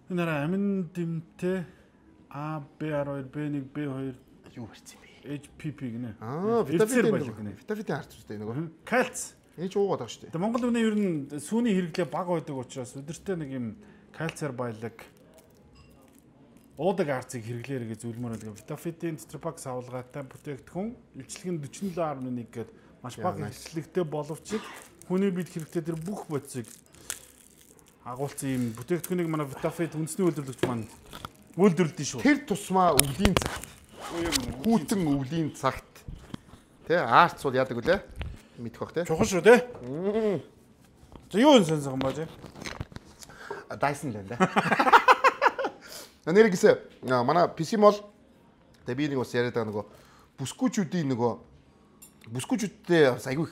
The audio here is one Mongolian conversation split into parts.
Энэ амин дэмтэй А, B12, B1, B2 юу барьсан бэ? HPP гинэ. Витамин гинэ. Витамин харж үзтээ нөгөө. Кальц. Ээж уугаад байгаа шүү дээ. Тэгээ Монгол үнэ ер нь сүүний хэрэглээ бага байдаг учраас өдөртөө нэг юм кальциар баялаг уудаг арцыг хэрэглээрэй гэж зөвлөмөр байдаг. Витафитийн тетрапак савлгаатай бүтээгдэхүүн илчлэг нь 47.1 гээд маш бага илчлэгтэй боловч хүний бид хэрэгтэй тэр бүх бодисыг агуулсан юм бүтээгдэхүүнийг манай Витафит үндэсний үйлдвэрлэгч маань үйлдвэрлэдэг шүү. Тэр тусмаа өвлийн цагт. Хүүтэн өвлийн цагт. Тэ арц бол яадаг үлээ? Мэдэх бах тэ. Чухал шүү тэ. За юу энэ сонсон баа тэ? Dyson л энэ. Нэрэгсэ манай PC мол тэ би нэг бас яриад байгаа нөгөө бүсгүүчүүдийн нөгөө бүсгүүчүүдтэй айгүй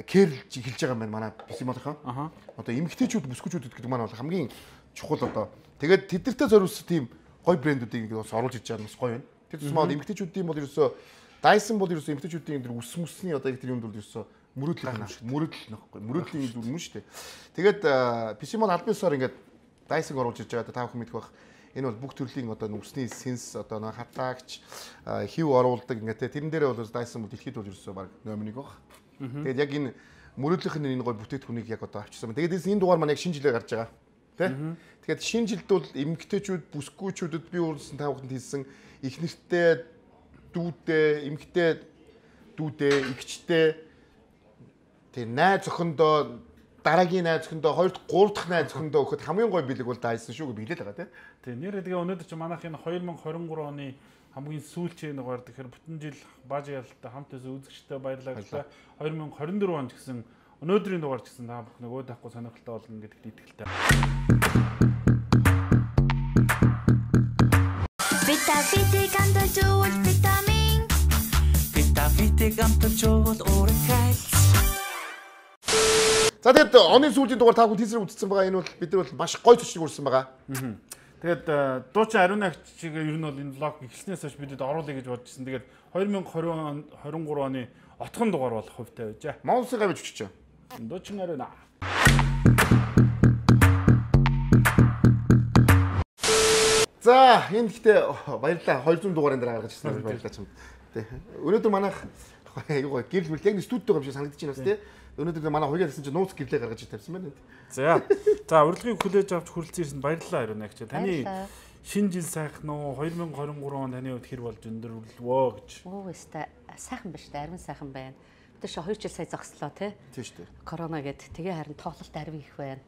кэрлж эхэлж байгаа юм байна манай PC молынхаа. Одоо эмэгтэйчүүд бүсгүүчүүд гэдэг маань бол хамгийн чухал одоо. Тэгээд тэднэртэй зориулсан тийм гоё брэндүүдийг бас оруулж иж байгаа нь бас гоё байна. Тэр тусмаа эмэгтэйчүүдийн бол ерөөсөө Dyson бол ерөөсөө эмэгтэйчүүдийн тэр ус мөсний одоо тэр юмд бол ерөөсөө мөрөдөл нөхгүй. Мөрөдлийн зүйл мөн шүү дээ. Тэгээд PC мол албан ёсоор ингээд Dyson оруулж иж байгаа та бүхэн мэдэх бах. Энэ бол бүх төрлийн одоо нүсний сенс одоо нэг хатаагч хив оруулдаг ингээд тэрэн дээрээ бол Dyson бол дэлхийд бол ерөөсөө баг номер 1 баг. Тэгээд яг энэ мөрөдлийнх нь энэ гоё бүтээтгүнийг яг одоо авчирсан. Тэгээд энэ дугаар маань яг шинэ жилээр гарч байгаа. Тэ? Тэгэхээр шинэ жилд бол эмэгтэйчүүд, бүсгүүчүүдэд би өөрсөн та бүхэнд хэлсэн их нэртэй дүүдээ, эмэгтэй дүүдээ, игчтэй тэр найз охиндоо дараагийн найз охиндоо, хоёр дахь, гурав дахь найз охиндоо өгөхөд хамгийн гоё бэлэг бол Dyson шүү гэж биелээд байгаа тийм. Тэг нэр тэгээ өнөөдөр чи манайх энэ 2023 оны хамгийн сүүлчийн дугаар тэгэхээр бүтэн жил бааж ялалтай хамт үзэгчтэй баярлалаа. 2024 онд гэсэн өнөөдрийн дугаар гэсэн та бүх нөгөө тахгүй сонирхолтой болно гэдэгт итгэлтэй. Витафитик амтжуул витамин. Витафитик амтжуул урагшайл. За тэгээд оны сүүлийн дугаар та бүхэн тийсрэг үзсэн байгаа. Энэ бол бид нар бол маш гоё төчлөг үрсэн байгаа. Тэгээд дуучин Ариун агч чиг ер нь бол энэ влог эхэлснээс хойш бидэд оруулъя гэж бодож ирсэн. Тэгээд 2023 оны отхон дугаар болох хувьтай байжээ. Монголын гавьж өчөж. Дуучин Ариун. За энэ гэхдээ баярлалаа 200 дугаарын дараа гаргаж ирсэн баярлалаа чамд. Тэ. Өнөөдөр манайх юу гоо гэрэл мэл яг студид байгаа юм шиг санагдаж байна бас тий. Өнөөдөр манай хуйгаа гэсэн чинь нууц гэрлээ гаргаж тавьсан байна. За урилгыг хүлээж авч хүрэлцэн ирсэнд баярлалаа Ариун агч. Таны шинэ жил сайхан уу 2023 он таны хувьд хэр болж өндөрлөвөө гэж. Оо өстой сайхан байна шүү дээ. Ариун сайхан байна. Бид ч 2 жил сая зогслоо тий. Тийм шүү дээ. Корона гэд тэгээ харин тоглолт арви их байна.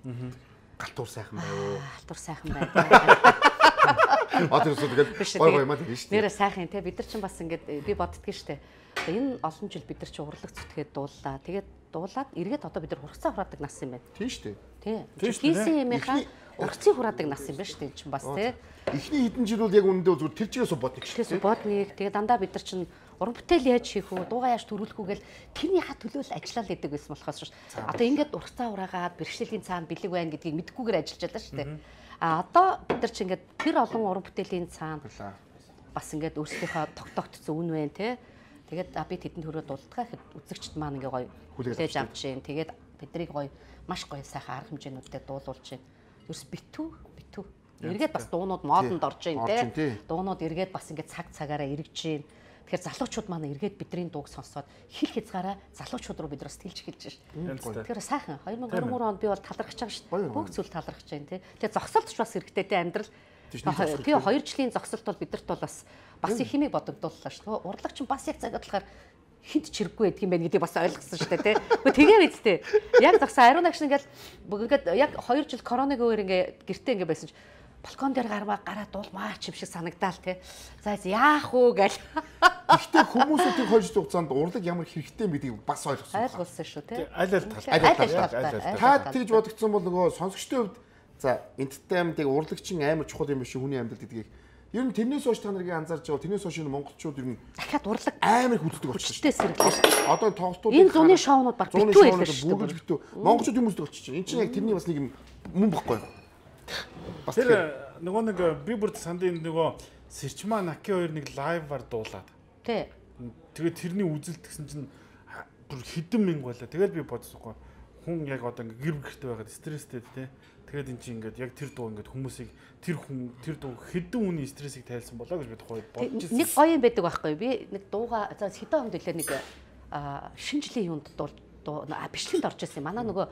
Галтуур сайхан байна. Галтуур сайхан байна. Одоо тэгээд гой маа тийм шүү дээ. Нэрээ сайхан тий. Бид нар ч бас ингээд би боддгийн шүү дээ. Энэ олон жил бид нар чи урлаг зүтгээд дууллаа. Тэгээд дуулаад эргээд одоо бид нар ургацаа хураадаг нас юм байна. Тийм шүү дээ. Тий. Хийсэн юмынхаа ургацыг хураадаг нас юм байна шүү дээ энэ чинь бас тий. Эхний хэдэн жил бол яг үнэндээ зүгээр тэр чигээс бодник шүү. Тэгэхээр бодник тэгээд дандаа бид нар чинь уран бүтээл яаж хийх үү, дуугаа яаж төрүүлэх үү гэл тэрний ха төлөөл ажиллаад байдаг байсан болохоос шүү. Одоо ингээд ургацаа ураагаад бэрхшээлийн цаана бэлэг байна гэдгийг мэдхгүйгээр ажиллаж байлаа шүү дээ. А одоо бид нар чинь ингээд тэр олон уран бүтээлийн цаана бас ингээд өөрсдийнхөө тогтоогдсон үн байна тий. Тэгээд би тэдэнд хөрөө дулдгаа гэхэд үзэгчд маань ингээ гоё хүлээж авч чинь. Тэгээд биднийг гоё маш гоё сайхан арга хэмжээнүүдтэй дуулуулж чинь. Ерөөс битүү. Эргээд бас дуунууд модонд орж ийн тий. Дуунууд эргээд бас ингээ цагаараа эргэж чинь. Тэгэхээр залуучууд маань эргээд бидний дууг сонсоод хил хязгаараа залуучууд руу бид нар сэтгэлж эхэлж шээ. Тэгэхээр сайхан 2023 онд би бол талархаж байгаа шүү. Бүх зүйл талархаж байна тий. Тэгээ зогсолтч бас хэрэгтэй тий амьдрал. Тэгээ 2 жилийн зогсолт бол бидэрт бол бас их хэмээг бодогдууллаа шүү. Урлагч нь бас яг цагаад болохоор хинт чирэггүй байдг юм байна гэдгийг бас ойлгосон шүү дээ тий. Тэгээ мэдтэй. Яг зогсон Ариун агш ингээд яг 2 жил коронавиг өөр ингээ гэртээ ингээ байсан ч балкон дээр гараа дуулмаач юм шиг санагдаал тий. За яах вэ гэл. Гэхдээ хүмүүсийн 2 жил хугацаанд урлаг ямар хэрэгтэй гэдгийг бас ойлгосон. Ойлгуулсан шүү тий. Аль тал. Та тэгж бодогдсон бол нөгөө сонсогчдын хувьд за entertainment-ыг урлагчин амар чухал юм биш хүний амьдралд гэдгийг ер нь тэрнээс хойш та нарыг анзаарч байгаа тэрнээс хойш монголчууд ер нь дахиад урлаг амар хүздэг болчихсон. Хүчтэй сэргэлээ. Одоо тоглолтууд энэ зуны шоунууд баг битүү байлаа шүү дээ. Битүү. Монголчууд юм үздэг болчихсон. Энэ чинь яг тэрний бас нэг юм мөн бохгүй. Бас тэр нөгөө нэг би бүр сандын нөгөө Сэрчмаа Наки хоёр нэг лайваар дуулаад. Тий. Тэгээд тэрний үзэлт гэсэн чинь бүр хэдэн мянга байлаа. Тэгэл би бодсоогүй. хүн яг одоо ингээ гэр бүлтэй байгаад стресстэй тий. Тэгээд эн чинь ингээд яг тэр дуу ингээд хүмүүсийг тэр дуу хэдэн хүний стрессийг тайлсан болоо гэж бид бодож байна. Нэг гоё юм байдаг байхгүй би нэг дууга за хэдэн онд үлээ нэг шинэ жилийн юунд дуу бичлэгэнд орж ирсэн. Манай нөгөө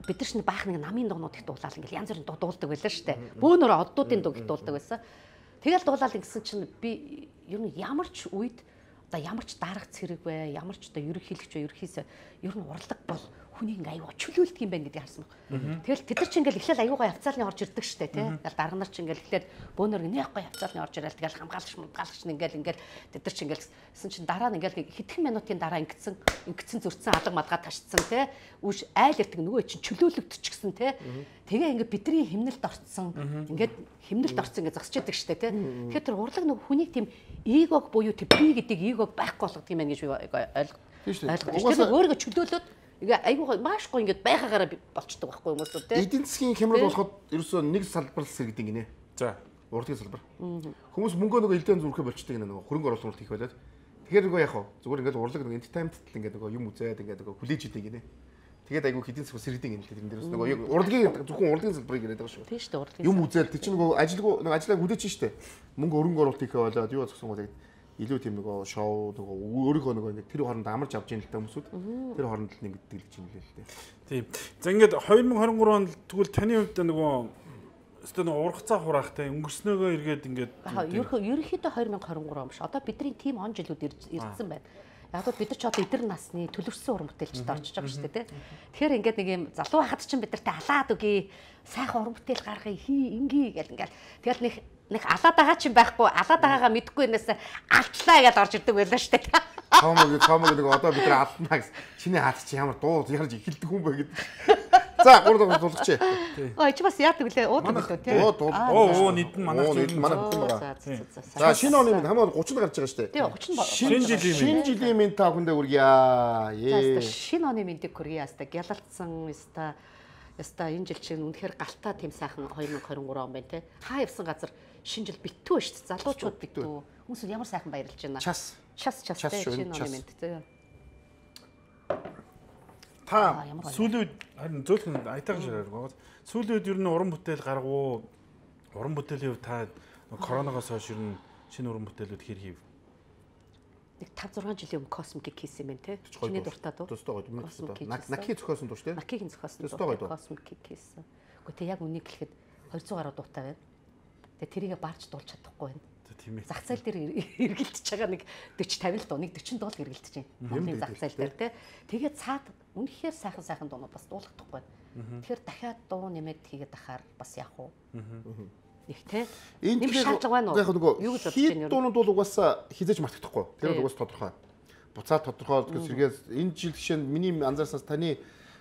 бид нар чинь баах нэг намын дуунууд их дуулаад ингээл янз бүрийн дуу дуулдаг байлаа шүү дээ. Бөөнөр оддуудын дуу их дуулдаг байсан. Тэгэл дуулаад ингэсэн чинь би ер нь ямар ч үед одоо ямар ч дарах цэрэг бай, ямар ч одоо ерөнхийлөгч бай, ерөнхийсээ ер нь урлаг бол хүнийг аюу чөлөөлдөг юм байна гэдгийг харсан баг. Тэгэл тэд нар ч ингээл эхлээл аюугаа явцаалны орж ирдэг штэ тий. Тэгэл дарга нар ч ингээл эхлээл бөөнөр нэхгүй явцаалны орж ирэл тэгэл хамгаалагч ингээл тэд нар ч ingээлсэн чинь дараа нь ингээл хэдхэн минутын дараа ингэсэн зөрчсөн алга мадгаа ташцсан тий. Үш айл ирдэг нөгөө чинь чөлөөлөгдчихсэн тий. Тэгээ ингээд бидний химнэлд орцсон ингээд химнэлд орцсон ингээд зогсож идэг штэ тий. Тэгэхээр тэр урлаг нөгөө хүнийг тийм эгог буюу тэр би гэдэг эгог байхгүй болгох юм байна гэж би ойлгох. Тэгэхээр өөрийгөө чөлөөлөөд ингээ айгуу маш гоо ингээд байхаагаараа болчдөг байхгүй хүмүүсүүд тий. Эдийн засгийн хямрал болоход ерөөсөө нэг салбар л сэргэдэг гинэ. За, урлагийн салбар. Хүмүүс мөнгөө нөгөө элдэн зүрхээ болчдөг гинэ нөгөө хөрөнгө оруулалт хийх байлаад. Тэгэхээр нөгөө яах вэ? Зүгээр ингээд урлаг нөгөө entertainment ингээд нөгөө юм үзээд ингээд нөгөө хүлээж идэг гинэ. Тэгээд айгуу эдийн засаг сэргэдэг гинэ. Тэр дээрээс нөгөө яг урлагийн зөвхөн урлагийн салбарыг яриад байгаа шүү. Тийм шүү дээ урлагийн. Юм үзээд тэр чинь нөгөө ажлаа хүлээж штэ. Мөнгө хөрөнгө оруулалт хийхээ болоод юу зогсон гоо тэгээд илүү тийм нөгөө шоу нөгөө өөрийнхөө нөгөө ингээд тэр хооронд амарч авч яах л та хүмүүсүүд тэр хооронд л нэгддэг гэж юм лээ л дээ. Тийм. За ингээд 2023 онд тэгвэл таны хувьд нөгөө өстө нөгөө ургацаа хураахтай өнгөрснөөгөө эргээд ингээд ерөнхийдөө 2023 он биш. Одоо бидний тим он жилүүд ирсэн байна. Яг л бид нар ч одоо эдэр насны төлөвшсөн уран бүтээлчд орчиж байгаа шүү дээ тий. Тэгэхээр ингээд нэг юм залуу хахад чинь бид нартай алаад үгүй сайхан уран бүтээл гаргая ингээ гэл ингээл тэгэл нэг алаад байгаа ч юм байхгүй алаад байгаагаа мэдэхгүй нээс алдлаа гэж орж ирдэг байлаа шүү дээ. Цаамаг нэг одоо бид нар алднаа гэсэн чиний хаад чи ямар дуу ярж эхэлдэг хүн бэ гэдэг. За гурав дуулгач. Ой чи бас яадаг лээ уудаг лөө тий. Нийт нь манай зүйл манай бүхэн байгаа. За шинэ оны минь хамаа 30 гарч байгаа шүү дээ. Тий 30 шинэ жилийн минь та бүхэндээ хүргье. Шинэ оны миньдэг хүргье яста гялалцсан яста энэ жил чинь үнэхээр галтаа тийм сайхан 2023 он байна тий. Хаа явсан газар шинэ жил битүү шүү дээ. Залуучууд битүү. Хүмүүс ямар сайхан баярлж байна. Час тий шинэ оны минь тий. Та сүүлийн үед харин зөөлхөн айтайхан ширээр байгаа. Сүүлийн үед ер нь уран бүтээл гаргав. Уран бүтээлийн хувьд та коронавигоос хойш ер нь шинэ уран бүтээлүүд хэр хийв? Нэг 5-6 жилийн өмнө космик хийсэн юм те. Чиний дуртай дуу. Тустай гоё. Наки зохиосон дуу шүү дээ. Накигийн зохиосон дуу. Космик хийсэн. Гэхдээ тэг яг үнийг хэлэхэд 200 гаруй дуутай байна. Тэгээ тэрийгэ барж дуулж чадахгүй байна. Зах зээл дээр эргэлдэж байгаа нэг 40-50 л дуу, нэг 40 дуу л эргэлдэж байна. Монголын зах зээл дээр те. Тэгээд цаад үнэхээр сайхан дуунууд бас дуулахдаггүй. Тэгэхээр дахиад дуу нэмээд хийгээд ахаар бас яах вэ? Их те. Энэ шаардлага байна уу? Яг нөгөө хит дуунууд бол угаасаа хизээж мартагдахгүй. Тэр бол угаасаа тодорхой. Буцаад тодорхой гэж сэргээс энэ жил жишээ нь миний анзаарснаас таны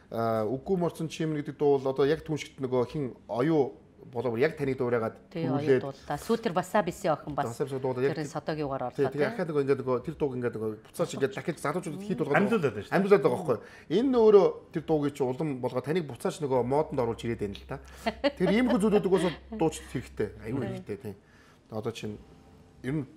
үгүй морцсон чимэр гэдэг дуу бол одоо яг түншигт нөгөө хин оюу болоо яг таны дуурайгаад хүлээд сүүлтэр басабиси охин бас тэр содогийн угаар орлоо. Тэгээ ахаад нөгөө ингээд нөгөө тэр дууг ингээд нөгөө буцаач ингээд дахиж залуучуудад хит болгоод амьдуулаад байгаа байхгүй. Энэ өөрөө тэр дуугийн чи улам болгоо таныг буцаач нөгөө модонд оруулж ирээд байна л та. Тэр иймэрхүү зүйлүүд угаасаа дууч хэрэгтэй. Аюу хэрэгтэй тийм. Одоо чинь ер нь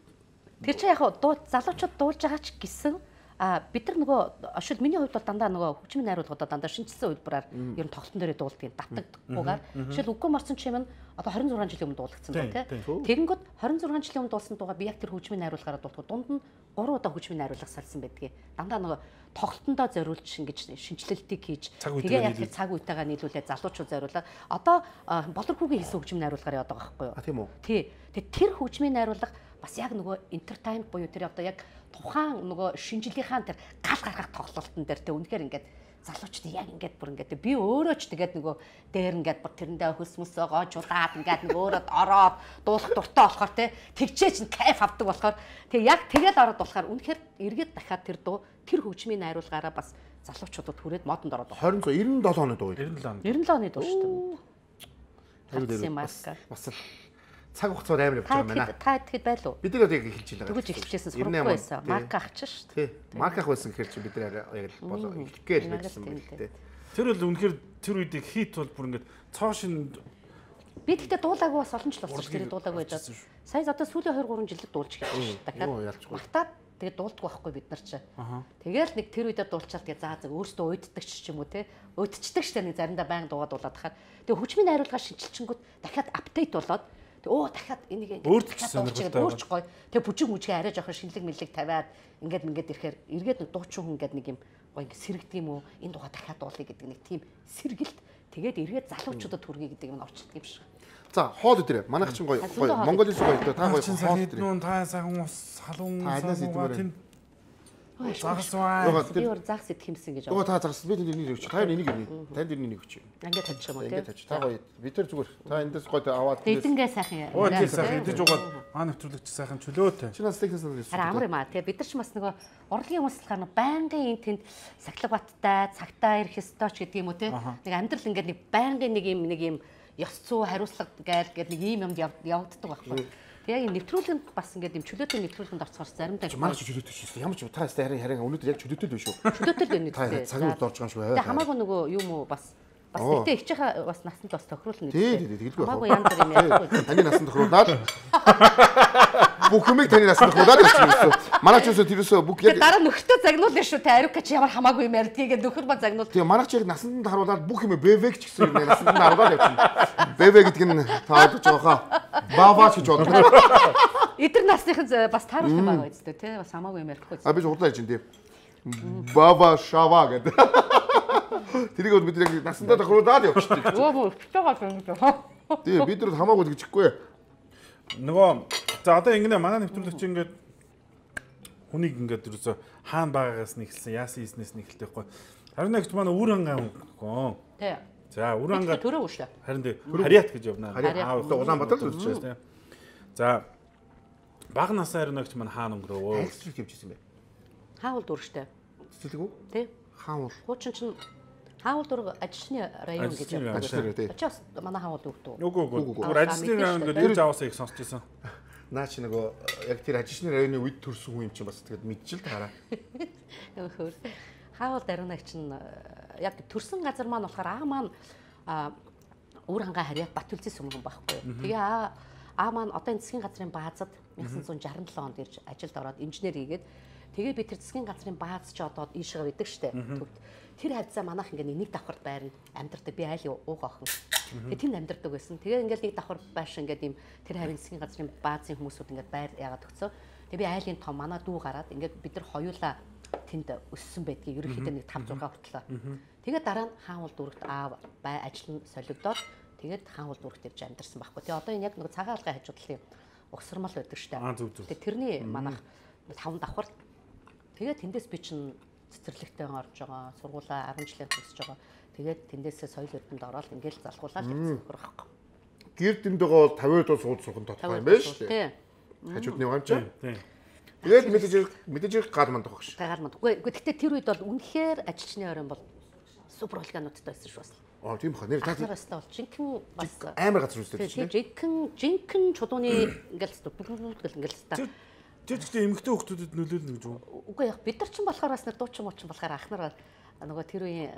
тэр чи яг залуучууд дуулж байгаа ч гэсэн бид нар нөгөө шил миний хувьд бол дандаа нөгөө хөгжмийн найруулгуудаа дандаа шинжилсэн үйлбэрээр ер нь тоглолтын дээрээ дуулдаг юм татдаггүйгээр шил үгүй морцсон чим нь одоо 26 жилийн өмнө дуулагдсан байна тийм. Тэгэнгүүт 26 жилийн өмнө дуулсан дуугаа би яг тэр хөгжмийн найруулгаараа дуулдаг. Дунд нь 3 удаа хөгжмийн найруулга салсан байдгийг. Дандаа нөгөө тоглолтондоо зориулж ингэж шинжилэлтийг хийж тэгээ яг тэр цаг үетэйгээ нийлүүлээд залуучууд зориулаад одоо болорхүүгийн хийсэн хөгжмийн найруулгаар яваад байгаа байхгүй юу? Тийм үү. Тий. Тэгээ тэр хөгжмийн найруулга бас яг нөгөө entertainment буюу тэр одоо яг тухайн нөгөө шинжилгийнхаа тэр гал гаргах тоглолтын дээр тэ үнэхээр ингээд залуучууд яг ингээд бүр ингээд би өөрөө ч тэгээд нөгөө дээр ингээд бүр тэрэндээ хөсмөс гоожулаад ингээд нөгөө өөрөө ороод дуулах дуртай болохоор тэ тэгчээч нь кайф авдаг болохоор тэг яг тэгэл ороод болохоор үнэхээр эргээд дахиад тэр дуу тэр хөгжмийн найруулгаараа бас залуучуудад хүрээд модонд ороод байна. 97 оны дуу. 97 оны дуу шүү дээ. Бас цаг хугацаар амар явж байгаа юм байна. Та тэгэхэд байлуу. Бид нар яг эхэлж байгаа. Тэгэж эхэлчихсэн сургахгүй байсан. Марк авчих шүү дээ. Тий. Марк ах байсан гэхэл чи бид нар яг л болоо эхлэхгээл байсан юм л дээ. Тэр бол үнэхээр тэр үед хит бол бүр ингээд цоо шин би тэгтээ дуулаагүй бас олон жил болсон шүү дээ. Дуулаагүй байж. Сая одоо сүүлийн 2-3 жилд дуулж эхэлсэн шүү. Дахиад магтаад тэгээд дуулдаг байхгүй бид нар чи. Тэгээл нэг тэр үедээ дуулчаал тэгээ заа өөртөө уйддаг ч юм уу те. Уйдчихдаг штэ нэг заримдаа байнга дуугаад дуулаад хахаар. Тэгээ хөгжмийн найруулга шинжилчингүүд дахиад апдейт болоод дахиад энийг өөрчлөж гоё. Тэгээ бүжиг мүжгээ арай жоохон шинэлэг мэлэг тавиад ингээд ирэхээр эргээд нэг дуучин хүн ингээд нэг юм гоё ингээд сэрэгдэг юм уу? Энэ дууга дахиад дуулъя гэдэг нэг тийм сэргэлт. Тэгээд эргээд залуучуудад хүргэе гэдэг юм орчдөг юм шиг. За хоол өдрөө. Манайх чинь гоё. Монголын гоё. Та гоё хоол өдрөө. Та сайхан ус халуун тийм. Загсваа. Би өөр загс идэх юмсан гэж. Нөгөө та загс би тэнийг өгч. Та энийг өгнө. Танд энийг өгч. Ингээд тавьчих юм уу те. Ингээд тавьчих. Та гоё. Бид тэр зүгээр. Та эндээс гоё аваад. Эдэнгээ сайхан яа. Тийм сайхан идэж угаад маа нэвтрүүлэгч сайхан чөлөөтэй. Чи нас технээс нь. Харин амар юм аа. Тэгээ бид нар ч бас нөгөө урлагийн хүмүүс болохоор байнгын энэ тэнд сахилга баттай, цагтаа ирэх ёстой ч гэдэг юм уу те. Нэг амьдрал ингээд нэг байнгын нэг юм ёс зүй хариуцлага гэдэг нэг ийм юмд явагддаг байхгүй. Тэгээ яг нэвтрүүлэнд бас ингээд юм чөлөөтэй нэвтрүүлэнд орцохоор заримдаа манай чөлөөтэй шүү. Ямар ч та харин өнөөдөр яг чөлөөтэй л биш шүү. Чөлөөтэй л байна. Та цагийн үед орж байгаа юм шүү. Тэгээ хамаагүй нөгөө юм уу бас тэгтээ их чиха бас насанд бас тохируулна гэдэг. Тий, тэгэлгүй. Хамаагүй янз бүр юм ярихгүй. Таны насанд тохируулаад бүх юмыг таны насанд тохируулаад ирсэн. Манай ч үсээ тэрөөсөө бүх яг дараа нөхөртөө загнуулна шүү. Тэ ариука чи ямар хамаагүй юм ярьдгийг нөхөр ба загнуул. Тэгээ манай ч яг насанд харуулаад бүх юм БВ ч гэсэн юм насанд харуулаад явчихна. БВ гэдэг нь таад жоохоо баваач гэж боддог. Эдгээр насныхан бас тааруулах юм байгаа үстэй тий бас хамаагүй юм ярихгүй. Би худлаа ярьж байна тий. Бава шава гэдэг. Тэрийг бид яг насандаа тохируулаад явчихдаг. Өө өчтөөгөө юм даа. Тий бид нар хамаагүй гэжихгүй. Нөгөө за одоо ингэнэ манай нэвтрүүлэгч ингээд хүнийг ингээд ерөөсө хаана байгаагаас нь эхэлсэн яасан хийснээс нь эхэлтэхгүй. Харин нэгт манай үр ангаа гоо. Тий. За үр ангаа төрөө шүү. Харин тий харьяат гэж явна. Улаанбаатар л үзчихсэн тий. За баг насаар нэгч манай хаана өнгөрөө. Ажлыг явжсэн бэ. Хаавал дүрштэй. Цэцэлгүй? Тий. Хаавал. Хуучин чинь хаавал дүр ажилчны район гэж явдаг. Ачаас манай хаавал дүртүү. Үгүй. Ажилчны район гэдэг ирж аваасаа их сонсч байсан. Наа чи нөгөө яг тэр ажилчны районы үед төрсөн хүн юм чинь бас тэгэд мэдчихэл таараа. Нөхөр. Хаавал даруунаг чинь яг төрсэн газар маань болохоор аа маань үр хангаа харьяат Батүлзийн сүмхэн байхгүй. Тэгээ аа маань одоо энэ засгийн газрын баазад 1967 онд ирж ажилд ороод инженер хийгээд тэгээ би тэр засгийн газрын бааз ч одоо ийшээ байдаг штэ. Тэр хавцаа манайх ингээ нэг давхарт байрна амьдардаг би айл ууг охин. Тэгээ тэнд амьдардаг байсан. Тэгээ ингээл нэг давхар байш ингээд ийм тэр хавийн засгийн газрын баазын хүмүүсүүд ингээд байр яагаад өгцөө. Тэгээ би айлын том манай дүү гараад ингээд бид нар хоёулаа тэнд өссөн байдгийг ерөнхийдөө нэг 5 6 хүртлээ. Тэгээ дараа нь хаанвал дүрэгт аав бай ажил нь солигдоод тэгээд хаанвал дүрэгт ирж амьдарсан байхгүй. Тэгээ одоо энэ яг нэг цагаан алгын хажуудлын угсармал байдаг штэ. Тэгээ тэрний манайх 5 давхар. Тэгээ тэндээс би чинь цэцэрлэгтэй орж байгаа. Сургуулаа 10 жилийн төгсөж байгаа. Тэгээд тэндээсээ соёл эрдэмтэд ороод ингээл залхуулаад явчихсан байхгүй. Гэр дэнд байгаа 50-д сууд сурган тодорхой юм байна шүү дээ. Хажуудны байгаа юм чинь. Тэгээд мэдээж гал мандах баг шүү. Гал мандах. Үгүй гэхдээ тэр үед бол үнэхээр ажилчны оройн бол супер органуудтай байсан шүү бас. Тийм баха. Нэр та таастай бол жинхэнэ бас амар газар үстэй тийм. Жинхэнэ чулууны ингээл бүгд ингээл та. Тэр гэхдээ эмэгтэй хүмүүстэд нөлөөлнө гэж үү? Үгүй яг бид нар ч болохоор бас дуучин муучин болохоор ах нар нөгөө тэр үеийн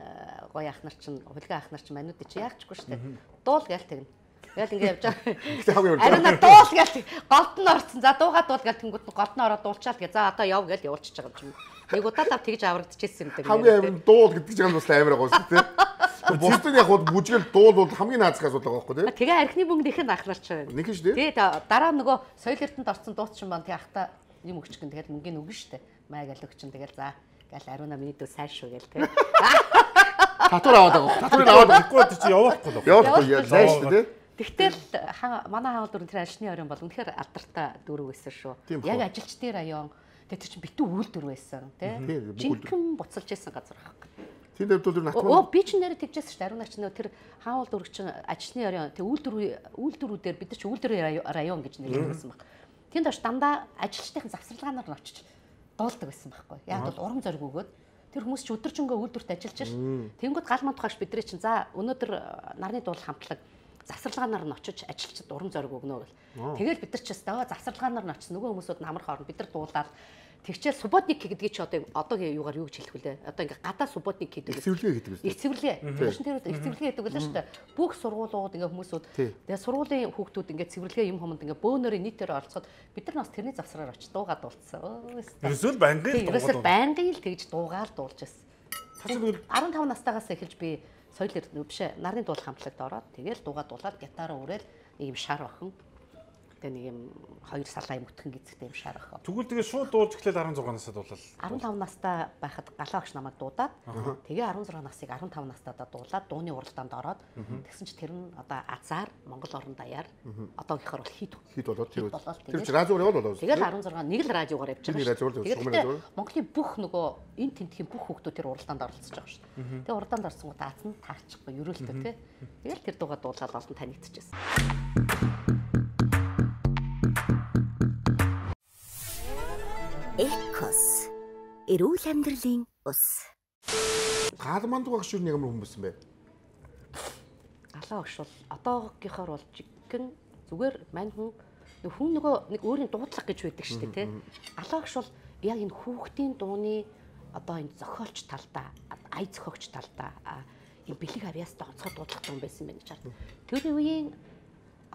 гоё ах нар чинь хулгай ах нар чинь манууд чи яахчгүй шүү дээ. Дуул гээл тэгнэ. Тэгэл ингэ явж байгаа. Ариуна дуул гээл голд нь орсон. За дуугаа дуул гээл тэнгууд голд нь ороод дуулчаал гэ. За одоо яв гээл явуулчихж байгаа юм. Нэг удаа тав тэгж аврагдчихсэн юм даа. Хамгийн амар дуул гэдэг чинь бас амар байгаа шүү дээ. Бусдын яг бүжгэл дуул бол хамгийн наазах асуудал байгаа байхгүй тийм. Тэгээ архины бөмбөг их ах нар ч байна. Нэг шүү дээ. Тэгээ дараа нөгөө соёл эрдэнэт орсон дуучин бан тэг ахта юм өгч гэн тэгэл мөнгөний өгнө штэ. Маа гээл өгчин тэгэл за гээл ариуна миний дүү сайн шүү гээл тэг. Татвар аваад байгаа. Татварыг аваад байхгүй чи явахгүй л. Явахгүй яа шүү дээ. Тэгтэл манай хаал дүр тэр ажилчны оройн бол үнэхээр алдартай дүр байсан шүү. Яг ажилчдын район тэр чинь битүү үйлдвэр байсан тий. Жинхэнэ буцалж исэн газар байхгүй. Тийм дэвдүүл натмаа. Оо би ч нэрээ тэгжсэн шүү дээ. Ариунаач нөө тэр хаал дүр чинь ажилчны район тий үйлдвэрүүдээр бид нар ч үйлдвэрийн район гэж нэрлэсэн баг. Тэнд оч дандаа ажилчдын завсарлагаанаар нь очиж дуулдаг байсан байхгүй. Яг бол урам зориг өгөөд тэр хүмүүс ч өдөржингөө үйлдвэрт ажиллаж ш. Тэнгүүд гал мандахаш бидний чинь за өнөөдөр нарны дуул хамтлаг завсарлагаанаар нь очиж ажилчид урам зориг өгнө гэл. Тэгэл бид нар ч өстой завсарлагаанаар нь очиж нөгөө хүмүүсүүд намар хоорн бид нар дуулаад Тэгчээл субботник гэдгийг чи одоогийн юугаар юу гэж хэлэх вүлээ? Одоо ингээ гадаа субботник гэдэг. Цэвэрлэгээ гэдэг үү? Их цэвэрлэгээ. Машин дээр их цэвэрлэгээ гэдэг үлээ шүү дээ. Бүх сургуулиуд ингээ хүмүүсүүд тэгээ сургуулийн хүүхдүүд ингээ цэвэрлэгээ юм хомонд ингээ бөөнөрийн нийтээр орцоход бид нар бас тэрний завсраар очиж дуугаад дуулсан. Ерөөсөө байнгын л тэгж дуугаад дуулж байсан. 15 настайгаас эхэлж би соёл бишээ нарны дуул хамтлагт ороод тэгэл дуулаад гитараа өрөөл нэг юм шар охин. Тэгээ нэг юм 2 салаа юм өтгөн гизэгтэй юм шар охин. Тэгвэл тэгээ шууд дуулж эхлээл 16 настай дуулал. 15 настай байхад галаа огш намайг дуудаад тэгээ 16 насыг 15 настайдаа дуулаад дууны уралдаанд ороод тэгсэн чи тэр нь одоо азар Монгол орон даяар одоогийнхоор бол хит болоод тэр чинь радиоор яваад болоо. Тэгэл 16 нэг л радиогоор явж байгаа шүү. Тэгээд Монголын бүх нөгөө энэ тентхийн бүх хүүхдүүд тэр уралдаанд оролцож байгаа шүү. Тэгээ уралдаанд орсон гоо даацсан таарчихгүй ерөөлтөө тий. Тэгэл тэр дуугаа дуулаад олон танигдчихсэн. Экос эрүүл амьдралын ус. Гаалманд багш юу нэг ямар хүн байсан бэ? Галаа огш бол одоогийнхоор бол жиггэн зүгээр мань хүн нөгөө нэг өөрийн дуудлага гэж байдаг шүү дээ тий. Галаа огш бол яг энэ хүүхдийн дууны одоо энэ зохиолч талдаа, ая зохиогч талдаа энэ бэлэг авьяастай онцгой дуудлага юм байсан байх гэж байна. Тэр үеийн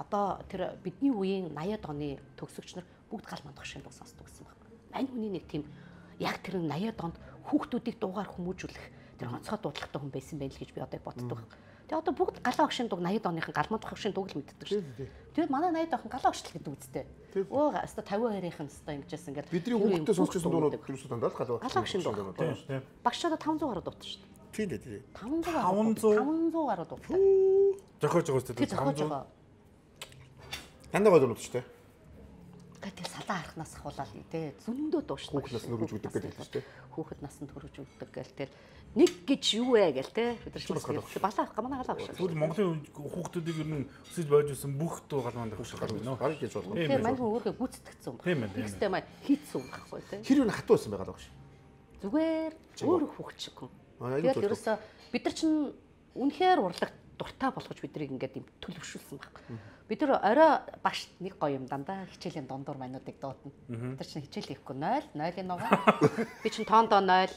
одоо тэр бидний үеийн 80-аад оны төгсөгч нар бүгд галманд багшийн дуу сонсдог гэсэн байна. Мань хүний нэг тийм яг тэр 80-аад онд хүүхдүүдийг дуугаар хүмүүжүүлэх тэр онцгой дуудлагатай хүн байсан байл гэж би одоо боддог. Тэгээ одоо бүгд галаа огшийн дуг 80-аад оныхан галманд багшийн дуг л мэддэг шүү. Тэгээд манай 80-аад онохон галаа огшил гэдэг үстэй. Оо өстой 52-ийн өстой ингэжсэн ингээд бидний хүүхдтэй сонсчихсан дуунууд юусоо дандаа галаа огшийн дуг. Багшаа 500 гаруй дуудсан шүү. Тийм дээ. 500 гаруй дуудсан. Зохиож байгаа үстэй 500. Дандаа гол дуудсан шүү дээ. Тэгээд салаа харахнаас ахуулаад тий зөндөө дуушна. Хүүхэд нас нь хөрөж өгдөг гэдэг шүү дээ. Хүүхэд насанд хөрөж өгдөг гэл тэр нэг гэж юу вэ гэл тий бид нар шиг балаа манай галаа багш. Тэгвэл Монголын хүүхдүүдийг ер нь өсөж байж байсан бүх дуу галманд багш гарна. Гарч иж болно. Тийм мань өөргөө гүцэтгэцсэн юм байна. Тэгстэй маа хийцсэн юм байхгүй тий. Хэр юу хатуу байсан байгаа багш. Зүгээр өөр хүүхд шиг юм. Тэгээд ерөөсө бид нар чинь үнэхээр урлагт дуртай болгож биднийг ингээд юм төлөвшүүлсэн байхгүй. Бид нар орой багш нэг гоё юм дандаа хичээлийн дундуур мануудыг дуудана. Бид нар чинь хичээл хийхгүй 0 0-ын нугаа. Би чинь тоондоо 0.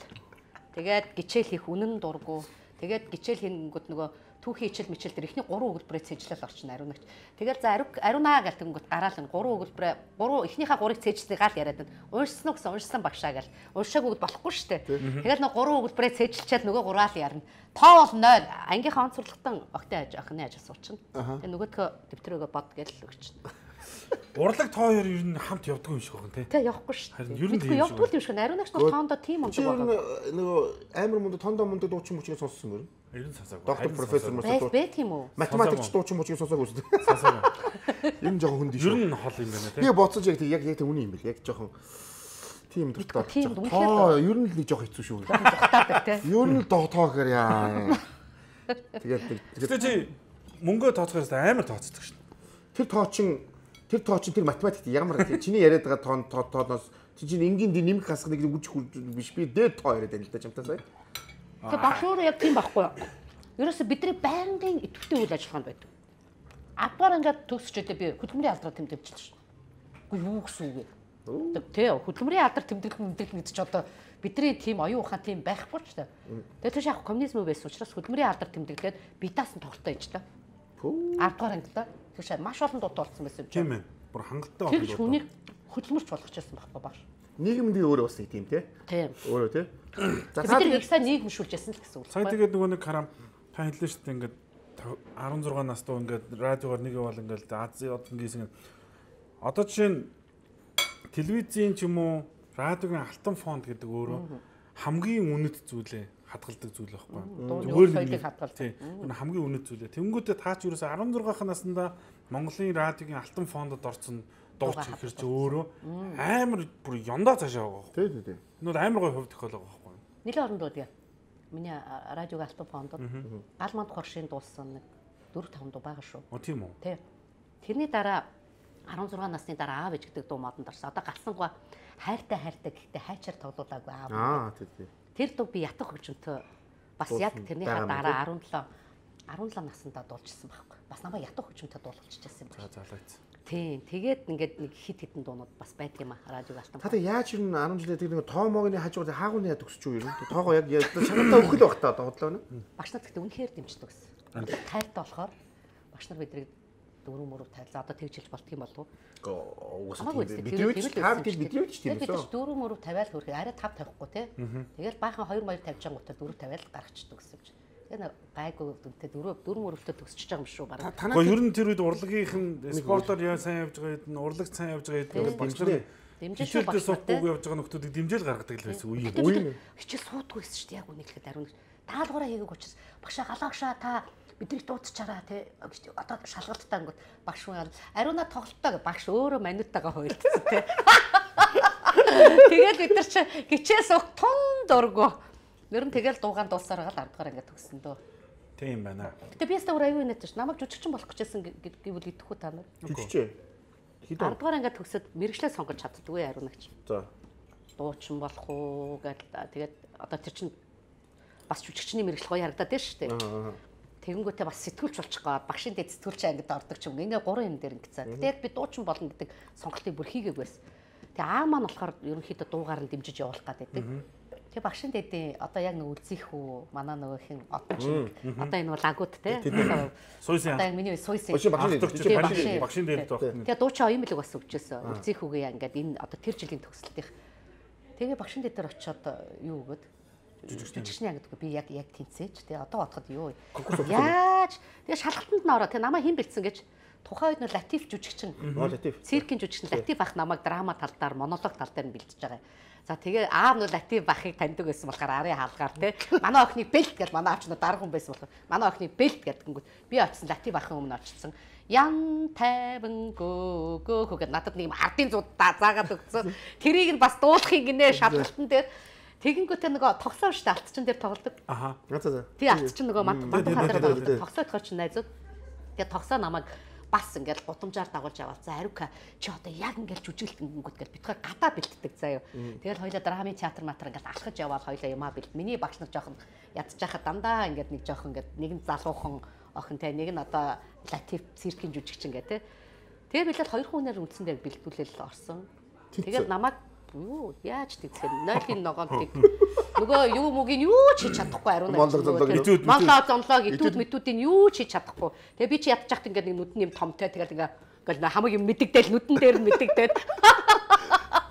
Тэгээд гичээл хийх үнэн дургу. Тэгээд гичээл хийнгүүт нөгөө түүхийн хичээл мичээл дээр ихний 3 өгүүлбэрээ цэжлэл орчин ариунагч. Тэгээд за ариунаа гэл тэнгүүт гараал нь 3 өгүүлбэрээ 3 ихнийхээ 3-ыг цэжлээ гал яриад байна. Уншсан уу гэсэн уншсан багшаа гэл. Уншаагүй бол болохгүй шүү дээ. Тэгээд нөгөө 3 өгүүлбэрээ цэжлчихэд нөгөө 3-аал ярина. Тоо бол 0. Ангийнхаа онцлогтон огтой охины ажил суучна. Тэгээд нөгөөдхөө дэвтрөөгөө бод гэл өгчнө. Урлаг тоо хоёр ер нь хамт явдаг юм шиг байна тий. Тэг явахгүй шүү. Харин ер нь тийм явдгүй юм шиг. Ариунагч бол тоондоо тийм ундаг байгаа. Нөгөө амар мундаг тоондоо мундаг дуучин мөчгийг сонссон юм. Ер нь сонсоогүй. Доктор профессор мөчийг бэ тийм үү? математикч дуучин мөчгийг сонсоогүй шүү. Сонсоогүй. Ер нь жоохон хүнд шүү. Ер нь хол юм байна тий. Би боцож яг тийм үний юм бэл. Яг жоохон тийм дуртай. Ер нь л нэг жоохон хэцүү шүү. Дуртаадаг тий. Ер нь тоо гэхээр яа. Тэгээд чи мөнгөө тооцохоос амар тооцдог шин. Тэр тоочин тэр математикт ямар чиний яриад байгаа тооноос чинь энгийн нэмэх хасах нэг үжих биш би дээд тоо яриад байна л да чамтаа сая. Тэгээ багш өөрөө яг тийм байхгүй. Ерөөсө бидний байнгын идэвхтэй үйл ажиллагаанд байдаг. Апаар ингээд төгсчөөдөө би хөдөлмөрийн алдраа тэмдэглэж шин. Үгүй юу гэсэн үг вэ? Тэ хөдөлмөрийн алдар тэмдэглэх гэдэг ч одоо бидний тийм оюун ухаан тийм байхгүй ч та. Тэгээ тийш яг коммунизм байсан учраас хөдөлмөрийн алдар тэмдэглээд бидаас нь тоглолтоо ээж та. Ардгаар анги та. Тийш маш олон дуутай болсон байсан юм чинь. Тийм ээ. Бүр хангалттай олон дуутай. Тэр хүнийг хөдөлмөрч болгочихсон байхгүй багш. Нийгэмдээ өөрөө бас тийм тий. Тийм. Өөрөө тий. За бид нэг сайн нийгэмшүүлж ясан л гэсэн үг. Сая тэгээд нөгөө нэг харам та хэллээ шүү дээ ингээд 16 настай ингээд радиогоор нэг яваал ингээд Азийн однгийсэн. Одоо жишээ нь телевизийн ч юм уу радиогийн алтан фонд гэдэг өөрөө хамгийн үнэт зүйлээ хадгалдаг зүйл байхгүй. Зүгээр соёлыг хадгалдаг. Тийм. Хамгийн үнэт зүйлээ. Тэнгүүтээ таа ч ерөөсө 16-ах наснда Монголын радиогийн алтан фондод орсон дууч ихэрч өөрөө амар бүр ёндоо цаашаа байгаа. Тийм. Нүүд амар гой хувь тохиол байгаа байхгүй. Нилээ орон дуудъя. Миний радиогийн алтан фондод галманд хоршийн дуулсан нэг 4-5 дуу байгаа шүү. Тийм үү? Тийм. Тэрний дараа 16 насны дараа аав ээж гэдэг дуу модонд орсон. Одоо галсангаа хайртай гэхдээ хайчаар тоглоулаагүй аав. Тийм. Тэр дуу би ятах хөгжмөнтөө бас яг тэрнийхээ дараа 17 17 наснда дуулжсэн байхгүй. Бас намайг ядуу хөгжмөнтэй дуулчихсан юм байна. За залгаац. Тийм. Тэгээд ингээд нэг хит хитэн дуунууд бас байд юм аа радиог алтан. Та яаж юм 10 жилээ тэр нэг тоомогийн хажууд хаагууны яд өсч юу юм. Тоогоо яг чанартай өгөх л баг та бодлоо нэ. Багш нар гэхдээ үнэхээр дэмждэг гэсэн. Тайлтай болохоор багш нар биднийг дөрөв мөрөв тайлаа. Одоо тэгж хэлж болт юм болов уу? Бидний тав гэж бидний ч тийм үү? Дөрөв мөрөв тавиал хөрхий арай тав тавихгүй те. Тэгэл баахан 2 2 тавьж ангуудаа дөрөв тавиал гаргачихдаг гэсэн юм. Тэгээ гайгүй дүнтэй дөрөв мөрөвтэй төгсөж байгаа юм шүү бараг. Гэхдээ ер нь тэр үед урлагийнх нь спортоор яа сайн явж байгаа хэд урлаг сайн явж байгаа хэд багш нар дэмжиж суудаггүй явж байгаа нөхдүүдийг дэмжээл гаргадаг л байсан үе. Хичээл суудаггүй байсан шүү дээ яг үнэ хэлэхэд ариун таалгаараа хийгээг учраас багшаа галаагшаа та бидний дуудчихараа те гэж одоо шалгалттай ангууд багш маар ариунаа тоглолтоо багш өөрөө манутайгаа хуйлдсан те. Тэгээд бид нар чи гिचээс уг тун дургу. Ер нь тэгэл дуугаан дуусаар гал 10 дахь ингээд төгссөн дөө. Тийм байна. Гэтэ би ястаа аюу инээдэж ш. Намайг жүжигчин болох гэжсэн гэвэл идэхгүй та нар. Жүжигчээ. 10 дахь ингээд төгсөд мэрэгчлээ сонгож чаддгүй ариунагч. За. Дуучин болох уу гэдэг. Тэгээд одоо тэр чин бас жүжигчний мэрэгжил гоё харагдаад байна шүү дээ. Тэгэнгүүтээ бас сэтгүүлч болчих гоо багшийн дэд сэтгүүлч ангид ордог ч юм. Ингээ 3 юм дээр ингэцээ. Тэгээд би дуучин болно гэдэг сонголтыг бүр хийгээг байсан. Тэгээ аа маань болохоор ерөнхийдөө дуугаар нь дэмжиж явуулах гэдэг. Тэгээ багшийн дэдийн одоо яг нэг үлзих үү манай нөгөөх нь одоо чинь одоо энэ бол агууд те. Суйсан. Одоо миний суйсан. Багшийн дэд тоох. Тэгээ дуучин оюун билэг бас өгчөөсөн. Үлзих үгээ ингээд энэ одоо тэр жилийн төгсөлтийнх. Тэгээ багшийн дэд дээр очиод юу өгöd жүжигчний ангидгүй би яг тэнцээч. Тэгээ одоо бодоход юу яаж тэгээ шалгалтанд нь ороо. Тэгээ намайг хэн бэлдсэн гэж тухайн үед нь латив жүжигчин. Латив. Циркийн жүжигчин латив ах намайг драма талдаар монолог тал дээр нь бэлдэж байгаа. За тэгээ аав нь латив бахыг таньдаг байсан болохоор арын хаалгаар те манай охины бэлт гэж манай аавч нь дарга хүн байсан болохоор манай охины бэлт гэдгийгүүд би очсон латив ахын өмнө очсон. Ян тайван гөө гэдэг надад нэг юм ардын зууд заагаад өгсөн. Тэрийг нь бас дуулахыг гинэ шалгалтан дээр тэгэнгүүтээ нөгөө тогсоо штэ алтчин дээр тоглодог. Аха. За. Тий алтчин нөгөө мандахаа дээр тогсоо тохиолч найзууд. Тэгээ тогсоо намайг бас ингээл гудамжаар дагуулж аваад за Арука чи одоо яг ингээл жүжиглэнгүүд гэл битгаар гадаа бэлддэг заяа. Тэгэл хоёлаа драмын театр матер ингээл алхаж яваад хоёлаа юмаа бэлд. Миний багш нар жоохон ядчихахад дандаа ингээд нэг жоохон ингээд нэг нь залуухан охин те нэг нь одоо латив циркийн жүжигчин гэ те. Тэгээ билээд хоёр хүнээр үндсэндээ бэлдүүлэл орсон. Тэгээд намайг юу яаж тэгсэн нойлын ногоонтыг нөгөө юу мөгийн юу ч хийж чадахгүй ариун Монголоо зонлог итүүд мэдүүдийн юу ч хийж чадахгүй. Тэгээ би чи ядчихт ингээд нэг нүдэн юм томтой тэгэл ингээд хамаг юм мэддэгдэл нүдэн дээр нь мэддэгдээд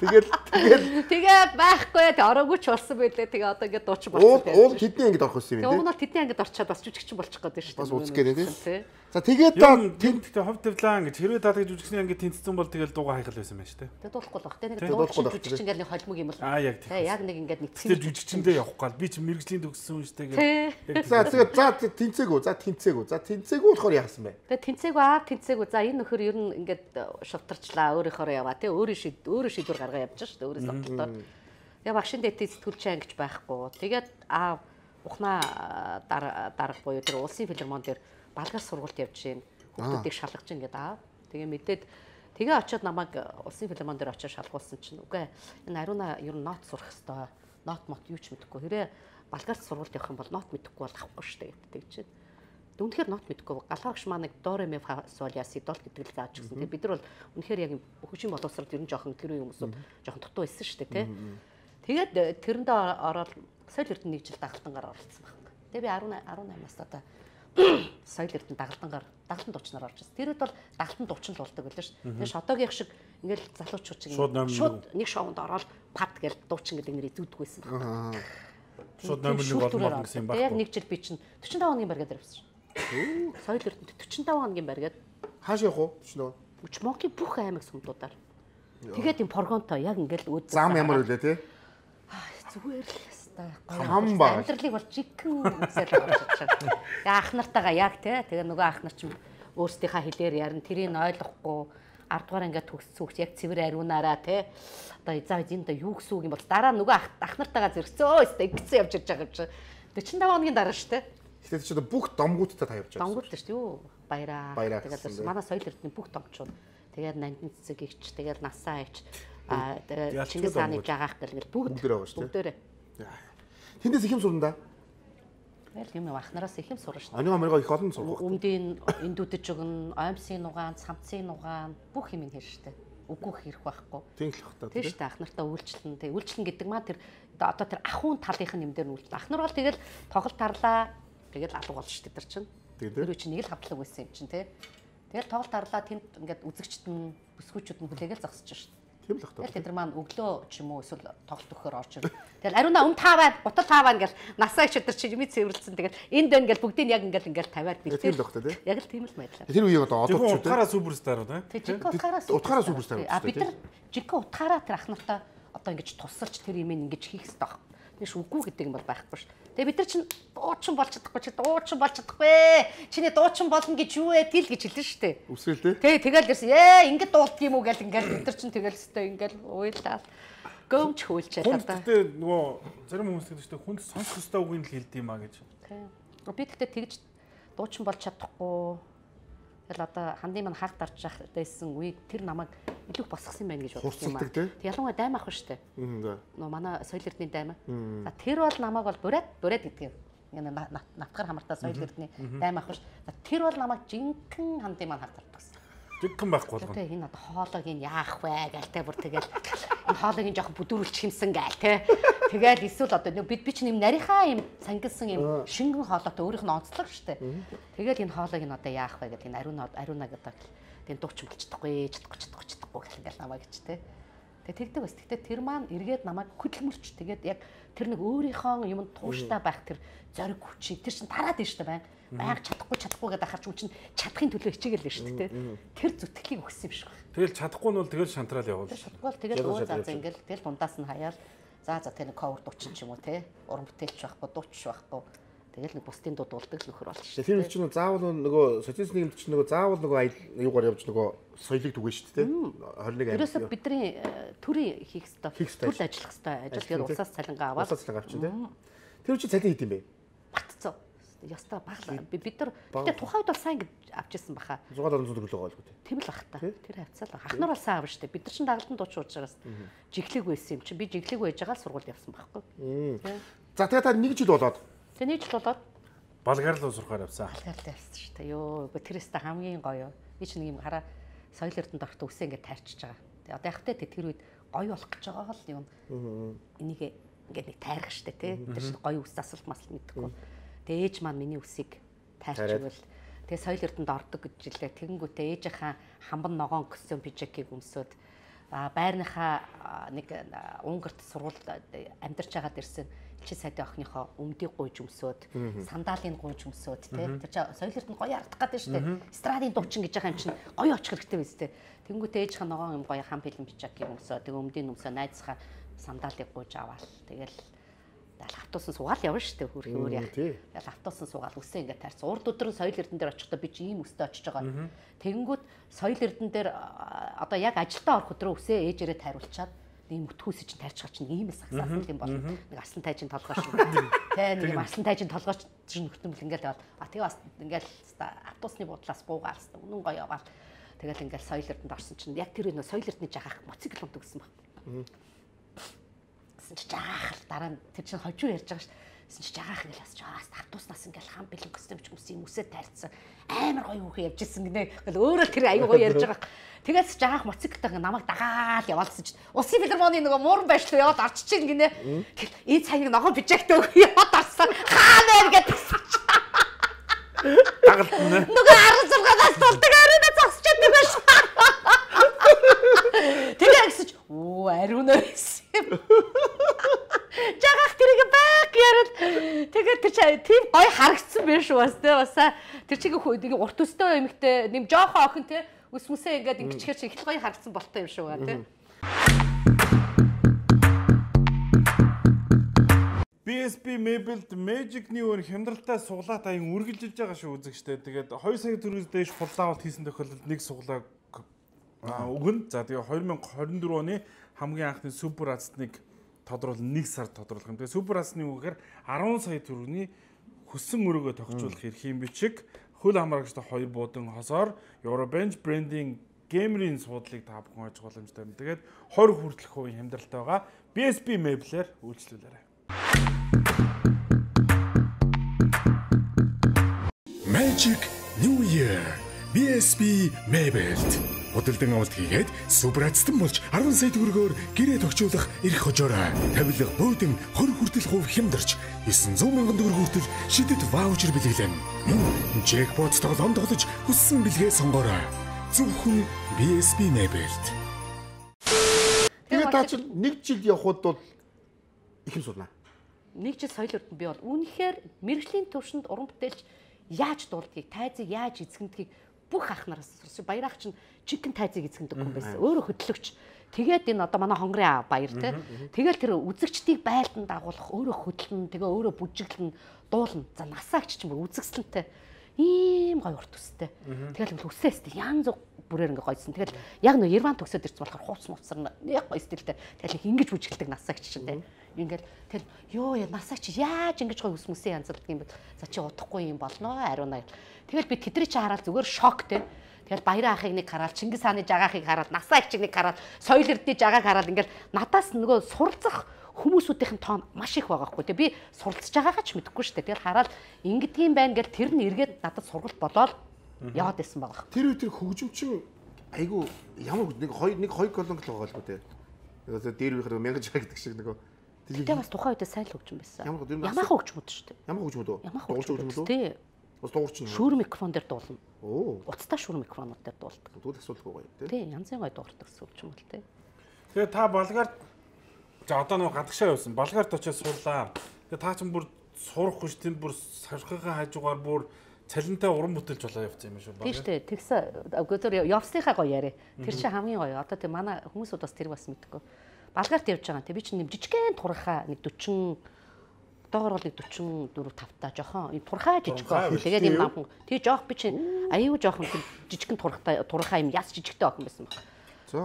тэгээд байхгүй ороогүй ч болсон байлээ. Тэгээ одоо ингээд дуучин болчихсон. Уул тэдний ангид орох байсан юм тийм. Уул нь тэдний ангид орчоод бас жүжигчин болчих гээд шүү дээ. Бас үзэх гээд тийм. За тэгээд та тэнт хов тавлаа гэж хэрвээ та жүжигчний ангид тэнцсэн бол тэгэл дуугаа хайхал байсан байж тээ. Тэгээд дуулахгүй л баг. Тэгээд дуучин жүжигчин ингээд нэг холимог юм бол. Яг тийм. Яг нэг ингээд нэг тэр жүжигчэндээ явах гал би чи мэрэгжлийн төгссөн юм штэ гэдэг. За тэгээд тэнцээгүү болохоор яасан бэ? Тэгээд тэнцээгүү. За энэ нөхөр ер нь ингээд шултарчлаа өөрийнхөө яваа тий. Өөрөө шийдвэр гаргаа явж шүү дээ. Өөрөө сонголтоор. Тэгээ багшин дэдийн сэтгүүлч ангиж байхгүй. Тэгээд ухнаа дарга буюу тэр улсын филармон дээр балгаас сургалт явж гин хүмүүсийг шалгаж гин гэдэг аа. Тэгээ мэдээд тэгээ очиод намайг улсын филармон дээр очиод шалгуулсан чинь үгүй энэ ариуна ер нь нот сурах хэвээр нот мот юу ч мэдэхгүй. Хэрэг балгаас сургалт явах юм бол нот мэдэхгүй бол авахгүй шүү дээ гэдэг чинь. Үнэхээр нот мэдэхгүй. Галаагч маань нэг до ре ми фа сол я си дол гэдэг л зааж гисэн. Тэгээ бид нар бол үнэхээр яг хөгжим боловсрол ер нь жоохон тэр үеийн хүмүүсүүд жоохон дутуу байсан шүү дээ тий. Тэгээд тэрэндээ ороод соёл эрдэнэ нэг жил дагалдангаар оролцсон байна. Тэгээ би 18-аас одоо соёл эрдэнэ дагалдан дуучнаар орж ирсэн. Тэр үед бол дагалдан дуучин л болдог байлаа шүү. Тэгээ шодогийн шиг ингээл залуучууд шиг шууд нэг шоунд ороод пад гэж дуучин гэдэг нэрийг зүуддэг байсан байна. Шууд номер 1 болно гэсэн юм байна. Тэгээ нэг жил би чинь 45 хоногийн барьгаад ирсэн. Соёл эрдэнэ 45 хоногийн барьгаад хааш явах уу 45? Монголын бүх аймаг сумдуудаар. Тэгээд юм прогонтой яг ингээл өөд зам ямар үлээ тий? Зүгээр л хэвээр хам ба амьдралыг бол жигхэн үзэл орж чадчихсан. Ах нартайгаа яг тий. Тэгээ нөгөө ах нар ч өөрсдийнхаа хэлээр ярина. Тэрийг ойлгохгүй 10 дугаар ингээд төгссөн хүүхд яг цэвэр ариунаараа тий. Одоо заа энд юу гэсэн үг юм бол дараа нөгөө ах нартайгаа зэрэгцээ өөстэй ингэсэн явж ирж байгаа юм чи. 45 хоногийн дараа шүү тий. Тэгэхээр чи бүх домгуудтай та явж байгаа. Домгууд шүү юу? Баяраа. Тэгээд манай соёл эрдэнэ бүх домчууд. Тэгээд нандин цэцэг игч, тэгээд насаа ич Чингис хааны жагаах гэл бүгд дээр байгаа шүү. Бүгдээрээ. Тэндээс их юм сурна да. Тэгэл юм анхнараас их юм сурна шүү дээ. Ани амиргаа их олон сурах. Өмдийн эндүдэж өгнө, оймсын нугаан, самцын нугаан бүх юм ин хэрэг шүү дээ. Үгүй хэрэг байхгүй. Тийм л бах та. Тийм шүү дээ. Ахнартаа үйлчлэн. Тэгээ үйлчлэн гэдэг маа тэр одоо тэр ахуйн талынх нь юм дээр нь үйлчлэн. Ахнар бол тэгэл тоглолт тарлаа. Тэгэл алга болно шүү дээ тэр чинь. Тэр чинь нэг л хавтлаг байсан юм чинь тий. Тэгэл тоглолт тарлаа тэнд ингээд үзэгчд нь бүсгүүчүүд нь хүлээгээл зогсож шүү дээ. Тийм л бах та. Тэгэл тэд нар маань өглөө ч юм уу эсвэл тоглолт өгөхөөр орж ирнэ. Тэгэл ариуна таа бай, бутал таа бай ингээл насаа ч өдөр чи юмий цэвэрлсэн. Тэгэл энд байна ингээл бүгдийг яг ингээл тавиад бэлдээ. Тийм л бах та тий. Яг л тийм л байдлаа. Тэр үеийг одоо одооч шүү дээ. Утгаараа суперстарууд Утгаараа суперстар. Бид нар жинхэнэ утгаараа тэр ах нартаа одоо ингэж тусалж тэр юм ингэж хийх хэрэгтэй баг. Тэш үгүй гэдэг юм бол байхгүй ш. Тэгээ бид нар чинь дуучин болж чадахгүй чи дуучин болж чадахгүй. Чиний дуучин болно гэж юу вэ гэл гэж хэлсэн шүү дээ. Үсрээл тий. Тэгэл ирсэн. Ингэж дуулдаг юм уу гэл ингээл бид нар чинь тэгэл өстой ингээл уйлаад гомч хөөлчээ та. Тэгтээ нөгөө зарим хүмүүс гэдэг чинь хүнд сонсох ёстой үгийг л хэлдэг юм а гэж. Тий. Би тэгтээ тэгж дуучин болж чадахгүй. Тэгэл одоо хандын маань хаах дарж байсан үеиг тэр намайг илүү босгосон байна гэж бодсон юм аа. Тэг ялангуяа дайм ах шүү дээ. Нөө манай соёл эрдний дайм. За тэр бол намайг бол бурад гэдэг юм. Ингээ навтгар хамартаа соёл эрдний дайм ах шүү. За тэр бол намайг жинхэнэ хандын маань хаах дартагсан. Жинхэнэ байхгүй болгоно. Тэг энэ одоо хоолойг нь яах вэ гээл те бүр тэгэл энэ хоолойг нь жоохон бүдүүрүүлчих юмсан гээл те. Тэгэл эсвэл одоо би ч юм нарийнхаа юм сангилсан юм шингэн хоолойтой өөрийнх нь онцлог шүү дээ. Тэгэл энэ хоолойг нь одоо яах вэ гэдэг энэ ариуна гэдэг тийм дуучин болчихдохгүй чадахгүй гэх ингээл намайг гэж те. Тэгээ тэгдэг бас. Тэгтээ тэр маань эргээд намайг хөдөлмөрч тэгээд яг тэр нэг өөрийнхөө юм тууштай байх тэр зориг хүчийг тэр чинь тараад байна шүү дээ байнга чадахгүй гэдэг ахарч үн чинь чадахын төлөө хичээгээл байна шүү дээ. Тэр зүтгэлийг өгсөн юм шиг байна. Тэгэл чадахгүй нь бол тэгэл шантраал явуул. Чадахгүй бол тэгэл өө заа ингээл тэгэл дундаас нь хаяал за тэр нэг cover дуучин ч юм уу те уран бүтээлч байхгүй дууч байхгүй тэгэл нэг бусдын дуу дуулдаг л нөхөр болж шүү. Тэр чинь заавал нөгөө социалист нийгэмд чинь нөгөө заавал нөгөө юугаар явж нөгөө соёлыг түгэн шүү дээ. 21 Ерөөсө бидний төрийн хийх ёстой төл ажиллах ёстой ажил тэгээд усаас цалингаа аваад усаас цалингаа авчихсан тийм. Тэр чинь цалин хийдэм бэ? Батцоо. Ястаа баглаа. Бид нар тэгтээ тухайд бол сайн гэж авчихсан баха. 600 төгрөг л байгаа. Тийм л бах та. Тэр хавцаа л. Ахнаар бол сайн авна штэ. Бид нар чинь дагалдан дууч уужраас жиглэг байсан юм чи. Би жиглэг байж байгаа л сургууль явсан байхгүй. За тэгээ та 1 жил болоод. Тэгээ 1 жил болоод Болгар руу сурахаар явсан. Болгар явсан штэ. Йоо, тэрээс та хамгийн гоё. Би ч нэг юм хараа соёл эрдэнэд орохтой үсээ ингээд тайрчиж байгаа. Тэгээ одоо яг тэ тэр үед гоё болох гэж байгаа л юм. Энийг ингээд нэг тайрах штэ тий. Тэр чинь гоё үс асуулт масл мэдхгүй. Тэгээ ээж маань миний үсийг тайрчвал тэгээ соёл эрдэнэд ордог гэж хэлээ. Тэгэнгүүтээ ээжийнхаа хамбан ногоон костюм пижакийг өмсөд байрныхаа нэг Унгарт сургуульд амьдарч байгаад ирсэн элчин сайдын охиныхоо өмдийг гуйж өмсөд сандалын гуйж өмсөд тий. Тэр чинь соёл эрдэнэд гоё ардах гэдэг шүү дээ. Страдын дуучин гэж байгаа юм чинь гоё очих хэрэгтэй биз дээ. Тэнгүүтээ ээжийнхаа ногоон юм гоё хам бэлэн пижакийг өмсөд тэгээ өмдийн өмсөө найзхаа сандалыг гуйж аваал. Тэгэл автуусан суугаал явна шүү дээ хөрхи өөр яа. Тэгэл автуусан суугаал үсээ ингээд таарсан. Урд өдрөн соёл эрдэнэ дээр очихдоо би чи ийм өстэй очиж байгаа. Тэгэнгүүт соёл эрдэнэ дээр одоо яг ажилдаа орох өдрөө үсээ ээжээрээ тайруулчаад ийм өтгөөсөж чинь тайрч байгаа чинь ийм сагсаасан юм болно. Нэг асан тайжин толгойч. Тэ нэг юм асан тайжин толгойч чинь нөхтөмөл ингээд яваад тэгээ бас ингээд автуусны буудлаас буугаал хэвээр үнэн гоё яваал. Тэгэл ингээд соёл эрдэнэд орсон чинь яг тэр нөө соёл эрдэнэ жагаах моцикл унт өгсөн баг. Жаах дараа нь тэр чинь хожуу ярьж байгаа шүү. Жагаах ингээл асч автууснаас ингээл хам бэлэн костюм ч юм үсээ тайрцсан. Амар гоё хүүхэн явж ирсэн гинэ. Ингээл өөрөө тэр аюу гоё ярьж байгаа. Тэгээс жагаах моцикл намайг дагаад яваалсан чинь Улсын филармоны нөгөө мууран байшлуу яваад орчих чинь гинэ. Ээ цайныг ногоон бижагтай өг яваад орсон. Хаана гэдэг. Дагалт нэ. Нөгөө 16-аас тулдаг ариуна зогсчиход байгаа шүү. Тэгээ гэсэн чи ариуна байсан. Жагаах тэрийг баг ярил. Тэгээд тэр тийм гоё харагдсан байх шүү бас тэ басаа. Тэр чигээ нэг урт өстэй эмэгтэй нэм жоохон охин тэ ус мүсээ ингээд ингэчээр чи их гоё харагдсан болтой юм шүү ба тэ. BSB Mebelд Magic New хямдралтай суглаат аян үргэлжилж байгаа шүү үзэгчтэй. Тэгээд 2 сая төгрөгөөс дээш фулдаавал хийсэн тохиолдолд нэг суглааг өгнө. За тэгээ 2024 оны хамгийн анхны супер азтныг тодруулах 1 сар тодруулах юм. Тэгээ супер азтны үгээр 10 сая төгрөгийн хөссөн өрөөгөө тогтжуулах эрхийн бичиг хөл хамрагчтай 2 буудан хосоор Eurobench брендинг геймерийн суудлыг та бүхэн ойлгох боломжтой байна. Тэгээд 20 хүртэлх хувийн хямдралтай байгаа BSB Mebel-ээр үйлчлүүлээрэй. Magic New Year BSB Mebelt худалдан авалт хийгээд супер азтан болж 10 сая төгрөгөөр гэрээ тогтжуулах эрх хожоорой. Тавилга буудан 20 хүртэл хувь хямдарч 900 мянган төгрөг хүртэл шидэт ваучер бэлгэлэн. Jackpot тоглоом тоглож хүссэн бэлгээ сонгоорой. Зөвхөн BSB Mebelt. Тэгээд та чинь 1 жил явхад бол их юм сурнаа. 1 жил соёл өртөнд би бол үнэхээр мэрэгжлийн төвшөнд уран бүтээлч яаж дуулдгийг, тайзыг яаж эзэгдгийг бүх ах нараас сурсан. Баярах чинь чикен тайзыг эзэгдэг хүн байсан. Өөрөө хөтлөгч. Тэгээд энэ одоо манай хонгорын баяр те. Тэгэл тэр үзэгчдийг байлдан дагуулах, өөрөө хөдлөн, тэгээ өөрөө бүжиглэн, дуулна. За насаагч ч юм уу үзэгсэлэнтэй. Ийм гоё урт төстэй. Тэгэл үсээстэй янз бүрээр ингээ гойсон. Тэгэл яг нөө Ерван төгсөөд ирсэн болохоор хууц муцар яг гоё стилтэй. Тэгэл ингэж бүжгэлдэг насаагч чинь те. Ингээл тэгэл ёо насаагч яаж ингэж гоё ус мүсээ янзалдаг юм бэ? За чи удахгүй юм болно ариунаа. Тэгэл би тэдний чи хараад зүгээр шок те. Тэгэл баярын ахыг нэг хараад, Чингис хааны жагаахыг хараад, насаагчийг нэг хараад, соёл эрдний жагааг хараад ингээл надаас нөгөө суралцах хүмүүсүүдийн тоон маш их байгаа хгүй. Би суралцж байгаагаа ч мэдэхгүй шүү дээ. Тэгэл хараад ингэдгийм байна гэл тэр нь эргээд надад сургалт болоод яваад исэн байгаа. Тэр үе тэр хөгжимчин айгу ямар нэг хоёр колонк л байгаа л бо тэ. Тэгээд дээр үехээр 1000 жаг гэдэг шиг нөгөө тэгээ бас тухайн үедээ сайн л хөгжим байсан. Ямаахан хөгжмөд шүү дээ. Ямар хөгжмөд үү? Дуулж хөгжмөд үү? Тий. Бас дуурчин. Шүүр микрофон дээр дуулна. Оо. Уцтай шүүр микрофонууд дээр дуулдаг. Тэгвэл асуудалгүй гоё тий. Тий, янзын гоё дуурдаг хөгжим бол тий. Тэгээ та Болгарт за одоо нэг гадагшаа явсан. Болгарт очиж суулаа. Тэгээ та ч бүр сурахгүй ш тэнд бүр сархигаа хажуугаар бүр цалинтай уран бүтээлж болоо явцсан юм шүү. Тий штэ. Тэгсэн өгөөдөр явсныхаа гоё яриа. Тэр чинь хамгийн гоё. Одоо тий манай хүмүүсүүд бас тэр бас мэдгүй. Болгарт явж байгаа. Тэг би чинь нэг жижигхэн турхаа нэг 40 доогоор бол нэг 44 5 та жоохон турхаа жижиг охин. Тэгээд юм намхан. Тий жоох би чинь аюу жоохон жижигхэн турхаа юм яс жижигтэй охин байсан баг.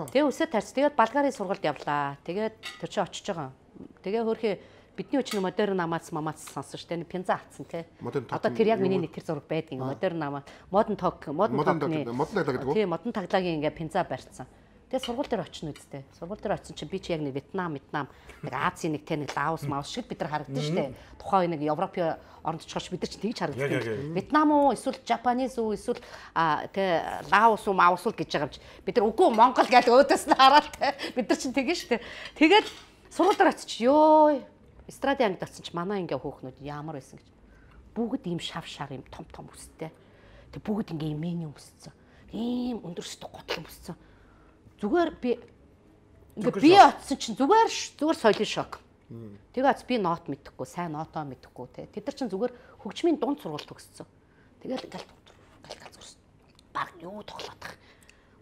Тэгээ үсээ тарьц. Тэгээд Болгарын сургалт явлаа. Тэгээд тэр чинь очиж байгаа. Тэгээ хөөхөө бидний өчнө модерн намаац мамаац сонсон шүү дээ. Пенза атсан тий. Одоо тэр яг миний нэг тэр зураг байдгийн модерн намаа. Модон токны. Тий модон таглагийн ингээ пенза барьцсан. Тэгээ сургууль дээр очино үстэй. Сургууль дээр очисон чинь би чи яг нэг Вьетнам, нэг Азийн нэг те нэг Лаос, Маус шиг бид нар харагдсан шүү дээ. Тухайн нэг Европын оронд очихоор бид нар чинь тэгж харагддаг. Вьетнам уу, эсвэл Japanese уу, эсвэл те Лаос уу, Маус уу гэж байгаа юм чи. Бид нар үгүй Монгол гэж өөдөөс нь хараад те. Бид нар чинь тэгэн шүү дээ. Тэгээд сургууль дээр очиж ёо. Эстрадын ангид очсон чи манай ингээ хөөхнүүд ямар байсан гэж. Бүгд ийм шав шар ийм том өстэй. Тэг бүгд ингээ имэний өссөн. Ийм өндөрсдөг готлон өссөн. Зүгээр би очсон чинь зүгээр соёлын шок. Тэгээд би нот мэдэхгүй, сайн нотоо мэдэхгүй те. Тэд нар чинь зүгээр хөгжмийн дунд сургалт төгссөн. Тэгэл гал зурсан. Баг юу тоглоод тах.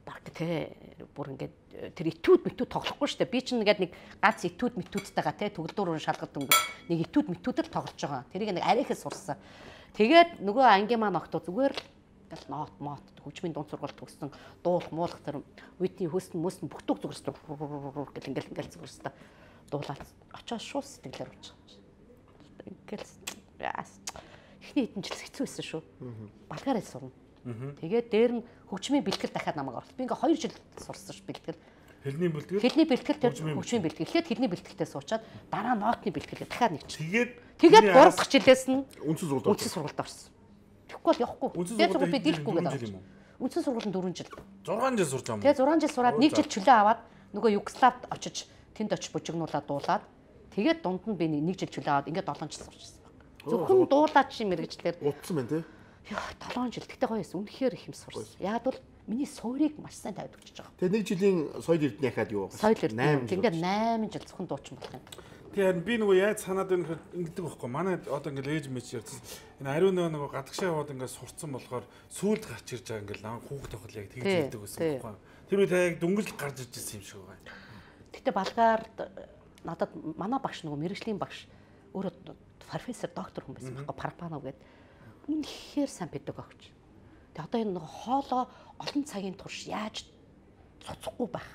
Баг те бүр ингээд тэр этюд тоглохгүй шүү дээ. Би чинь ингээд нэг ганц этюд метүүдтэйгаа те төгөлдөр шалгалт өнгө нэг этюд метүүдэл тоглож байгаа. Тэрийг нэг арайхаас сурсан. Тэгээд нөгөө ангийн маань октоо зүгээр л гал нот хөгжмийн дунд сургалт төгссөн дуулах муулах тэр үеийн хөстөн бүхтүг зүгэрсэн гэл ингээл зүгэрсэн дуулаад очоод шууд сэтгэлээр уучаа. Ингээл ихний хэдэн жил хэцүү байсан шүү. Болгараа сурна. Тэгээд дээр нь хөгжмийн бэлтгэл дахиад намайг оруулсан. Би ингээ 2 жил сурсан ш бэлтгэл. Хэлний бэлтгэл. Хэлний бэлтгэл тэр хөгжмийн бэлтгэл. Эхлээд хэлний бэлтгэлтэй суучаад дараа нотны бэлтгэлээ дахиад нэг чи. Тэгээд 3 дахь жилээс нь үндсэн сургалт орсон. Тэгэхгүй бол явахгүй. Тэгээд сургууль би дийлэхгүй гэдэг. Үндсэн сургууль нь 4 жил. 6 жил сурч байгаа юм. Тэгээд 6 жил сураад 1 жил чөлөө аваад нөгөө Югославд очиж тэнд очиж бужигнуулаад дуулаад тэгээд дунд нь би 1 жил чөлөө аваад ингээд 7 жил сурчихсан баг. Зөвхөн дуулаад чи мэрэгчлэр утсан байна тий. Яа 7 жил. Тэгтээ гоё байсан. Үнэхээр их юм сурсан. Яг бол миний суурийг маш сайн тавьд өгч байгаа. Тэгээд 1 жилийн соёл эрдэнэ хаад юу байгаа. Соёл эрдэнэ. Ингээд 8 жил зөвхөн дуучин болох юм. Тэгээд би нөгөө яаж санаад байна гэхэд ингэдэг байхгүй. Манай одоо ингээд ээж мэж ярьсан. Энэ ариун нөгөө гадагшаа яваад ингээд сурцсан болохоор сүүлд гарч ирж байгаа ингээд хүүхд тохол яг тэгж хэлдэг байсан байхгүй. Тэр үед яг дүнгэлж гарч ирж ирсэн юм шиг байгаа. Гэтэ Болгард надад манай багш нөгөө мэрэгжлийн багш өөрөө профессор доктор хүн байсан байхгүй. Парпанов гэдэг. Үнэхээр сайн педагогч. Тэгээ одоо энэ нөгөө хоолоо олон цагийн турш яаж цоцохгүй байх.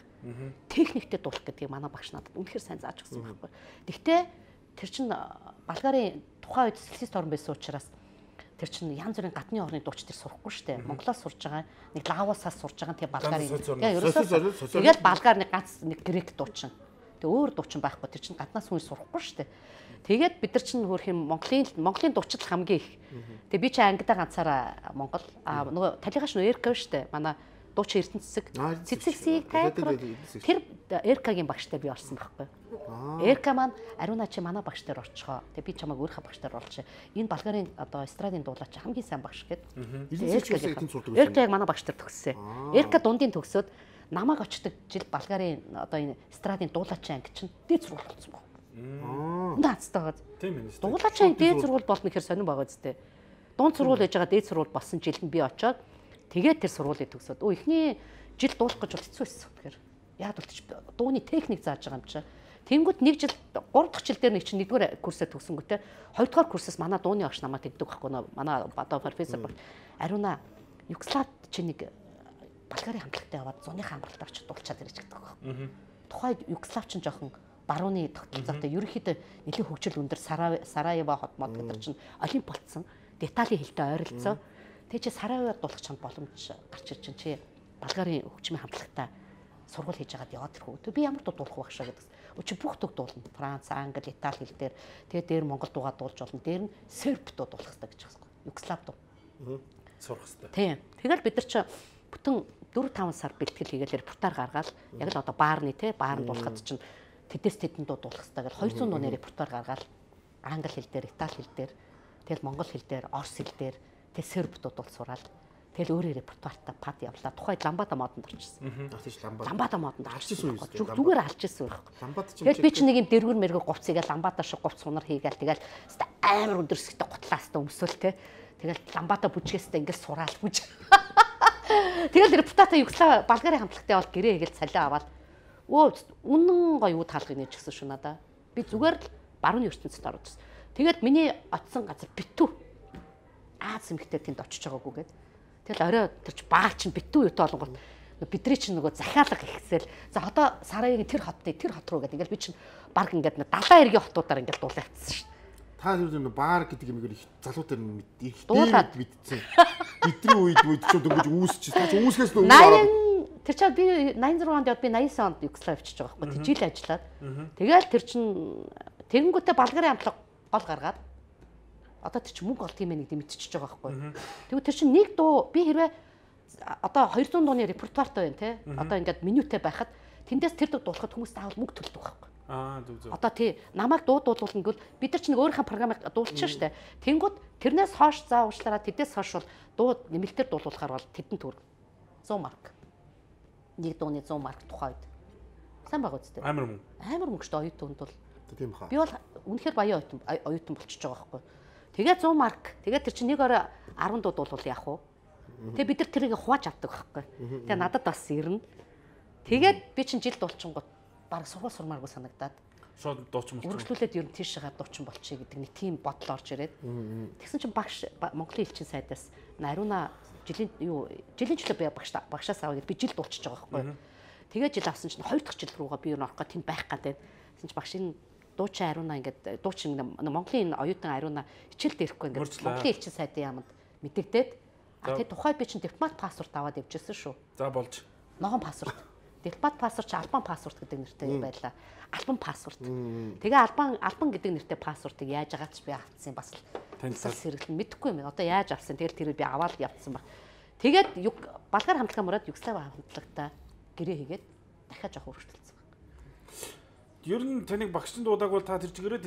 Техниктэй дуулах гэдгийг манай багш надад үнэхээр сайн зааж өгсөн байхгүй. Гэхдээ тэр чин Болгарын тухайн үед социалист орн байсан учраас тэр чин янз бүрийн гадны орны дууч тэр сурахгүй шүү дээ. Монголоос сурж байгаа, нэг Лаосаас сурж байгаа тэгээ Болгарын. Тэгээ ерөөсөө тэгэл Болгар нэг ганц нэг грек дуучин. Тэгээ өөр дуучин байхгүй. Тэр чинь гаднаас хүн сурахгүй шүү дээ. Тэгээд бид нар чинь хөрх юм Монголын дуучид хамгийн их. Тэгээ би чи ангидаа ганцаараа Монгол нөгөө талигаш нөө Эрка шүү дээ. Манай дуучин Эрдэнэ цэцэг цэцэгсийг тайлбар тэр Эркагийн багштай би орсон байхгүй. Эрка маань Ариуна чи манай багштай орчихоо. Тэгээ би чамайг өөрийнхөө багштай оруулчих. Энэ Болгарын одоо эстрадын дуулаач хамгийн сайн багш гэдэг. Эрка яг манай багштай төгссөн. Эрка дундын төгсөөд намайг очдог жил Болгарын одоо энэ эстрадын дуулаачийн анги чинь дээд сургууль болсон баг. Наацтайгаа. Тийм ээ. Дуулаачийн дээд сургууль болно гэхээр сонирн байгаа зү. Дунд сургууль ээж байгаа дээд сургууль болсон жилд нь би очоод тэгээд тэр сургуулийг төгсөөд эхний жил дуулах гэж бол хэцүү байсан. Тэгэхээр яг бол дууны техник зааж байгаа юм чи. Тэнгүүд нэг жил 3 дахь жил дээр нэг чинь 1-р курсээ төгсөнгөтэй 2-р курсээс манай дууны багш намайг тэгдэг байхгүй манай одоо профессор баг Ариуна Югослав чи нэг Болгарын хамтлагтай яваад зуныхаа хамгаалалт очиж дуулчаад ирэж гэдэг байхгүй. Тухайд Югослав чинь жоохон барууны тогтолцоотой ерөнхийдөө нэлээд хөгжил өндөр Сараево хот мод гэдэг чинь олимп болцсон. Деталийн хэлтэй ойролцоо. Тэгээ чи Сараевод дуулах чамд боломж гарч ирж чинь чи Болгарын хөгжмийн хамтлагтай сургууль хийж агаад яваад ирэх үү. Би ямар дуулах багшаа гэдэг. Өчиг бүх төг дуулна. Франц, Англи, Итали хэл дээр тэгээ дээр Монгол дуугаа дуулж болно. Дээр нь серб дуу дуулах хэрэгтэй гэж байна. Югослав дуу. Сурах хэрэгтэй. Тийм. Тэгэл бид нар чи бүтэн 4-5 сар бэлтгэл хийгээл репортаар гаргаад яг л одоо баарны баар дуулахад чинь тэдэс тэдэн дуу дуулах хэрэгтэй гэж 200 дууны репортаар гаргаад англи хэл дээр, итали хэл дээр, тэгэл монгол хэл дээр, орос хэл дээр, тэг серб дуу дуул сураад тэгэл өөрөө репертуартаа пад явлаа. Тухайд ламбада модонд орчихсон. Тийм ламбада модонд орчихсон. Зүгээр алж ирсэн байхгүй. Ламбада чинь тэгэл би чи нэг юм дэргүр мэрэг говцыгээл ламбада шиг говц сунар хийгээл тэгэл амар өндөрсгтэй готлаастай өмсөөл тэгэл ламбада бүжгээстэй ингээл сураал бүж. Тэгэл репутата Югослав Болгарын хамтлагтай бол гэрээ хийгээл цалиа аваад үнэн гоё юу таалгыг нээж гисэн шүү надаа. Би зүгээр л барууны ертөнцид орчихсон. Тэгээд миний очисон газар битүү. Аз эмхтэй тэнд очиж байгаагүй гээд. Тэгэл орой тэрч баа чинь битүү юутай болгонгол бидний чинь нөгөө захиалга ихсэл за одоо Сараевын тэр хот руу гээд ингээл би чинь баг ингээд 70 эргийн хотуудаар ингээд дуулаа авчихсан шүү. Та юу баар гэдэг юм их залуу дээр их дээд мэдсэн. Бидний үед ч дөнгөж үүсчихсэн. Та ч үүсгээс нь өмнө тэр чад би 86 онд явд би 89 онд Югослав авчиж байгаа байхгүй жил ажиллаад. Тэгэл тэр чин тэгэнгүүтээ Болгарын хамтлаг гол гаргаад одоо тэр чин мөнгө олд юм нэг мэдчихэж байгаа байхгүй. Тэгвэл тэр чин нэг дуу би хэрвээ одоо 200 дууны репертуартай байна те. Одоо ингээд менютэй байхад тэндээс тэр дуу дуулахад хүмүүс заавал мөнгө төлдөг байхгүй. Зүг. Одоо тий намайг дуулуулна гэвэл бид нар ч нэг өөрийнхөө програмыг дуулчихсан шүү дээ. Тэнгүүд тэрнээс хойш заа уучлаараа тэдээс хойш бол дуу нэмэлтээр дуулуулахаар бол тэдэн төгрөг 100 марк. Нэг дууны 100 марк тухайд. Сайн байгаа үстэй. Амар мөнгө. Амар мөнгө шүү дээ оюутанд бол. Тийм хаа. Би бол үнэхээр баян оюутан болчихж байгаа байхгүй. Тэгээ 100 марк. Тэгээ тэр чинь нэг орой 10 дуу дуулуул яах вэ? Тэгээ бид нар тэрийг хувааж авдаг байхгүй. Тэгээ надад бас ирнэ. Тэгээд би чинь жил дуулчихгоо баг сургууль сурмааргүй санагдаад шууд дуучин болчих. Үргэлжлүүлээд ер нь тийшээ дуучин болчихъя гэдэг нэг тийм бодол орж ирээд. Тэгсэн чинь багш Монголын элчин сайдаас Ариуна жилийн төлөө би багшаас аваад би жил дуулчихж байгаа байхгүй. Тэгээд жил авсан чинь 2 дахь жил руугаа би ер нь орох гэх тэнд байх гэдэг. Тэгсэн чинь багш энэ дуучин Ариуна ингээд дуучин Монголын оюутан Ариуна хичээл дээрэхгүй ингээд Монголын элчин сайдын яамд мэдэгдээд тэгээд тухайд би чинь дипломат паспорт аваад явжсэн шүү. За болж. Ногоон паспорт. Дипломат паспорт чи албан паспорт гэдэг нэртэй байлаа. Албан паспорт. Тэгээ албан гэдэг нэртэй паспортыг яаж агаач би авцсан бас танилцал сэргэлэн мэдэхгүй юм. Одоо яаж авсан? Тэгэл тэр би аваад явцсан баг. Тэгээд Болгар хамтлагаа мураад Югослав хамтлагтаа гэрээ хийгээд дахиад жоох өргөжтөлсөн баг. Ер нь таныг багшин дуудаг бол та тэр чигээрээ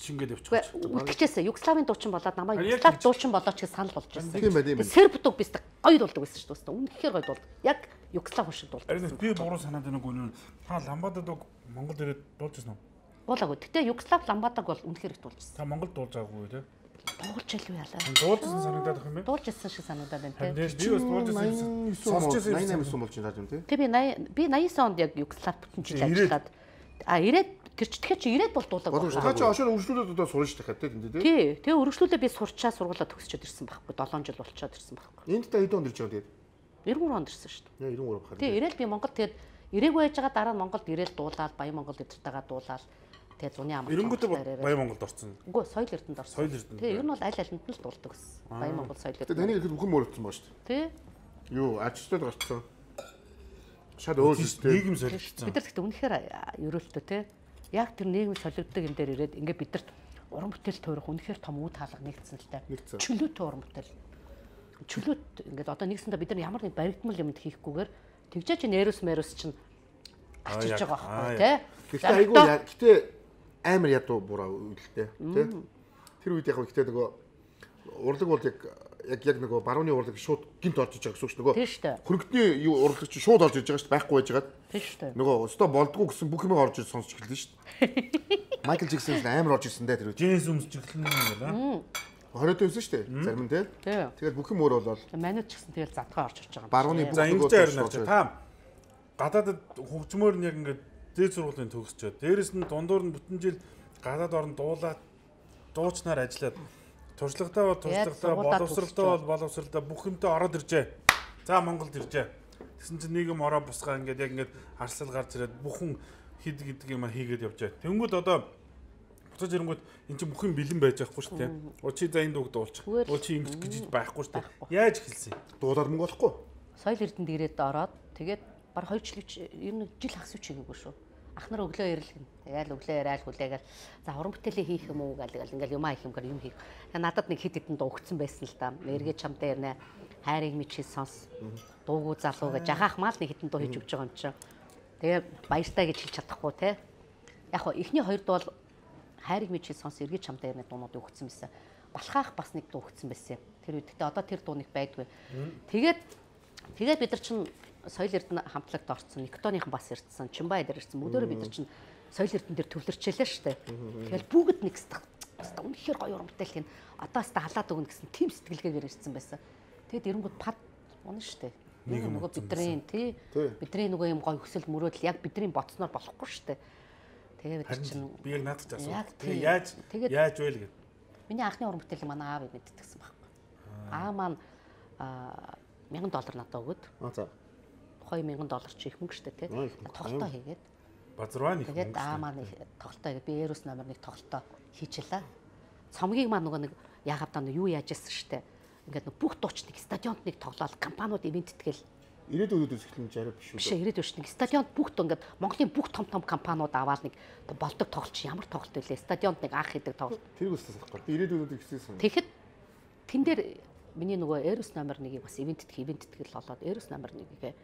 шингээд явчих. Үлдчихсэн. Югославын дуучин болоод намайг Югослав дуучин болооч гэж санал болж байсан. Тийм байт. Серб дуу бис гоё дуулдаг байсан шүү дээ. Үнэхээр гоё дуулдаг. Яг Югослав шиг дуулдаг. Харин би буруу санаад байна уу? Та ламбадад Монгол ирээд дуулж ирсэн үү? Буулаагүй. Гэтэ Югослав ламбадаг бол үнэхээр их дуулжсэн. Та Монгол дуулж байгаагүй тий? Дуулж илүү яалаа. Дуулжсэн санагдаад байх юм бэ? Дуулж ирсэн шиг санагдаад байна тий. Би бас дуулж ирсэн. Сонсч ирсэн. 88 болж байна юм тий. Тэг би 89 онд яг Югослав бүтэн жил ажиллаад ирээд тэр ч тэгэхээр чи ирээд бол дуулаг байна. Та чи ошоор үргэлжлүүлээд одоо сурна шүү дээ тий. Тий. Тэгээ үргэлжлүүлээ би сурчаа сургуулаа төгсчөөд ирсэн байхгүй. 7 жил болчиход ирсэн байхгүй. Энд та хэдэн онд ирж байгаа тий? 93 онд ирсэн шүү дээ. 93 бахаар. Тий, ирээд би Монгол тэгээд ирээгүй байж байгаа дараа нь Монголд ирээд дуулаад Баян Монгол эдэртэйгээ дуулаад тэгээд зуны ам. Эренгүүтээ Баян Монголд орсон. Үгүй соёл эрдэнэд орсон. Соёл эрдэнэ. Тий, ер нь бол аль алинд нь л дуулдаг гэсэн. Баян Монгол соёл эрдэнэ. Тэгээд таны ихэд бүхэн мөрөгдсөн ба шүү дээ. Тий. Юу, ажилтнууд гарцсан. Шал өөр шүү дээ. Нийгэм солилцсон. Бид нар гэхдээ үнэхээр ерөөлтөө те. Яг тэр нийгэм солигддог юм дээр ирээд ингээ бидэрт уран бүтээл туурах үнэхээр том үе хаалга нэгдсэн л та. Чөлөөтэй уран бүтээл. Чөлөөт ингээд одоо нэгсэндээ бид нар ямар нэг баригдмал юмд хийхгүйгээр тэгжээч нэрус мэрус чинь ачиж байгаа байхгүй те. Гэхдээ айгүй гэхдээ амар ядуу бураа үйлдэлтэй тий. Тэр үед яг гэхдээ нөгөө урлаг бол яг нөгөө барууны урлаг шууд гинт орж иж байгаа гэсэн үг шүү нөгөө. Хөрөгдний урлаг чинь шууд орж иж байгаа шүү дээ байхгүй байж байгаа. Тийм шүү дээ. Нөгөө өстө болдгоо гэсэн бүх юм орж иж сонсч эхэллээ шүү дээ. Майкл Джексон амар орж ирсэн дээ тэр үед. Джеймс өмсчихлэн юм байна. 20-д байсан шүү дээ. Зарим нь тий. Тэгээд бүх юм өөр болол. Манайд ч гэсэн тэгэл задгаа орж ирж байгаа. Барууны за ингэж харна ч та гадаадд хөгжмөр нь яг ингээд дээд сургуулийн төгсчөөд дээрэс нь дундуур нь бүтэн жил гадаад орнд дуулаад дуучнаар ажиллаад туршлагатай боловсралтай бүх юмтай ороод иржээ. За Монголд иржээ. Тэгсэн чинь нийгэм ороо бусгаа ингээд яг ингээд арсал гарч ирээд бүхэн хид гэдэг юм хийгээд явжээ. Тэнгүүд одоо буцаж ирэнгүүт эн чинь бүх юм бэлэн байж байхгүй шүү дээ. Чи за энэ дууг дуулчих. Чи ингэж гэж байхгүй шүү дээ. Яаж эхэлсэн? Дуулаад мөнгө олохгүй. Соёл эрдэнэд ирээд ороод тэгээд баг 2 жил жил хагас үчигээгүй шүү. Ах нар өглөө ирэлгэн. Яал өглөө яриад хүлээгээл за уран бүтээлээ хийх юм уу гэл ингээл юм хийх юмгаар юм хийх. Надад нэг хэд хэдэн дуу өгцөн байсан л да. Эргээ чамтай ярина. Хайрыг мичи сонс. Дуугүй залуу гэж жахаах мал нэг хэдэн дуу хийж өгч байгаа юм чинь. Тэгээ баяртай гэж хэлж чадахгүй те. Яг хоо эхний 2 дуу бол хайрыг мичи сонс эргээ чамтай ярина дуунууд өгцөн байсан. Балхаах бас нэг дуу өгцөн байсан. Тэр үед гэхдээ одоо тэр дууник байдгүй. Тэгээд бид нар чинь соёл эрдэнэ хамтлагт орсон. Никтоныхан бас ирсэн. Чимбай дээр ирсэн. Мөдөөрөө бид нар чинь соёл эрдэнэ дээр төвлөрчээлээ шүү дээ. Тэгэл бүгд нэг үнэхээр гоё уран бүтээл хийн. Одоо хаста халаад өгнө гэсэн тийм сэтгэлгээгээр ирсэн байсан. Тэгээд эрэнгүүд пад унаа шүү дээ. Нөгөө бидний тий бидний нөгөө юм гоё хөсөл мөрөөдөл яг бидний боцноор болохгүй шүү дээ. Тэгээд бид чинь би яг наадах асуу. Тэгээд яаж вэ л гэв. Миний анхны уран бүтээлийг манай аав мэддэгсэн байхгүй. Аа маань $1000 надад өгöd. За. $2000 ч их мөнгө шүү дээ тий. Тоглолтоо хийгээд. Базарваа нэг. Тэгээд аа маань тоглолтоо хийгээд би Эрос номер 1 тоглолтоо хийчихлаа. Цомгийг маань нөгөө нэг яагаад таа юу яаж ирсэн шүү дээ. Ингээд бүх дуучныг стадионд нэг тоглоод компаниуд ивент тэгэл ирээдүйд үзэхлэн жарав биш үү? Биш ирээдүйд шүү. Стадионд бүх ингээд Монголын бүх том компаниуд аваад нэг болдог тоглолт чи ямар тоглолт вэ? Стадионд нэг анх хийдэг тоглолт. Тэр үсээс авахгүй. Ирээдүйд ихсэн. Тэгэхэд тэн дээр миний нөгөө Эрос номер 1-ийг бас ивент тэгэл болоод Эрос номер 1-ийг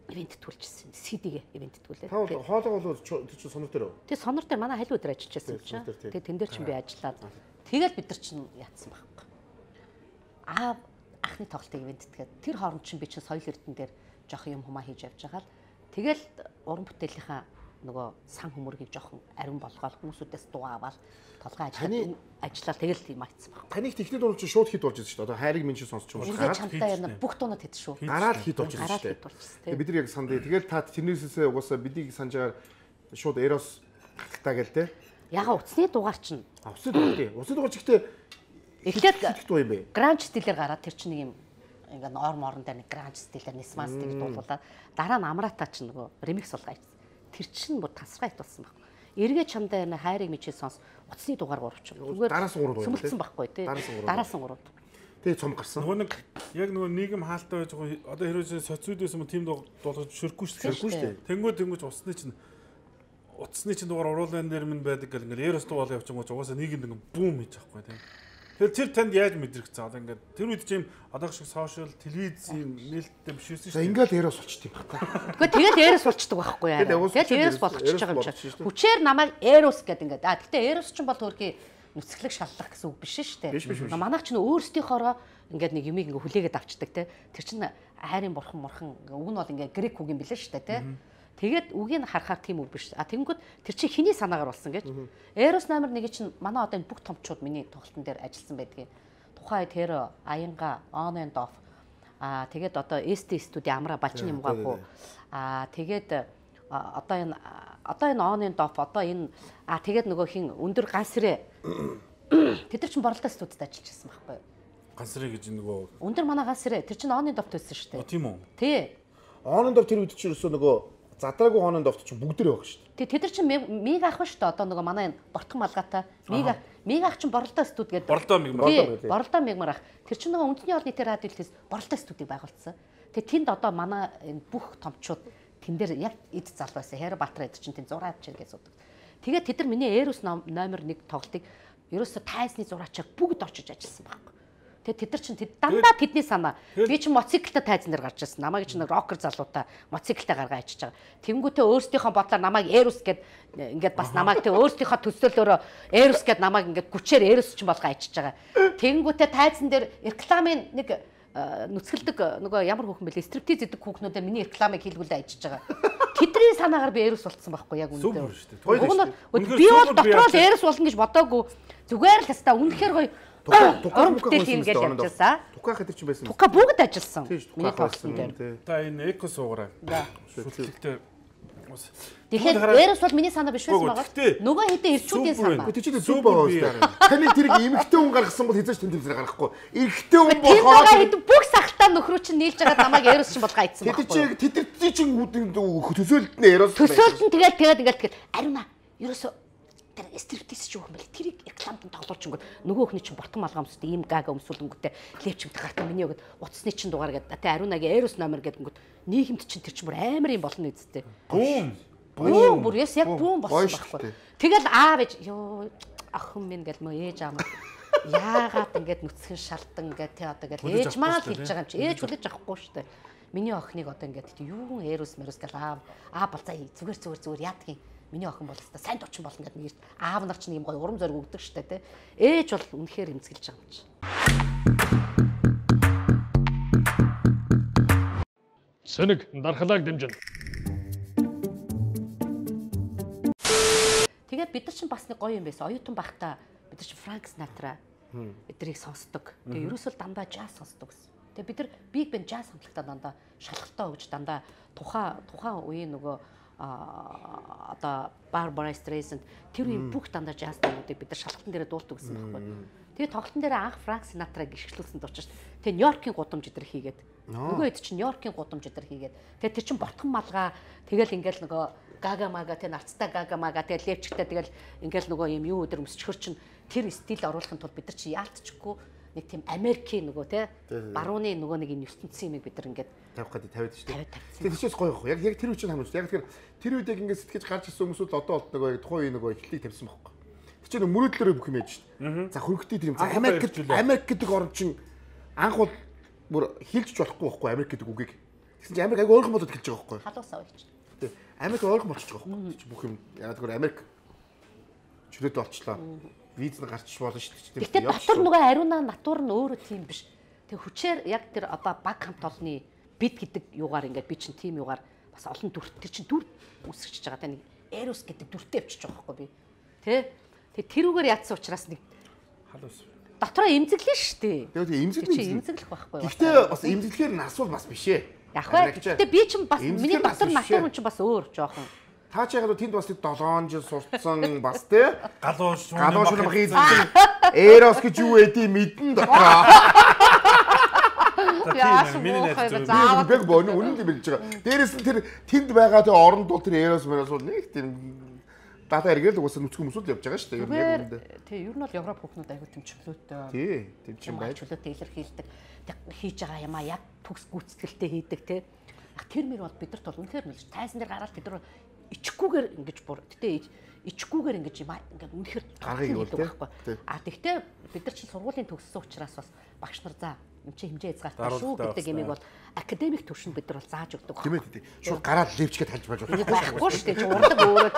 ивент төлжсэн. CD-гээ ивент төлөө. Та хоолой бол тэр чинь сонор дээр үү? Тэгээ сонор дээр манай халь өдөр ажиллаж байсан юм чинь. Тэгээ тэн дээр чинь би ажиллаад тэгэл бид нар чинь яатсан байхгүй. Ахны тоглолтыг ивент тэгээд тэр хооронд чинь би чинь соёл эрдэнэ дээр жоох юм хумаа хийж явж байгаа л тэгэл уран бүтээлийнхаа нөгөө сан хөмөргийг жоохон ариун болгоод хүмүүсүүдээс дуу аваад толгой ажиллаад тэгэл тийм айтсан баг. Таныг техник дуурч шууд хит болж ирсэн шүү дээ. Одоо хайрыг минь чи сонсч юм уу? Чамтай яна бүх дуунууд хэд шүү. Гараад хит болж ирсэн шүү дээ. Бид нар яг санд. Тэгэл та тэрнээсээ угаасаа бидийг санаж байгаа шууд Эрос тагтаа гээл те. Яга уцсны дугаар чинь. Уцсны дугаар тий. Уцсны дугаар ч ихтэй эхлээд дуу юм бэ. Гранж стилээр гараад тэр чинь нэг юм ингээ норм орон дээр нэг гранж стилээр нисман стилийг дуулуулаад дараа нь амрата ч нөгөө ремикс болгоо. Тэр чинь бүр тасраа итулсан байхгүй. Эргээ чамдаа энэ хайрыг мичээ сонс уцсны дугаар 3 ч. Зүгээр дараас 3 дуу юм байхгүй тий. Дараас 3. Тэгээ цом гарсан. Нөгөө нэг яг нөгөө нийгэм хаалттай байж байгаа. Одоо хэрвээ социуд байсан юм тийм дуулгаж ширхгүй шүү дээ. Тэнгүүд уцсны чинь дугаар уруулан дээр минь байдаг гэл ингээл Эрос дуу бол явчихсан угаасаа нийгэмд ингээ бүүм хийж байхгүй тий. Тэгэхээр тэр танд яаж мэдрэгцээ? Одоо ингээд тэр үед чинь одоо шиг сошиал, телевизийн нээлттэй биш байсан шүү дээ. За ингээд Эрос болчтой юм байна. Гэхдээ тэгэл Эрос болчдөг байхгүй яа. Тэгэл Эрос болгочихж байгаа юм чинь. Хүчээр намайг Эрос гэдэг ингээд. Гэхдээ Эрос ч бол төрхий нүцгэлэг шаллах гэсэн үг биш шүү дээ. Манайх ч өөрсдийнхоороо ингээд нэг юмыг ингээ хүлээгээд авчдаг те. Тэр чинь хайрын бурхан уг нь бол ингээ грек үг юм билээ шүү дээ те. Тэгээд үгийг харахаар тийм үг биш. Тэнгүүд тэр чинь хиний санаагаар болсон гэж. Эрос номер 1 чинь манай одоо энэ бүх томчууд миний тоглолтын дээр ажилласан байдгийг. Тухайн тэр Аянга on and off. Тэгээд одоо ST студи амра балчин юм гаагүй. Тэгээд одоо энэ on and off одоо энэ тэгээд нөгөө хин өндөр гансрэ тэд нар чинь боролдоо студид ажиллаж байсан байхгүй юу? Гансрэ гэж нөгөө өндөр манай гансрэ тэр чинь on and off төссөн шүү дээ. Тийм үү? Тий. On and off тэр үед чинь нөгөө задраагүй хоноонд овт чинь бүгд дээр байгаа шүү дээ. Тэд нар чинь миг ах ба шүү дээ. Одоо нөгөө манай бортхон малгайтай миг ах чинь боролдоо студ гэдэг. Боролдоо мигмар ах. Тэр чинь нөгөө үндэсний олон нийтийн радио хэлтээс боролдоо студийг байгуулсан. Тэгээ тэнд одоо манай энэ бүх томчууд тэн дээр яг эд зал байсан. Хайр Баатар эд чинь тэн зураач гэж суудаг. Тэгээд тэд нар миний Эрус номер 1 тоглолтыг ерөөсө тайзны зураачаар бүгд очиж ажилласан байхгүй. Тэгээд тэд нар чинь дандаа тэдний санаа. Би чинь моциклтай тайзан дээр гарч ирсэн. Намайг чинь рокер залуутай моциклтай гаргаа ичиж байгаа. Тэнгүүтээ өөрсдийнхөө бодлоор намайг Эрус гэд ингээд бас намайг тэг өөрсдийнхөө төсөөлөөрөө Эрус гэд намайг ингээд гүчээр Эрус чинь болгоо ичиж байгаа. Тэнгүүтээ тайзан дээр рекламын нэг нүцгэлдэг нөгөө ямар хүүхэн бэлээ стриптиз гэдэг хүүхнүүдээ миний рекламыг хийлгүүлээ ажиж байгаа. Тэдний санаагаар би Эрус болцсон байхгүй яг үнэндээ. Би бол дотроо л Эрус болно гэж бодоогүй. Зүгээр л тастаа үнэхээр гоё уран бүтээл юм гэж явжсан. Тука хэтэр чинь байсан. Тука бүгд ажилласан. Миний тоглосон дээр. Та энэ эко суугараа. Шүтлэгтэй. Тэгэхээр Эрус бол миний санаа биш байсан байгаа. Нөгөө хэдэн ирчүүдийн санаа. Тэ чи зүг байгаа шүү. Таны тэрийг эмэгтэй хүн гаргасан бол хязгаарч тэнд зэрэг гарахгүй. Эрэгтэй хүн болохоор бүх сахалтаа нөхрөө чинь нийлж байгаа намайг Эрус чинь болгоо айцсан байхгүй. Тэд чинь төсөөлөлт нь Эрус. Төсөөлөлт нь тэгээд ариуна. Ерөөсө тэр стриптиз ч юу юм бэл тэрийг рекламд тоглуулчихгоо нөгөө хний чинь бортон малгай өмсөд ийм гага өмсүүлэнгүүтээ клипчмд гартаа миний өгöd утасны чинь дугаар гэдэг. Тэ ариунагийн Эрус номер гэдэнгүүт нийгэмд чинь тэр чинь бүр амар юм болно үсттэй. Бүүм бүр яг бүүм болсон байхгүй. Тэгэл аав ээж ёо ах хүн минь гэл мөө ээж аамаа яагаад ингэж нүцгэн шалтан гэдэг тэ одоо гэл ээж маа л хэлж байгаа юм чи ээж хүлээж авахгүй шүү дээ. Миний охиныг одоо ингэж юу Эрус мэрус гэл аав болцаа зүгээр яадгийн миний охин бол та сайн дучин болно гэдэг нэрт аав нар ч нэг юм гоё урам зориг өгдөг штэ тэ. Ээж бол үнэхээр эмзэглэж байгаа юм чи. Сэнэг дархлааг дэмжин. Тэгээд бид нар чинь бас нэг гоё юм байсан. Оюутан байхдаа бид нар чинь Франк Синатра эдрийг сонсдог. Тэгээд ерөөсөө дандаа jazz сонсдог гэсэн. Тэгээд бид нар big band jazz хамтлагтаа дандаа шалгалтаа өгж дандаа тухайн үеийн нөгөө одоо Barbara Streisand тэр үеийн бүх дандаа jazz дуудыг бид нар шалгалтын дээр дуулдаг гэсэн байхгүй. Тэгээд тоглолтын дээр анх Франк Синатраг гიშгэлүүлсэн дуучиж. Тэгээд Нью-Йоркийн гудамж эдэр хийгээд нөгөө хэд чинь Нью-Йоркийн гудамж эдэр хийгээд тэгээд тэр чинь бортхон малгай тэгэл ингээл нөгөө гага мага тэ нарцтай гага мага тэгэл левчгтэй тэгэл ингээл нөгөө юм юу өдр өмсчхөр чинь тэр стил оруулахын тулд бид нар чи яалтчихгүй нэг тийм Америкийн нөгөө те барууны нөгөө нэг юм ертөнцийн юм бид нар ингээд тавих гэдэг тавиад шүү дээ. Тэгээд тийчээс гоё байхгүй. Яг тэр үе чинь хамаач. Яг тэгэхээр тэр үед яг ингээд сэтгэж гарч ирсэн хүмүүсүүд одоо бол нөгөө тухайн үе нөгөө эхлэлийг тавьсан байхгүй. Тэр чинь мөрөөдлөөрөө бүх юм яаж шүү дээ. За хөрөгтэй тэр юм. За Америк гэдэг орн чинь анх бол бүр хилж болохгүй байхгүй Америк гэдэг үгийг. Тэгсэн чинь Америк айгүй ойрхон болоод эхэлж байгаа байхгүй. Халуусаа үйч. Тэг. Америк ойрхон болчихж байгаа байхгүй. Тэр чинь бүх юм яа тэгэхээр Америк чөлөөд болчлоо. Виз нь гарч болно шүү дээ. Гэтэ дотор нөгөө ариуна натур нь өөрөө тийм биш. Тэг хүчээр яг тэр одоо баг хамт олонны бид гэдэг юугаар ингээд би чинь тийм юугаар бас олон дүр тэр чинь дүр үсгэж байгаа. Тэ нэг Эрус гэдэг дүртэй авчиж байгаа байхгүй би. Тэ? Тэг тэрүүгээр ядсан учраас нэг халуус. Дотроо эмзэглэн шүү дээ. Тэгээд эмзэглэх байхгүй. Гэхдээ бас эмзэглэхээр нь асуул бас биш ээ. Яг бай. Гэтэ би чинь бас миний дотор натур хүн чинь бас өөр жоохон. Та ч яг тэнд бас 7 жил сурцсан бас тий галуу шуны махын Эрос гэж юу эдий мэдэн дотроо. Миний найз би боно үнэн юм хэлж байгаа. Дээрээс нь тэр тэнд байгаа тэр оронд бол тэр Эрос мөрөөс бол нэг тийм дата эргээл угаасаа нүцгэн хүмүүсүүд явж байгаа шүү дээ. Яг үүндээ. Тий, ер нь бол Европ хүүхнүүд аягүй тэмчглөөтэй. Тий, тэмчин байж. Чөлөөтэй илэрхийлдэг. Хийж байгаа юмаа яг төгс гүйцэтгэлтэй хийдэг тий. Тэр мөр бол бидэрт бол үнэхээр нэлж тайзан дээр гараад бид нар ичгүүгээр ингэж бүр гэтээ ичгүүгээр ингэж юм ингээд үнэхээр гаргыг хийдэг байхгүй. Тэгтээ бид нар чинь сургуулийн төгссөн учраас бас багш нар за юм чи хэмжээ хязгаартай шүү гэдэг юмыг бол академик төвшөнд бид нар бол зааж өгдөг. Тийм ээ. Шууд гараад левчгээд хальж байж болно. Байхгүй шүү дээ. Чи урдаг өөрөө.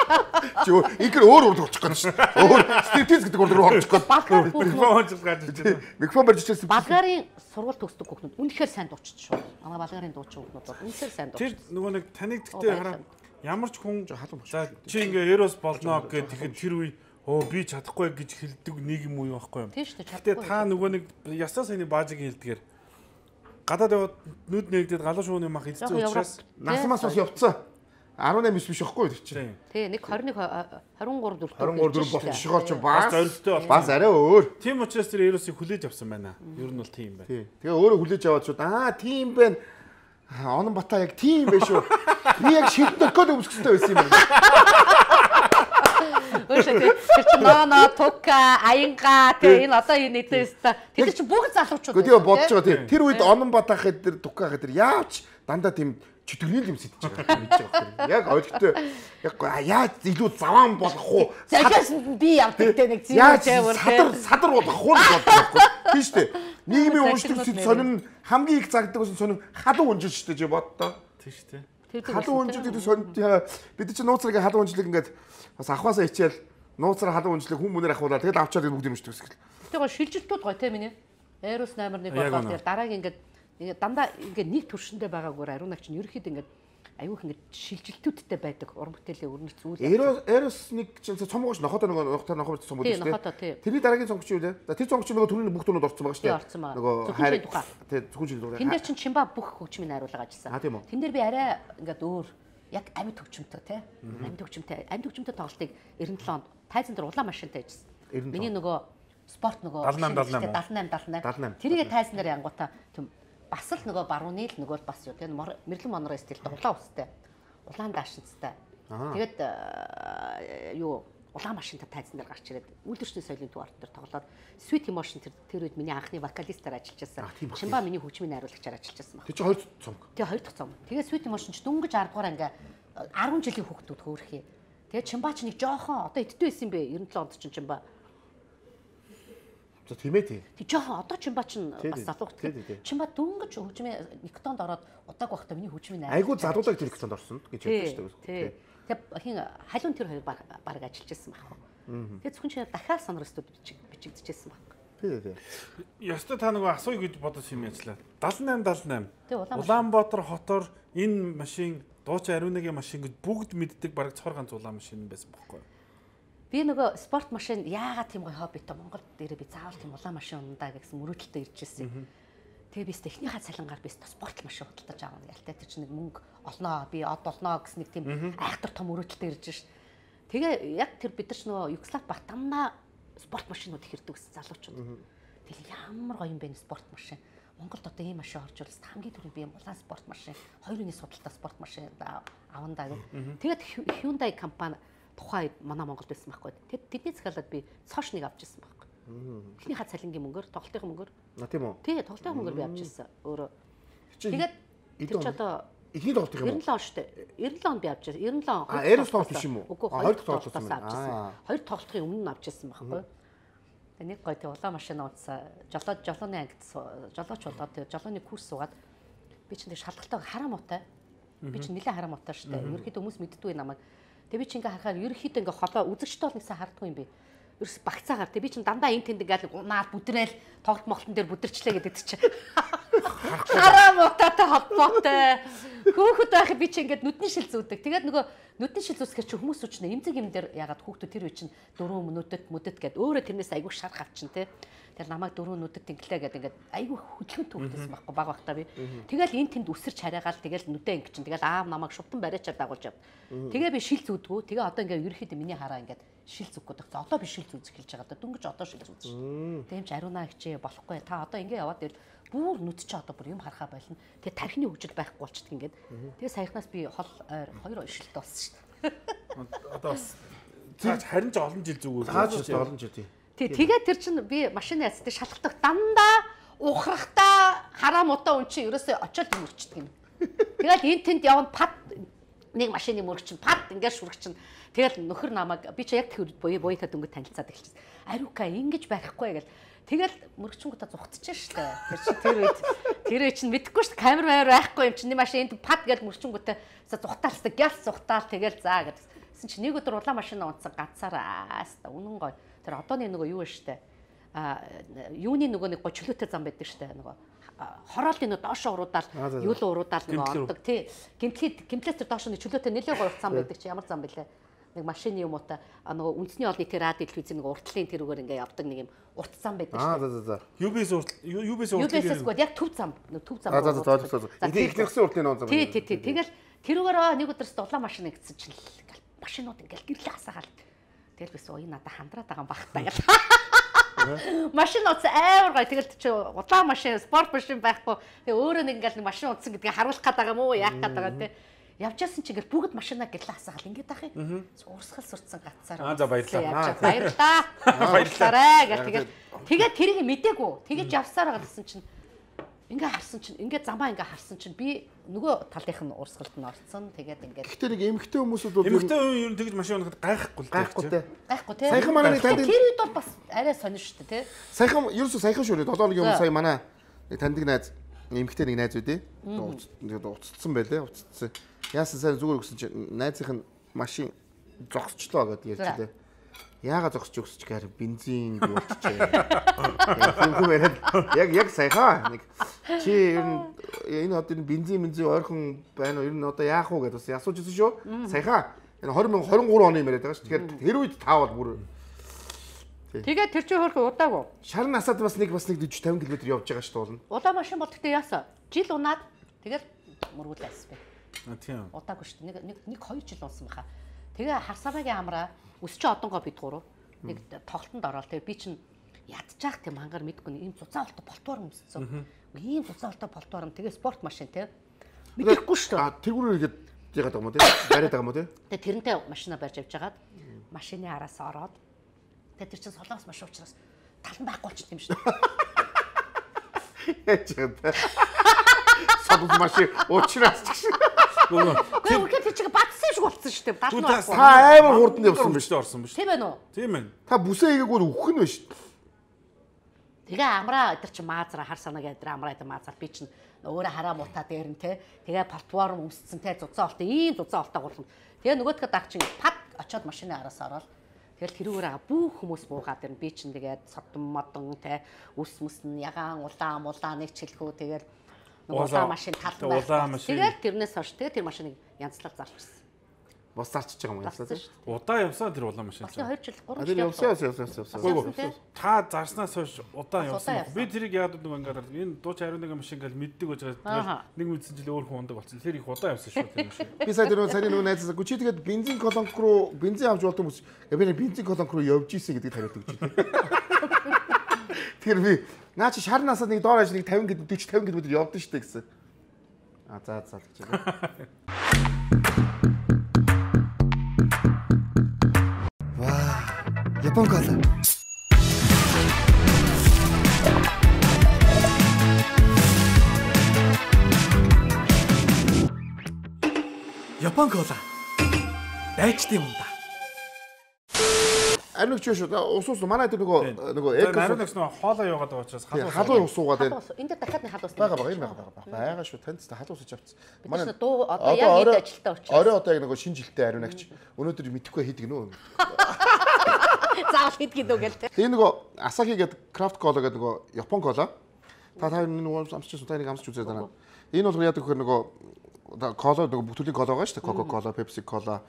Чи ингээр өөр урдчих гээд шүү. Өөр стриптиз гэдэг урд руу орчих гээд. Микрофон барьж чижсэн. Болгарын сургууль төгсдөг хүүхнүүд үнэхээр сайн дуучид шүү. Манай болгарын дуучин хүүхнүүд бол үнэхээр сайн дуучид. Тэр нөгөө нэг таныг гэхдээ хараа ямар ч хүн за чи ингээ Эрос болно гэхэд тэгэхэд тэр үе би чадахгүй гэж хэлдэг нийгэм үе байхгүй юм. Тийм шүү дээ. Гэтэ та нөгөө нэг ясаа саяны баажиг хэлдгээр гадаад яваад нүд нэгдээд галуу шууны мах хэлсэн учраас насмаас бас явцсан. 18 биш байхгүй тэр чинь. Тий, нэг 21 23 4 болчихгоор ч бас зорилттой бол бас арай өөр. Тийм учраас тэр Эросыг хүлээж авсан байна. Ер нь бол тийм байна. Тий. Тэгээ өөрөө хүлээж аваад шууд тийм байна. Онон бата яг тийм байх шүү. Би яг шилдэх гээд өмсөхтэй байсан юм байна. байна шүү дээ. Тэр чинь ноно, тука, аянга тэгээ энэ одоо энэ эдээс та тэр чинь бүгд залуучууд. Гэхдээ бодож байгаа тийм. Тэр үед Ононбат ахад тэр тука ахад тэр яавч дандаа тийм чөтгөрийн юм сэтж байгаа гэж байгаа. Яг ойлгохтой. Яг яаж илүү заваан болох уу? Захиас би явдаг те нэг зэвэр садар болох уу гэж бодлоо. Тийм шүү дээ. Нийгмийн уншдаг сонин хамгийн их загддаг гэсэн сонин халуун унжил шүү дээ чи боддоо. Тийм шүү дээ. Халуун унжил гэдэг сонин бид чинь нууцрыг халуун унжлыг ингээд бас авахаасаа хичээл нууцраа халуун унжлыг хүн мөнөр авахуулаад тэгэл авчаад бүгд юм шүү дээ. Тэгээ шилжилтүүд гоё те миний. Aeros 8-1 болоод тэгээ дараагийн ингээд дандаа ингээд нэг төршөндөө байгаагаар ариунагч нь ерөөхдөө ингээд аюух ингээд шилжилтүүдтэй байдаг уран бүтээлийн өрнөц зүйл. Aeros нэг чинь цомгооч нохотоо нохоор цомгоо шүү дээ. Тэрний дараагийн цомгоч юу вэ? Тэр цомгоч нөгөө түрүүний бүх тунууд орсон байгаа шүү дээ. Нөгөө хайр тухай. Тий, зөвхөн жил дураа. Тэн дээр чинь Чимба бүх хөгжмийн хариулга ажилласан. Тэн дээр би арай ингээд өөр яг амьд хөгжмөнтэй тий. Амьд хөгжмөнтэй тоглолтыг 97 онд тайзан дээр улаан машинтай ажилласан. Миний нөгөө спорт нөгөө 78. Тэрийг тайзан дээр янгуудаа тийм бас л нөгөө барууны л нөгөө бас юу тийм мэрлэн монор стилтэй улаан устай улаан даашинцтай тэгээд юу улаан машинтай тайзан дээр гарч ирээд үйлдвэрчдийн соёлын төв арт дээр тоглоод Sweet Emotion тэр үед миний анхны вокалистаар ажиллаж байсан. Чимба миний хөгжмийн найруулагчаар ажиллаж байсан байна. Тэр чинь 2 цомог. Тэгээ 2 дахь цомог. Тэгээ Sweet Emotion ч дөнгөж 10 дугаар ингээ 10 жилийн хүүхдүүд хөөрхий. Тэгээ Чимба ч нэг жоохон одоо эддүү байсан бэ 97 онд чинь Чимба. За тийм ээ тий. Тэг жоохон одоо Чимба ч бас залуугт. Чимба дөнгөж хөгжмийн Никтонд ороод удааг байхдаа миний хөгжмийн найруулагч. Айгуу залуудаг тэр Никтонд орсон гэж ярьдаг шүү дээ. Тэг хин халуун тэр хоёр баг ажиллаж байсан байхгүй. Тэгээ зөвхөн чи дахиад сонорстууд бичигдчихсэн байхгүй. Тий. Ястаа та нөгөө асууя гэж бодож юм яжлаа. 78. Улаанбаатар хотоор энэ машин дуучин ариунагийн машин гэж бүгд мэддэг бараг цор ганц улаан машин байсан байхгүй. Би нөгөө спорт машин яагаад тийм гоё хоббитой Монголд дээрээ би заавал тийм улаан машин ундаа гэсэн мөрөөдөлтөй ирж ирсэн. Тэгээ би техникийн цалингаар би спорт машин худалдаж авах ялтай тэр чинь нэг мөнгө олноо би од олноо гэсэн нэг тийм айхтар том мөрөөдөлтөй ирж шв. Тэгээ яг тэр бид нар ч нөгөө Югослав баг дандаа спорт машинууд их ирдэг гэсэн залуучууд. Тэгээ ямар гоё юм бэ спорт машин. Монголд одоо ийм машин орж ирсэн хамгийн түрүүнд би улаан спорт машин 2 үний судалтай спорт машин авандаа гэх. Тэгээд Hyundai компани тухай манай Монголд байсан байхгүй. Тэдний захиалаад би цоошныг авч ирсэн байхгүй. Эхнийхээ цалингийн мөнгөөр, тоглолтын мөнгөөр. Тийм үү? Тий, тоглолтын мөнгөөр би авч ирсэн. Өөрөө. Тэгээд тэр ч одоо эхний тоглолтын юм уу? 97 он шүү дээ. 97 онд би авч ирсэн. 97 он. Aeros тоглолт биш юм уу? Үгүй, хоёр тоглолтоос авч ирсэн. Хоёр тоглолтын өмнө нь авч ирсэн байхгүй. Тэгээд нэг гоё тий улаан машин уудсаа жолооны ангид жолооч болоод тэгээд жолооны курс суугаад би чинь тэг шалгалтаа хараа муутай. Би чинь нэлээд хараа муутай шүү дээ. Ерөнхийдөө хүмүүс мэддэггүй намайг. Тэгээ би чи ингээ харахаар ерөнхийдөө ингээ холоо үзэгчтэй бол нэгсэн хардгүй юм би. Ерөөс багцаагаар тэгээ би чи дандаа энэ тэнд ингээл наад бүдрээл тоглолт моголтон дээр бүдэрчлээ гэдэг чи. Хараа мутатай холбоотой. Хөөхөд байх би чи ингээ нүдний шил зүүдэг. Тэгээд нөгөө нүдний шил зүүсгэр чи хүмүүс үчнэ эмзэг юм дээр ягаад хүүхдүүд тэр үе чинь 4 мүдэт гэд өөрөө тэрнээс айгүй шарах авчин те. Тэр намайг 4 нүдэт инглээ гэдэг ингээд айгүй хөдөлгөөн төвхтэйсэн байхгүй баг багтаа би. Тэгэл энэ тэнд үсэрч хараагаал тэгэл нүдэ ингэ чинь тэгэл аав намайг шувтан бариачаар дагуулж явд. Тэгээ би шил зүүдгүү. Тэгээ одоо ингээ ерөөхдөө миний хараа ингээд шил зүггүй дагц. Одоо би шил зүүзэх хэлж байгаа. Дөнгөж одоо шил зүүж. Тэгээ юм чи ариунаа хичээ болохгүй. Та одоо ингээ яваад ирэл бүр нүд чи одоо бүр юм харахаа болно. Тэгээ тархины хөгжил байхгүй болчихд ингээд. Тэгээ саяхнаас би хол ойр 2 шилтэй болсон шүү дээ. Одоо бас цааш харин ч олон жил зүгөө. Цааш олон жил тий. Тэгээд тэр чинь би машины яцтай шалгалтах дандаа ухрахтаа хараа мутаа үн чи ерөөсөө очиод мөрчдөг юм. Тэгэл энэ тэнд явна пад нэг машины мөрөгчин пад ингээд шүргчин. Тэгэл нөхөр намайг би чи яг тэр буяатаа дөнгөж танилцаад эхэлчихсэн. Ариука ингэж байхгүй гэл. Тэгэл мөрөгчингуудаа зугтчихсан шүү дээ. Тэр үед чинь мэдэхгүй шүү дээ. Камер байхгүй юм чинь машин энд пад гэж мөрөгчингуудаа зугтаалстай гялс зугтаал тэгэл заа гэдсэн чинь нэг өдөр улаан машина унтсан ганцаараа үнэн гоё. Тэр одооны нөгөө юу вэ штэ юуны нөгөө нэг гочлоотой зам байдаг штэ нөгөө хороолын нөгөө доошоо уруудаал юулуу уруудаал нөгөө ондог тий гимтлээс тэр доошоо чөлөөтэй нэлээд гоё зам байдаг чи ямар зам бэлээ нэг машины юм уу та нөгөө үндэсний олон нийтийн радио телевизийн нөгөө уртлын тэрүүгээр ингээ явдаг нэг юм урт зам байдаг штэ UBS уртлын яг төв зам ихнийхсэн уртлын нөө зам тий тэгэл тэрүүгээр нэг өдөрс улаан машин гэсэн чинь машинууд ингээл гэрлээ хасаагаал. Тэгэл бис уу надад хандраад байгаа юм багтаа гэл. Машин утас амар гоё. Тэгэл чи улаан машин, спорт машин байхгүй. Тэгээ өөрөө нэг ингээл машин утсан гэдгийг харуулах гээд байгаа юм уу? Яах гээд байгаа те. Явжсэн чи ингээл бүгд машинаа гэрлээ хасаал ингээд ах юм. Урсгал сурцсан гацсаар. За баярлалаа. Баярлалаа. Баярлалаа. Тэгээд тэрийг мдээгүй. Тэгэж явсаар гэсэн чинь ингээ харсан чинь ингээ замаа ингээ харсан чинь би нөгөө талынх нь урсгалд нь орцсон. Тэгээд ингээ. Гэхдээ нэг эмэгтэй хүмүүсүүд бол эмэгтэй хүн ер нь тэгж машин унахад гайхгүй те. Гайхгүй те. Саяхан манай нэг танд тэр үед бол бас арай сонир шүү дээ те. Саяхан ерөөсөө саяхан шүү дээ. 7 өдрийн өмнө сая манай нэг таньдаг найз эмэгтэй нэг найз үдээ. Уццсан байлээ. Уццсан. Яасан сайн зүгээр өгсөн чинь найзынх нь машин зогсчлоо гэдээ ярьчихлээ. Яагаад зогсож өгсөж гэхээр бензин болчихжээ. Яг саяхан нэг чи ер нь энэ одоо энэ бензин ойрхон байна уу? Ер нь одоо яах вэ гэдээ бас асууж ирсэн шүү. Саяхан энэ 2023 оны юм яриад байгаа шүү. Тэгэхээр тэр үед таа бол бүр тэгээд тэр чинь хөрхөө удаагүй. Шар насаад бас нэг 40 50 км явж байгаа шүү дээ. Удаа машин бол гэхдээ яасан? Жил унаад тэгэл мөргүүлээс бэ. Тийм. Удаагүй шүү дээ. Нэг 2 жил унсан баха. Тэгээ харсамагийн амраа өсч одонгоо бид гурав нэг тоглолтод ороод тэгээ би чинь ядчих тийм хангаар мэдгүй ийм зузаан болтой болтоор өмссөн. Ийм зузаан болтой болтоор нь тэгээ спорт машин те. Мэдэхгүй шүү дээ. Тэргүүрээр игээд яагаад байгаа юм те? Бариад байгаа юм те? Тэгээ тэрнтэй машина барьж явж хагаад машины араас ороод тэгээ тэр чинь солонгос машин учраас талан байхгүй болчихсон юм шүү дээ. Яач юм те? Солонгос машин уучраас ч гэсэн. Гэхдээ үгүй тэр чинь батсан шиг болцсон шүү дээ. Талан байхгүй. Та амар хурдан явсан биш үү? Орсон биш. Тийм ээ нөө. Тийм ээ. Та бүсээ игээгүй үхэх нь биш. Тэгээ амраа өдр чи маазра хар санаа гэдэг амраа гэдэг маазар би чинь өөрөө хараа мутаа дээр нь те тэгээ платформ өмсцэн те зузаан олтой ийм зузаан олтой гурлан тэгээ нөгөөдгөө даг чинь пад очоод машины араас ороод тэгэл тэрүүгээр бүх хүмүүс буугаад ирнэ би чинь тэгээд содон модон те ус мөснө ягаан улаан нэг чилхүү тэгээд улаан машин талбай тэгээд тэрнээс хойш тэгээд тэр машиныг янзлал зарчихсан. Бас зарчиж байгаа юм ясаа тийм. Удаа явсаа тэр улаан машин. 2 жил 3 жил явсан. Та зарснаас хойш удаан явсан. Би тэрийг яагаад нэг ингээд энэ дууч 21 машин гэл мэддэг байж байгаа. Нэг мэдсэн жил өөр хүн ундаг болсон. Тэр их удаан явсан шүү тэр машин. Би сая нөгөө найзсаа чи тэгээд бензин колонк руу бензин авч болдог хүмүүс. Би бензин колонк руу явж ийсэн гэдгийг тариад өгч байна. Тэгэхээр би наа чи шар насаад нэг доор ажлыг 50 км явдсан шүү дээ гэсэн. За гэж байна. Япон кола. Япон кола. Дайчдын юм да. Ариун ч шүү. Ус манай тэр нөгөө эко ариун нэгс нөгөө хоолоо яваад байгаа учраас халуун ус уугаад байна. Энд дахиад нэг халуус байгаа шүү. Танд халуус ууж авчихсан. Манай дуу одоо яг хэд ажилтаа учраас. Орой одоо яг нөгөө шинэ жилдээ ариун агч. Өнөөдөр мэдэхгүй хийдэг нөө. Заавал хийдэг дөө гэлтэй. Тэгээ нөгөө Asahi гэдэг крафт кола гэдэг нөгөө Япон кола. Та нөгөө амсчихсан та нэг амсч үзээд байна. Энэ бол яадаг гэхээр нөгөө кола нөгөө бүх төрлийн кола байгаа шүү дээ. Coca-Cola, Pepsi Cola,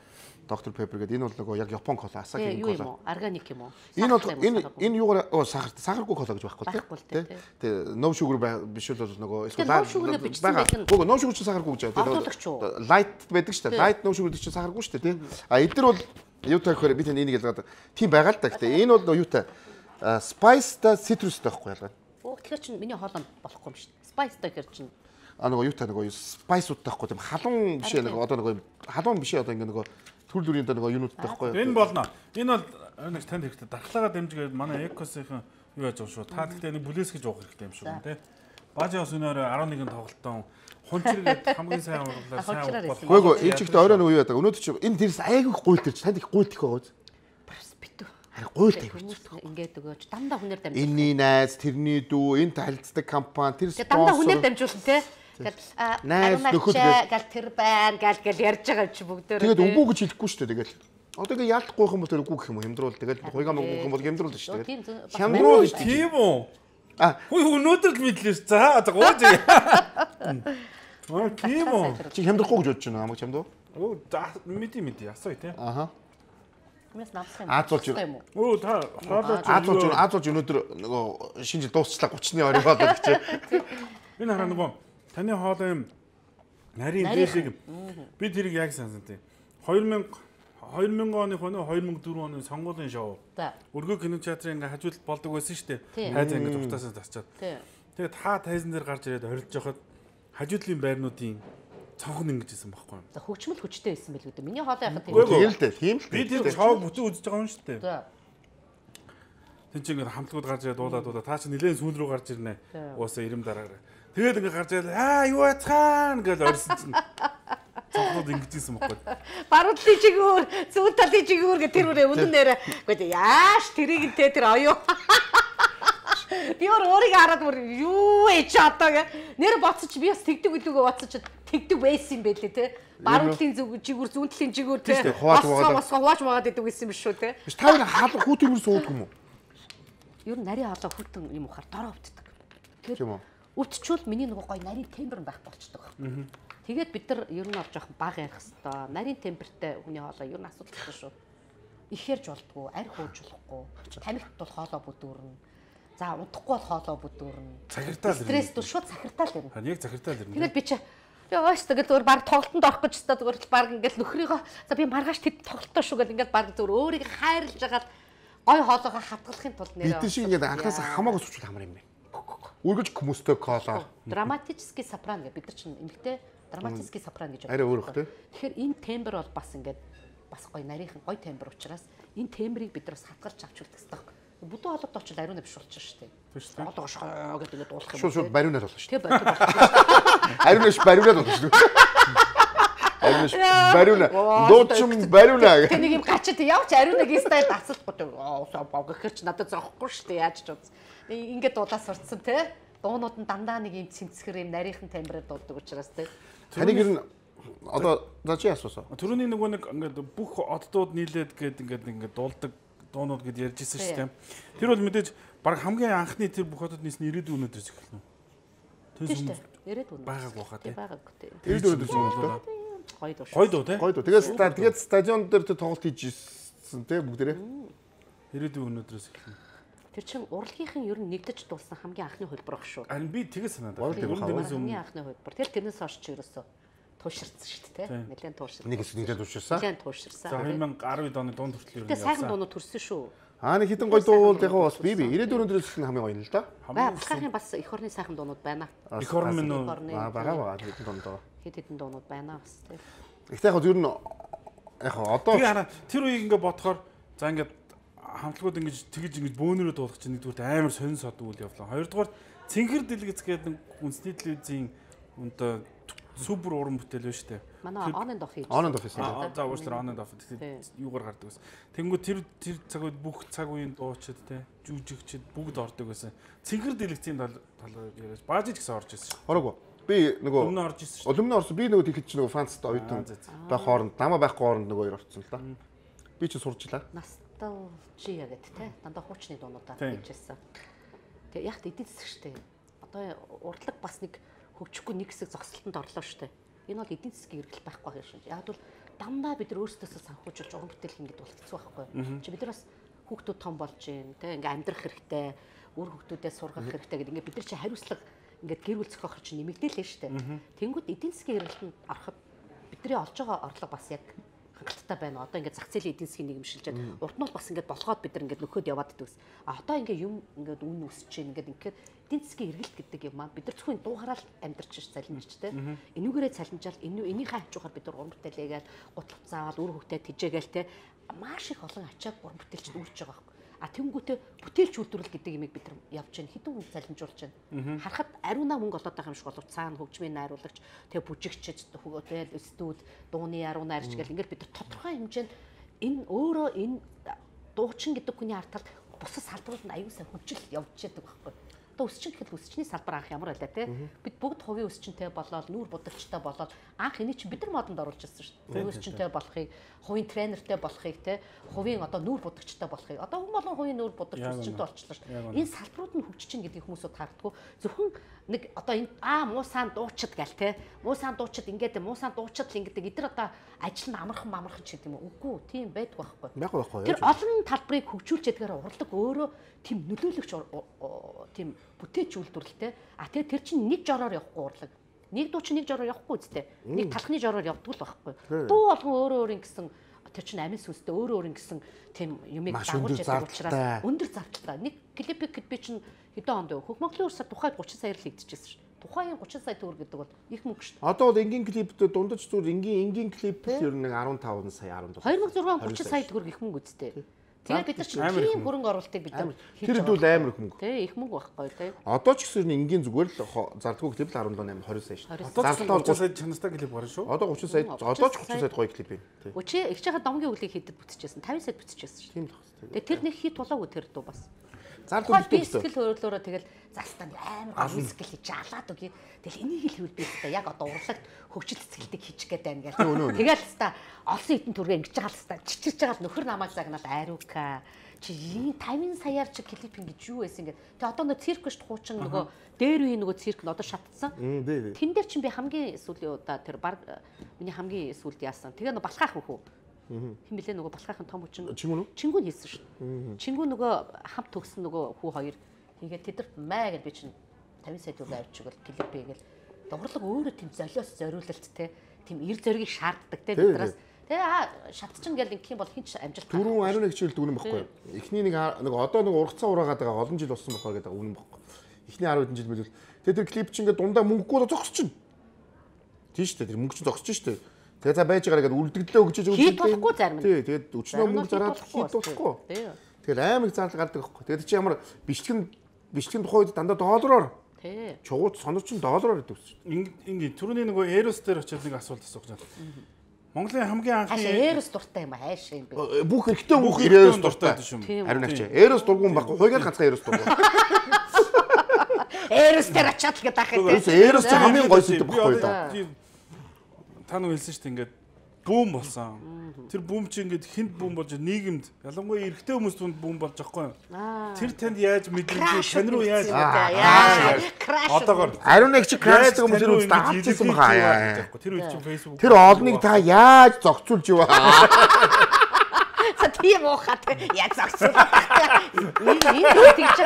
Dr Pepper гэдэг энэ бол нөгөө яг Япон кола, Asahi кола. Органик юм уу? Энэ юугаар сахаргүй кола гэж байхгүй тий. Тэгээ no sugar биш бол нөгөө эсвэл байгаа. No sugar ч сахаргүй гэж байгаа. Light байдаг шүү дээ. Light no sugar чинь сахаргүй шүү дээ тий. А эдгээр бол юутай гэхээр би тань энийг ялгаад тийм байгаа л да. Гэтэ энэ бол юутай spice та citrusтай байхгүй ялгаа. Тэгэхээр чинь миний хоолой болохгүй юм шүү дээ. Spice та гэхэр чинь нөгөө юутай нөгөө spice-уудтай байхгүй тийм халуун биш нөгөө одоо нөгөө халуун биш одоо ингээ нөгөө төр дүрийн нөгөө юунуудтай байхгүй. Энэ болно. Энэ бол нэг танд хэрэгтэй. Дархлаагаа дэмжигээд манай Экосийн юу яаж байгаа шүү. Та гэхдээ нэг бүлээс гэж уух хэрэгтэй юм шүү тий. Бажи ус өнөөр 11 тоглолтон хунчиргээд хамгийн сайн уурлаа сайн уух. Гүйгүй энэ чигтээ орой нөгөө юу яадаг. Өнөөдөр чи энэ тэрс айгүй гуйлт ирч танд их гуйлт их байгаа үз. битүү. Харин гуйлт айгүй. Ингээд өгөөч дандаа хүнээр дамжуулна. Энийн найз, тэрний дүү, энэ харилцдаг компани, тэр спонсор. Дандаа хүнээр дамжуулна тий. Найз нөхөд гал тэр байна гал ярьж байгаа чи бүгдөө. Тэгээд үгүй гэж хэлэхгүй шүү дээ тэгэл. Одоо ингээ яалтахгүй юм бол тэр үгүй гэх юм уу хямдруул тэгэл хуйгаа мөнгө юм бол хямдруул шүү дээ. Хямдруул тийм үү? Хүй өнөөдөр л мэдлээс. За гооч. Тийм үү? Чи хямдрахгүй гэж бодож байна хамаг чамд уу? Мэди асуу тий. Аха. Хүмүүс намсах юм. Аазуулж юм. Өө та аазуулж өнөөдөр нөгөө шинэ жил дуусчлаа 30-ны орой болоод гэж. Энэ хараа нөгөө таны хоолой юм нарийн дээлийг би тэрийг яг сансан тий. 2000 оны хоноо 2004 оны сонгуулийн шоу. Өргөө кинотеатрын ингээ хажууд болдог байсан шүү дээ. Хайзаа ингээ зуртаасаа тасчаад. Тэгээд та тайзан дээр гарч ирээд орилж явахад хажуудлын байрнуудын цонхон ингэж исэн байхгүй юм. За хөгжмөл хүчтэй байсан байл үү дээ. Миний хоолой яхад Тийм л дээ. Тийм л. Би тэр шоуг бүтэн үзэж байгаа юм шүү дээ. За. Тин чи ингээд хамтлагууд гарч ирээд дуулаа та чи нэлээд сүүл рүү гарч ирнэ. Уусаа ирэм дараагаар. Тэгээд ингээд гарч ирээд юу яцхан гэж орсон чинь цонхнууд ингэж исэн байхгүй. Баруудлын чигүүр, зүүн талын чигүүр гэх тэр үрээ үнэн нэрэ. Гэхдээ яаш тэрийг тэ тэр оюу. Би өөрийгөө хараад бүр юу ээж одоо гэ нэр боцож би бас тэгдэг үлүүгөө боцож тэгдэг байсан юм байлээ те. Баруудлын чигүүр, зүүн талын чигүүр те. Хувааж магаад идэг байсан юм шүү те. Биш та нар хаалга хүүтгүүр сууддаг юм уу? Ер нь нарийн хоолой хүүтэн юм ухаар дороо өвддөг. Тийм үү? Өвдчүүл миний нөгөө гой нарийн тембер байх болчдөг. Тэгээд бид нар ер нь олж явах баг ярих хэвээр. Нарийн темпертэй хүний хоолой ер нь асуудалтай шүү. Их ярьж болдгоо, арх уужуулахгүй, тамхит бол хоолой бүдүүрнэ. За удахгүй бол хоолой бүдүүрнэ. Захиртаал ирнэ. Стресс дүү шууд захиртаал ирнэ. Яг захиртаал ирнэ. Тэгээд би чи яаш тэгээд зүгээр баг тоглолтонд орох гэж та зүгээр баг ингээд нөхрийгөө за би маргааш тэд тоглолтоо шүү гэдэг ингээд баг зүгээр өөрийг хайрлаж хагаад гой хоолойгоо хатгалахын тулд нэрээ. Бид шиг ингээд анхаасаа хамаагүй сууч хамар юм байна. Үргэлж хүмүүстэй кола. Драматический сопрано гэдэг бид нар чинь эмэгтэй драматический сопрано гэж. Арай өөр хөө. Тэгэхээр энэ тембр бол бас ингээд бас гой нарийнхан гой тембр учраас энэ тембрийг бид нар бас хатгалж авч үлдэх хэрэгтэй. Бүдүүн хоолойд очил ариуна биш болчих шүү дээ. Тийм шүү дээ. Хоолойгоо шоо гэдэг ингээд дуулах юм. Шууд бариунаар болно шүү. Тэг бариунаар. Ариунаш бариунаар болно шүү. Ариунаш бариунаа. Дуучин бариунаа. Тэг нэг юм гачид явч ариунаг стайл дацалахгүй. Аа богохэр чи надад зоохгүй шүү дээ. Яаж ч үз. Ингээд дуулаа сурцсан те. Дуунууд нь дандаа нэг юм цэмцгэр юм нарийнхан тембрээр дуулдаг учраас те. Таныг ер нь одоо за чи асуусаа. Төрөний нөгөө нэг ингээд бүх оддууд нийлээд ингээд дуулдаг дуунууд гэд ярьж ирсэн шүү дээ. Тэр бол мэдээж баг хамгийн анхны тэр бүх одод нийсэн 90-ийн өнөөдрөөс эхэлнэ. Тийм шүү дээ. 90-ийн байгааг баха тий. Байгааг тий. 90 өнөөдөр зүйл л доо. Гоё дөө тий. Гоё дөө. Тэгээд стадион дээр тоглолт хийж ирсэн тий бүгдээрээ. 90-ийн өнөөдрөөс эхэлнэ. Тэр чин урлагийнхан ер нь нэгдэж дуулсан хамгийн анхны хөлбөр баг шүү. Харин би тэгээс санаад байна. Хамгийн анхны хөлбөр. Тэрнээс хойш ч ерөөсөө тууширсан шүү дээ тий. Нэлээд тууширсан. Нэгэн тууширсан. Нэлээд тууширсан. За 2010 оны дунд хүртэл ер нь явсан. Сайхан дуунууд төрсөн шүү. Нэг хитэн гоё дуул яг бас би 90 өнөөдрөөс эхэлнэ хамгийн гоё нь л да. Бахархын бас эх орны сайхан дуунууд байна. Эх орн минь үү? Байгаа хитэн дуунууд. Хитэн дуунууд байна бас тий. Ихтэй яг ер нь яг одоо би хараа тэр үеийг ингээд бодохоор за ингээд хамтлагууд ингэж бөөнөрөө дуулах чинь нэгдүгээр амар сонин содгүй үйл явлаа. Хоёрдугаар цэнхэр дэлгэц гэдэг үндэсний телевизийн өнтө супер уран бүтээл байна шүү дээ. Манай on and off хийж. On and off хийсэн. За уучлаарай on and off юугаар гардаг байсан. Тэнгүү тэр цаг үед бүх цаг үеийн дуучид те жүжигчид бүгд ордог байсан. Цэнхэр дэлгэцийн талаар яриад баажиж гэсэн орж ирсэн шүү. Ороогүй. Би нөгөө өмнө орж ирсэн шүү. Өмнө орсон. Би нөгөө тэгэхэд чи нөгөө фанцтай оюутан байх хооронд намаа байхгүй хооронд нөгөө хоёр орсон л да. Би ч сурчлаа. Носталжиа гэдэг те. Дандаа хуучны дуунуудаар хийжсэн. Тэгээ яг эдийн засаг штэ. Одоо урдлаг бас нэг хөгжихгүй нэг хэсэг зогсолтонд орлоо штэ. Энэ бол эдийн засгийн эргэлт байхгүй байх шин. Яг бол дандаа бид нар өөрсдөөсөө санхүүжүүлж уран бүтээл хийгээд бол хэцүү байхгүй. Чи бид нар бас хүүхдүүд том болж гин те ингээ амьдрах хэрэгтэй, өөр хүүхдүүдээ сургах хэрэгтэй гэдэг ингээ бид нар чи хариуцлага ингээ гэр бүл зохиох чинь нэмэгдээлээ штэ. Тэнгүүд эдийн засгийн эргэлтэнд ороход бидний олж байгаа орлого бас яг хангалттай байна. Одоо ингээд зах зээлийн эдийн засгийн нийгэмшилжээд урд нь бол бас ингээд болгоод бид нар ингээд нөхөд яваад идвэс. Одоо ингээд юм ингээд үн өсөж чинь ингээд эдийн засгийн эргэлт гэдэг юм аа бид нар зөвхөн дуугараал амьдарч ш цалинжтэй. Энүүгээрээ цалинжаал энийхээ хажуугаар бид нар уран бүтээлээгээл гутлах заавал үр хөвгтэй тижээгээл те маш их олон ачааг уран бүтээлчд үрж байгаа байхгүй. А тэнгүүтээ бүтээлч үйлдвэрлэл гэдэг юмыг бид нар явж байна. Хэдэн хүн цалинжуулж байна. Харахад ариунаа мөнгө олоод байгаа юм шиг болов цаана хөгжмийн найруулагч, тэгээ бүжигчд, тэгээ студ, дууны ариунаа арч гэл ингээд бид нар тодорхой хэмжээнд энэ өөрөө энэ дуучин гэдэг хүний артал бусад салбарууд нь аюулсаа хөгжил явж яддаг байхгүй. Одоо өсчин гэхэд өсчний салбар анх ямар байлаа те. Бид бүгд хувийн өсчинтэй болоод нүүр будагчтай болоод анх энийг чинь бид нар модонд оруулж ирсэн шүү дээ. Өсчинтэй болохыг, хувийн тренертэй болохыг те, хувийн одоо нүүр будагчтай болохыг. Одоо хүн болон хувийн нүүр будагч өсчинтэй болчихлоо шүү. Энэ салбарууд нь хөгжиж чинь гэдгийг хүмүүсүүд хаагддаг. Зөвхөн нэг одоо энэ муусаан дуучид гал те. Муусаан дуучид ингээд муусаан дуучид л ингээд эдгээр одоо ажил нь амархан ч гэдэг юм уу. Үгүй тийм байдаг байхгүй. Тэр олон талбарыг хөгжүүлж ядгаар урлаг өөрөө тийм нөлөөлөгч тийм бүтээч үйлдвэрлэлтэй. А тэгээ тэр чинь нэг жороор явахгүй урлаг. Нэг дуу чинь нэг жороор явахгүй үстэй. Нэг талхны жороор явдаг л байхгүй. Дуу болгон өөр гэсэн тэр чинь амин сүнстэй өөр гэсэн тийм юмыг дагуулж яадаг учраас өндөр зардалтай. Нэг клипик би чинь хэдэн онд вэ? Хөх Монголын улсад тухайд 30 саяар л хийгдчихсэн шүү. Тухайн 30 сая төгрөг гэдэг бол их мөнгө шүү дээ. Одоо бол энгийн клиптэй дундаж зүгээр энгийн клип ер нь 15 сая 17. 2006 30 сая төгрөг их мөнгө үстэй. Тэгээд бид нар чинь тийм хөрөнгө оруулалтыг бид нар тэр дүүл амар их мөнгө. Тий, их мөнгө байхгүй тий. Одоо ч гэсэн энгийн зүгээр л зардаггүй клип л 17 20 сая шүү. Одоо 30 сая чанартай клип гарна шүү. Одоо 30 сая одоо ч 30 сая гоё клип байна. Тий. Өчигдөр их жахад домгийн үлийг хийдэд бүтчихсэн 50 сая бүтчихсэн шүү. Тийм л байна. Тэгээд тэр нэг хит тулаагүй тэр дуу бас. Зардал би сэтгэл хөдлөлөөрөө тэгэл застанд амар мюзикл хийж алаад үгүй. Тэгэл энийг хэлвэл би хэвээр яг одоо урлагт хөгжил цэцгэлтийг хийчих гээд байна гэл. Тэгэл хэвээр олсон хитэн түргээ ингэж байгаа л хэвээр чичирж байгаа л нөхөр намайг загнаад ариука чи 50 саяар чи клип ингэж юу байсан гэд. Тэгээ одоо нөгөө цирк шүү хуучин нөгөө дээр үе нөгөө цирк нь одоо шатцсан. Тэн дээр чинь би хамгийн сүүлийн удаа тэр баг миний хамгийн сүүлд яасан. Тэгээ нөгөө балхаах хөхөө. Хин блэ нөгөө балхаахын том хүчин Чингүн хийсэн шүү дээ. Чингүн нөгөө хамт төгсөн нөгөө хүү хоёр хийгээд тэдэрт маа гэж би чинь 50 сая төгрөг авчиг бол клип хийгээл дурлаг өөрөө тийм золиос зориулалт те тийм эр зоригийг шаарддаг те бидраас тэгээ шатчин гэл инх юм бол хинч амжилт түрүүн ариун нэг хичээл дүгнэн байхгүй. Эхний нэг одоо нэг ургацаа ураагаад байгаа олон жил болсон болохоор гэдэг үнэн байхгүй. Эхний 10 хэдэн жил билүүл. Тэгээ тэр клип чинь ингээд дундаа мөнгөгүй зогсож чинь. Тийм шүү дээ. Тэр мөнгө чинь зогсож шүү дээ. Тэгээ за байж байгаагаа гэдэг үлдэгдлээ өгч хийж болохгүй зарим. Тий, тэгээд өчнөө мөнгө зараад хийж болохгүй. Тэгээд амар их зардал гардаг байхгүй. Тэгээд чи ямар бичлэгийн тухай үед дандаа доллараар. Тий. Чугууч сонор чин доллараар гэдэг үсч. Ингээ түрүүний нөгөө Эрос дээр очиод нэг асуулт асуух гэж байна. Монголын хамгийн анхны Эрос дуртай юм хайшаа юм бэ? Бүх хэрэгтэй бүх Эрос дуртай шүү. Харин агч. Эрос дургуун байхгүй. Хойгоор ганцхан Эрос дургуун. Эрос дээр очиад л гэдэг ахаа. Эрос ч хамгийн гоё зүйл байхгүй да. Та нэг хэлсэн шүү дээ ингээд бүүм болсон. Тэр бүүм чи ингээд хинт бүүм болж нийгэмд ялангуяа эрэгтэй хүмүүс түнд бүүм болж байгаа юм. Тэр танд яаж мэдрэмж тань руу яаж одоогоор ариун нэг чи крашдаг хүмүүс рүү даачсан баха. Тэр үед чи фэйсбુક тэр олныг та яаж зогцуулж юу аа. Тийм уухад яг зогсоо. Энэ тэгж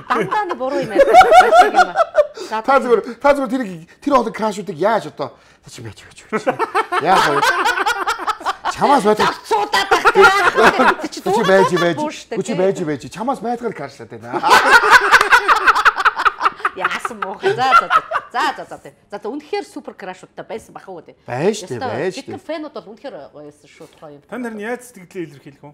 дандаа нэг буруу юм байна. Та зүгээр тэр хоолой крашуудыг яаж одоо чи байж. Яах вэ? Чамаас байж. Чи байж. Чамаас байтгаар крашлаад байна. Яасан муухай. За үнэхээр супер крашуудтай байсан бах уу тий. Байж тий. Тэр фэнүүд бол үнэхээр гоёсэн шүү гоё юм. Та нар яаж сэтгэлээ илэрхийлэх вэ?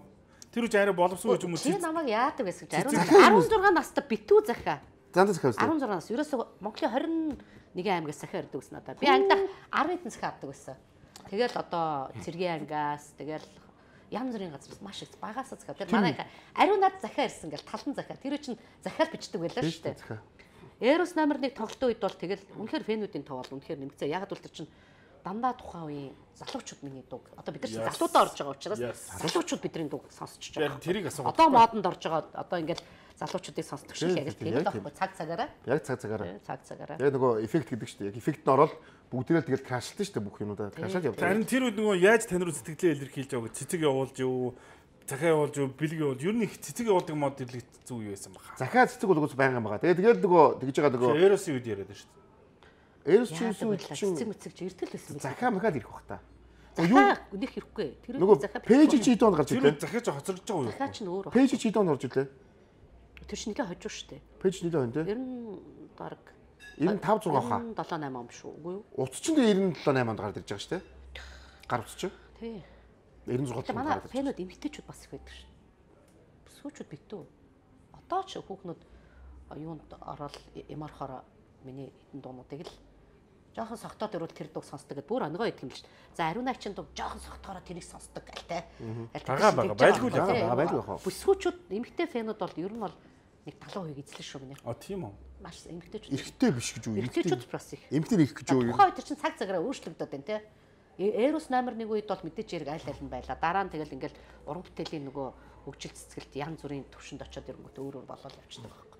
Тэр үж арай боловсон гэж юм уу? Чи намайг яадаг байсан гэж 16 настай битүү захаа. Зандаа захаа. 16 нас. Ерөөсөө Монголын 21 аймгаас захаа ирдэг гэсэн надаа. Би ангидаа 10 хэдэн захаа авдаг байсан. Тэгэл одоо цэргийн ангиас тэгэл янз бүрийн газраас маш их багасаа захаа. Тэр манай ариун над захаа ирсэн гэл талан захаа. Тэр чинь захаар бичдэг байлаа шүү дээ. Эрос номер 1 тоглолтын үед бол тэгэл үнэхээр фэнүүдийн тоо бол үнэхээр нэмэгцээ. Яг л тэр чинь дандаа тухайн үеийн залуучууд миний дуу. Одоо бид нар залуудаа орж байгаа учраас залуучууд бидний дууг сонсч байгаа. Тэрийг асуух. Одоо модонд орж байгаа. Одоо ингээл залуучуудыг сонсдог шиг яг л тийм л байхгүй цаг цагаараа. Яг цаг цагаараа. Цаг цагаараа. Яг нөгөө эффект гэдэг шүү дээ. Яг эффект нь ороод бүгдээрээ тэгэл крашлсан шүү дээ бүх юмудаа. Крашаад явдаг. Харин тэр үед нөгөө яаж тань руу сэтгэлээ илэрхийлж байгаа цэцэг явуулж юу, захаа явуулж юу, бэлэг явуулж ер нь их цэцэг явуулдаг мод ирлэг зүг юу байсан баха. Захаа цэцэг бол уус байнган байгаа. Тэгээд нөгөө тэгж байгаа нөгөө Эросын үед яриад шүү дээ. Эрос чинь цэцэг мэцэг чи эртэл байсан байх. захаа махад ирэх бах та. Юу нэх ирэхгүй. Тэр захаа пэйж чи доонд гарч ирлээ. Тэр захаа ч хоцорж байгаа юу? Захаа чинь өөр. Пэйж чи доонд орж ирлээ. Тэр чинь нэгэ хожуу штэ. Пэйж нэлээ байна те. 90 дараг 95 6 хаа. 7 8 ам шүү. Үгүй юу? Утас чинь 97 8 онд гараад ирж байгаа штэ. Гар утас чинь. Тий. 96 манай фэнүүд эмгтээчүүд бас их байдаг шүү. Сүүчүүд битүү. Одоо ч хүүхнүүд юунд ороод ямархаар миний хитэн дуунуудыг л жоохон согтоод ирвэл тэр дуу сонсдог гэдээ бүр онгоо идэх юм л шүү. За ариун ачийн дуу жоохон согтоороо тэрийг сонсдог гал те. Байгаа байлгүй байлгүй. Бүсгүүчүүд эмгтээ фэнүүд бол ер нь бол нэг 70% эзлэн шүү гинэ. Тийм үү. Маш эмгтээчүүд. Эрэгтэй биш гэж үү? Эмгтээчүүд бас их. Эмгтээ их гэж үү? Тухайн үед чинь цаг цагаараа өөрчлөгдөд байна те. Эрос номер 1 үед бол мэдээж хэрэг аль аль нь байла. Дараа нь тэгэл ингээл уран бүтээлийн нөгөө хөгжил цэцгэлт янз бүрийн төвшөнд очиод ирэнгүүт өөрөөр болоод явчихдаг байхгүй.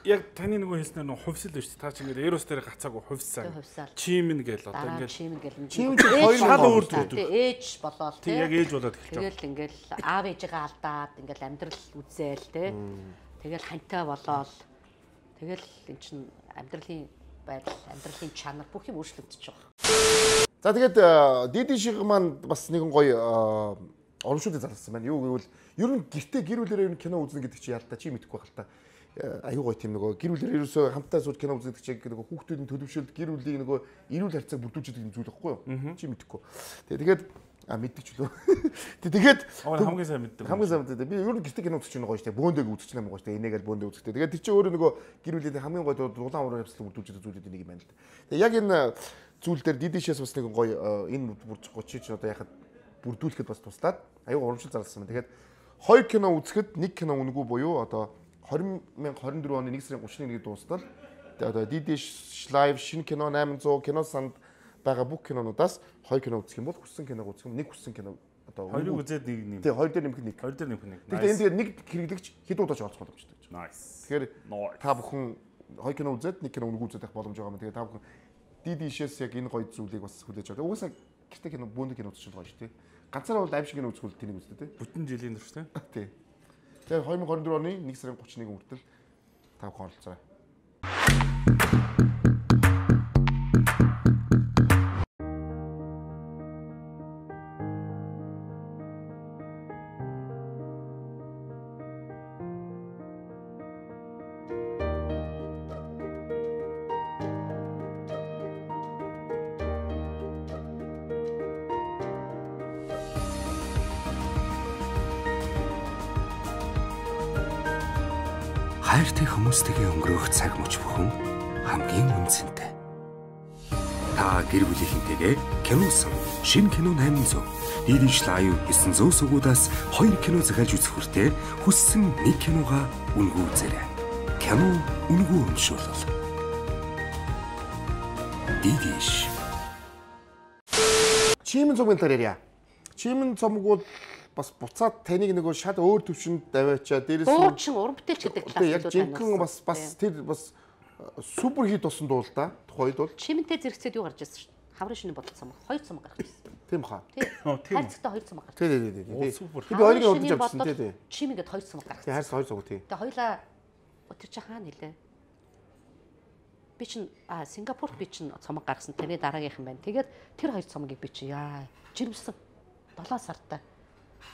Яг таны нөгөө хэлснээр нөгөө хувьсэл биш та чи ингээд Эрос дээр гацаагүй хувьсаа. Чимэн гээл одоо ингээд чимэн гээл. Чимэн хоёр шал өөр дүү. Ээж болоод тийм яг ээж болоод эхэлж байгаа. Тэгэл ингээл аав ээжигээ алдаад ингээл амьдрал үзээл те. Тэгэл хантай болоод тэгэл эн чин амьдралын байдал, амьдралын чанар бүх юм өөрчлөгдөж байгаа. За тэгээд Диди шиг маань бас нэгэн гоё урамшуулыг зарласан байна. Юу гэвэл ер нь гэр бүлээрээ кино үзнэ гэдэг чи яалтаа чи мэдэхгүй байх л та. аюу гой тийм нөгөө гэр бүлээр ерөөсөө хамтдаа сууж кино үздэг чиг нөгөө хүүхдүүдийн төлөвшөлт гэр бүлийн нөгөө эрүүл харьцааг бүрдүүлж байгаа зүйл байхгүй юу? Чи мэдэхгүй. Тэгээд мэддэг ч үлээ. Тэгээд хамгийн сайн мэддэг. Хамгийн сайн мэддэг. Би ер нь гэртээ кино үзэж байгаа гоё штэ. Бөөндөг үзэж байгаа юм гоё штэ. Энийгээр бөөндөг үзэхдээ. Тэгээд тэр чинь өөрөө нөгөө гэр бүлийн хамгийн гоё дулаан ураар явцлыг бүрдүүлж байгаа зүйлүүд нэг юм байна л да. Тэгээд яг энэ зүйл дээр дидишээс бас нэг гоё энэ бүрдчихгүй чи одоо яхад бүрдүүлэхэд бас туслаад аюу урамшил зарласан байна. Тэгээд 2 кино үзэхэд 1 кино үнэгүй буюу одоо 2024 оны 1 сарын 31-нд дуустал одоо Didish Live шинэ кино 800 кино санд байгаа бүх кинонуудаас 2 кино үзэх юм бол хүссэн киног үзэх юм. Нэг хүссэн кино одоо 2-ыг үзээд нэг нэм. Тий, 2 дээр нэмэхэд 1. 2 дээр нэмэх 1. Тэгэхээр энэ дээр нэг хэрэглэгч хэд удаач олох боломжтой гэж. Nice. Тэгэхээр та бүхэн 2 кино үзээд 1 кино үнэгүй үзэх боломж байгаа юм. Тэгээ та бүхэн Didishээс яг энэ гоё зүйлийг бас хүлээж аваад. Угаасаа гэртээ кино бөөндө кино үзчих гоё шүү дээ. Ганцаараа бол аимшиг кино үзэх үл тэнийг үздэг тий. Бүтэн жилийн турш тий. Тий. Тэгэхээр 2024 оны 1 сарын 31-ний хүртэл та бүхэн оролцоорой. Хайртай хүмүүстэйгээ өнгөрөх цаг мөч бүхэн хамгийн үнцэнтэй. Та гэр бүлийнхэнтэйгээ киносон шинэ кино 800 Didish Live 900 сугуудаас 2 кино захиалж үзэх хүртээ хүссэн 1 киногаа үнэгүй үзээрэй. Кино үнэгүй өмшөөлөл. Didish. Чимэн цомгийн талаар ярья. Чимэн цомгууд бас буцаад таныг нөгөө шал өөр төвшөнд даваачаа дээрээс дуучин уран бүтээлч гэдэг талаас яг жинхэнэ бас тэр бас супер хит болсон дуу л да. Тухайд бол чимэнтэй зэрэгцээд юу гарч ирсэн шүү дээ. Хаврын шөнө бодлоо цамаг 2 цамаг гарч ирсэн. тийм баха. Тийм. Хайрцагтай 2 цамаг гарч. Тий. Супер. Би хоёрыг удаж авчихсан тий. Чимэнгээд 2 цамаг гарч. Тий хайрс 2 цамаг тий. Тэгээ хоёлаа тэр чи хаана нэлээ. Би чин Сингапурт би чин цамаг гаргасан. Тэрний дараагийнх нь байна. Тэгээд тэр 2 цамгийг би чи жирэмсэн 7 сартай.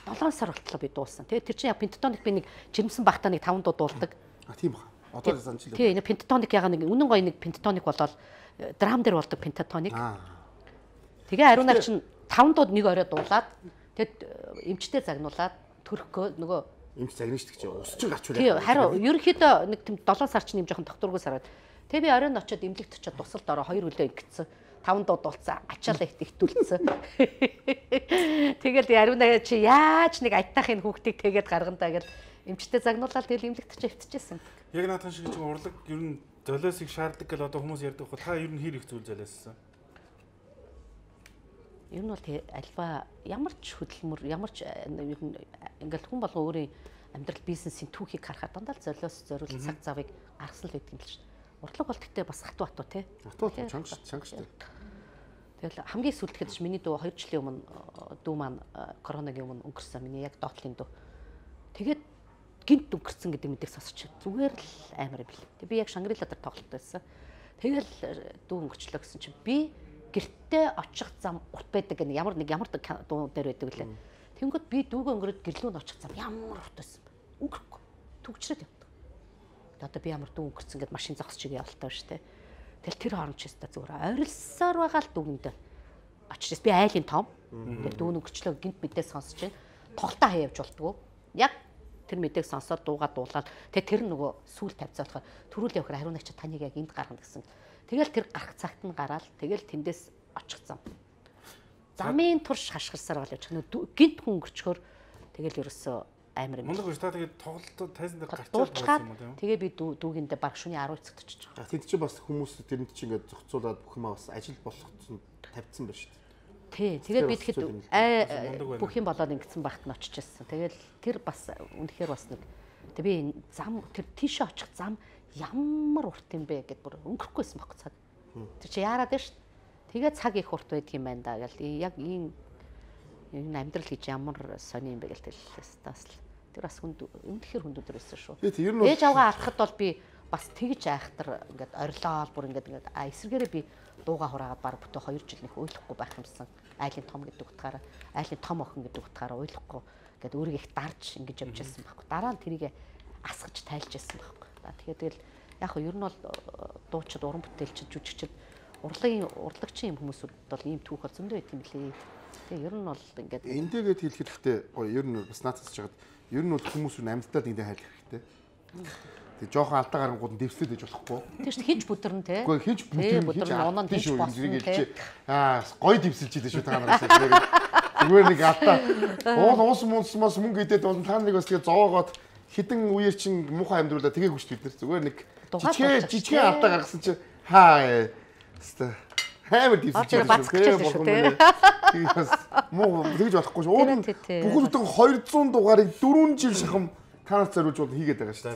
7 сар болтлоо би дуулсан. Тэгээд тэр чинь яг пентатоник би нэг жирэмсэн багтаа нэг 5 дуу дуулдаг. Тийм баха. Одоо санчлаа. Тийм нэг пентатоник яга нэг үнэн гоё нэг пентатоник болоод драм дээр болдог пентатоник. Тэгээ ариунаар чинь 5 дууд нэг орой дуулаад тэгэд эмчтэй загнуулаад төрөхгөө нөгөө эмч загнаж шүү дээ. Ус чинь гарч үлээ. Тийм харин ерөнхийдөө нэг тийм 7 сар чинь юм жоохон докторгоо сараад. Тэгээ би оройн очиод эмнэлэгт очиод тусалд ороо 2 өглөө ингэсэн. 5 дуу дуулцсан ачаалаа ихтүүлсэн. Тэгэл ариунаа чи яаж нэг айтаахын хүүхдийг тэгээд гаргандаа гэл эмчтэй загнуулаад тэгэл эмнэлэгт ч авчижсэн. Яг наадхан шиг чинь урлаг ер нь золиосыг шаарддаг гэл одоо хүмүүс ярьдаг хөө та ер нь хэр их зүйл золиоссан. Ер нь бол альва ямар ч хөдөлмөр ямар ч ер нь ингээл хүн болгон өөрийн амьдрал бизнесийн түүхийг харахад дандаа л золиос зориул цаг завыг гаргасан л байдаг юм л шүү. Урлаг бол гэхдээ бас хатуу тий. Хатуу чанга шүү. Тэгэл хамгийн сүүлдэхэд ч миний дүү 2 жилийн өмнө дүү маань коронагийн өмнө өнгөрсөн. Миний яг доотлын дүү. Тэгээд гинт өнгөрсөн гэдэг мэдээ сонсч зүгээр л амар бил. Тэг би яг Шангрила дээр тоглолт байсан. Тэгэл дүү өнгөрчлөө гэсэн чинь би гэртээ очих зам урт байдаг гэнэ ямар дуу дээр байдаг лээ. Тэнгүүд би дүүгээ өнгөрөөд гэрлүүнд очих зам ямар урт байсан бэ? Өнгөрөхгүй. Түгчрээд явдаг. Одоо би ямар дүү өнгөрсөн гэд машин зогсож явалтаа шүү дээ. Тэгэл тэр хооронд ч өстө зүгээр ойрлсоор байгаа л дүгэндээ очиж би айлын том. Тэгэл дүүн өнгөрчлөө гинт мэдээ сонсож байна. Тоглолтоо хаяавж болтгоо. Яг тэр мэдээг сонсоод дуугаа дуулаад тэгээ тэр нөгөө сүүл тавьцаа болохоор төрүүл явахаар хариунагч таныг яг энд гаргана гэсэн. Тэгэл тэр гарах цагт нь гараад тэгэл тэндээс очих зам. Замын турш хашгирсаар бол явж гинт хүн өнгөрчхөөр тэгэл ерөөсөө амар юм. Мундаг биш та тэгээд тоглолтод тайзан дээр гарч байгаа юм уу? Тэгээ би дүүгэндээ баг шөнийн 10 цагт очиж байгаа. Тэнд чинь бас хүмүүс тэрэнд чинь ингээд зохицуулаад бүх юм бас ажил болгоцсон тавьсан байна шүү дээ. Тий. Тэгээд би тэгэхэд бүх юм болоод ингэсэн багт нь очиж ирсэн. Тэгэл тэр бас үнэхээр бас нэг тэг би зам тэр тийшээ очих зам ямар урт юм бэ гэд бүр өнгөрөхгүйсэн баг цаг. Тэр чи яарад байна шүү. Тэгээ цаг их урт байдаг юм байна да гэл яг энэ амьдрал гэж ямар сони юм бэ гэл хэллээс тас л тэр бас үнэхээр хүнд өдрөөсөн шүү. Ээж авгаа алхахад бол би бас тэгж айхтар ингээд орилоод бүр ингээд эсэргээрээ би дууга хураагаад баг бүтээ 2 жил нэх ойлгохгүй байх юмсан. Айлын том гэдэг утгаараа айлын том охин гэдэг утгаараа ойлгохгүй ингээд өөрийгөө их дарж ингэж явж байсан байхгүй. Дараа нь тэрийг асгаж тайлж байсан байхгүй. Тэгэхээр яг хөө ер нь бол дуучид, уран бүтээлчид, жүжигчид, урлагчийн хүмүүсүүд бол ийм түүх бол зөндөө идэм билээ. Тэгээ ер нь бол ингээд эндээгээд хэлэхэд ихтэй ер нь бас наацж чагаад ер нь бол хүмүүс амьдтаад ингээд хайлах хэрэгтэй. Тэг жоохон алдаа гарангууд нь дэвслээд байж болохгүй. Тэг шүү хинж бүдэрн те. Үгүй хинж бүдэрн оноо хинж болсон те. Гой дэвсэлж идэв шүү та нараас. Зүгээр нэг алдаа. Уус мөнгө идээд бол та нарыг бас тэгээ зоогоод хідэн үеэр чин муухай амьдруулаа тэгээ хүчтэй бид нар зүгээр нэг жижигхэн алдаа гаргасан чинь хаа хэвээ хэмэр дэвсэлж байгаа. Тэгээс муу тэгж болохгүй шүү. Бүгд өдөө 200 дугаарыг 4 жил шахам танаас зориулж бол хийгээд байгаа шүү.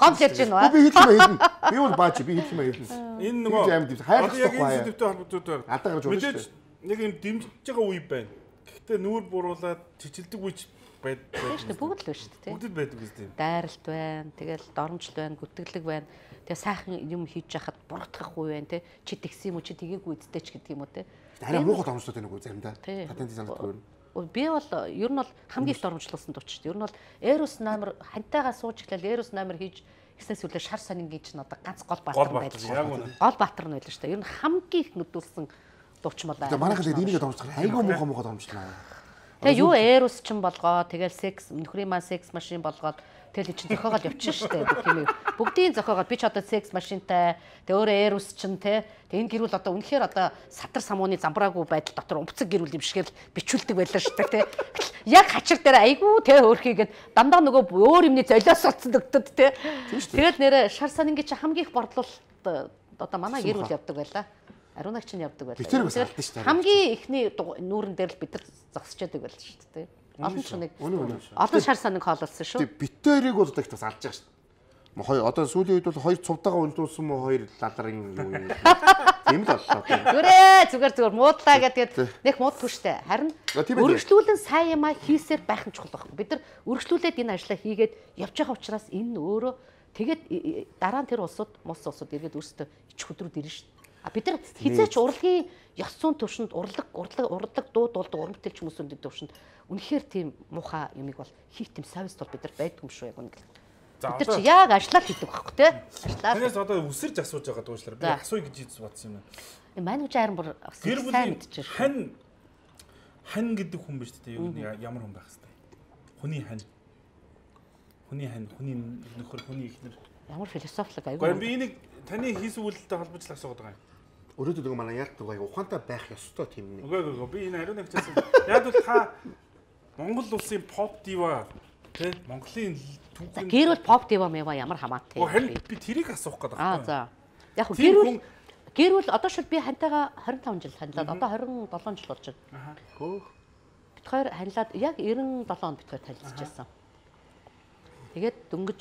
Гом хэлж байна уу? Би хэлэх юм хэлнэ. Би бол бааж би хэлэх юм хэлнэ. Энэ нөгөө хайрлах яг энэ сэдвтэй холбоотой алдаа гарч байна шүү. Нэг юм дэмжиж байгаа үе байна. Гэхдээ нүүр буруулаад чичилдэг үе байдаг. Бүгд л байна шүү дээ. Бүгд байдаг үстэй. Дайралт байна, тэгэл доромжл байна, гүтгэлэг байна. Тэгээ сайхан юм хийж яхад бургатгах үе байна те. Чи тэгсэн юм уу, чи тгийгүй үдтэй ч гэдэг юм уу те. Арай муухай доромжлууд байна уу заримдаа. Патент санагддаг байна. Би бол ер нь бол хамгийн их доромжлуулсан дууч. Ер нь бол Эрус номер хантайгаа сууж эхлээл Эрус номер хийж гиснээс үлээ шар сонингийн чинь одоо ганц гол баатар байлаа. Гол баатар нь байлаа шүү дээ. Ер нь хамгийн их нүдүүлсэн дууч юм байна. Тэгээ манайхад энийг доромжлох айгүй муухай доромжлоо. Тэгээ юу Эрус ч юм болгоо, тэгэл секс нөхрийн маань секс машин болгоод тэгэл чинь зохиогоод явчихна шүү дээ. Бүх юм бүгдийн зохиогоод би ч одоо секс машинтай, тэгээ өөрөө Эрус чинь те. Тэгээ энэ гэрүүл одоо үнэхээр одоо сатар самууны замбраагүй байдал дотор умцэг гэрүүл юм шигэл бичүүлдэг байлаа шүү дээ те. Яг хачир дээр айгүй те өөрхийгээд дандаа нөгөө өөр юмны золиос олцсон дөгдөд те. Тэгэл нэрэ шар санингийн чи хамгийн их борлуулалт одоо манай гэрүүл явдаг байлаа. Ариунагч нь явдаг байлаа. Хамгийн ихний нүүрэн дээр л бид нар зогсчээдэг байлаа шүү дээ. Олон ч нэг олон шар саниг хоололсон шүү. Битэрийг бол одоо их бас алж байгаа шүү. Хоёр одоо сүүлийн үед бол хоёр цувтаага ундуулсан мó хоёр лаларын юу юм. Тийм л боллоо. Зүгээр муудлаа гэдэг нэг муудгүй штэ. Харин өргөжлүүлэн сайн юм а хийсээр байх нь чухал байхгүй. Бид нар өргөжлүүлээд энэ ажлаа хийгээд явж байгаа учраас энэ өөрөө тэгээд дараа нь тэр улсууд иргэд өөрсдөө ич хөдрүүд ирнэ штэ. Бид нар хизээч урлагийн ёс зүйн төвшөнд урлаг дууд болдог уран бүтээлч хүмүүсийн төвшөнд үнэхээр тийм муухай юмыг бол хийх тийм совест бол бид нар байдгүй юм шүү яг үнэ. Бид нар чи яг ажиллаад хийдэг байхгүй те. Танаас одоо үсэрж асууж байгаа дуучлаар би асууя гэж бодсон юм байна. Манай үжи харин бүр сайн мэдчихэж. Хань гэдэг хүн биш үү? Ямар хүн байх хэвээр. Хүний нөхөр, хүний ихнэр. Ямар философик аягүй. Гэхдээ би энийг таны хийсэн үйлдэлтэй холбож л асуугаад байгаа юм. Өөрөөдөө нэг манай яг нэг ухаантай байх ёстой тийм нэг. Үгүй би энэ ариун нэгчсэн. Яг бол та Монгол улсын pop diva тий Монголын түүхэн гэрүүл pop diva мэва ямар хамаатай. Харин би тэрийг асуух гэдэг байна. За. Яг гэрүүл одоо шил би хантайгаа 25 жил танилаад одоо 27 жил болж байна. Хөөх. Бид хоёр танилаад яг 97 онд бид хоёр танилцж байсан. Тэгээд дөнгөж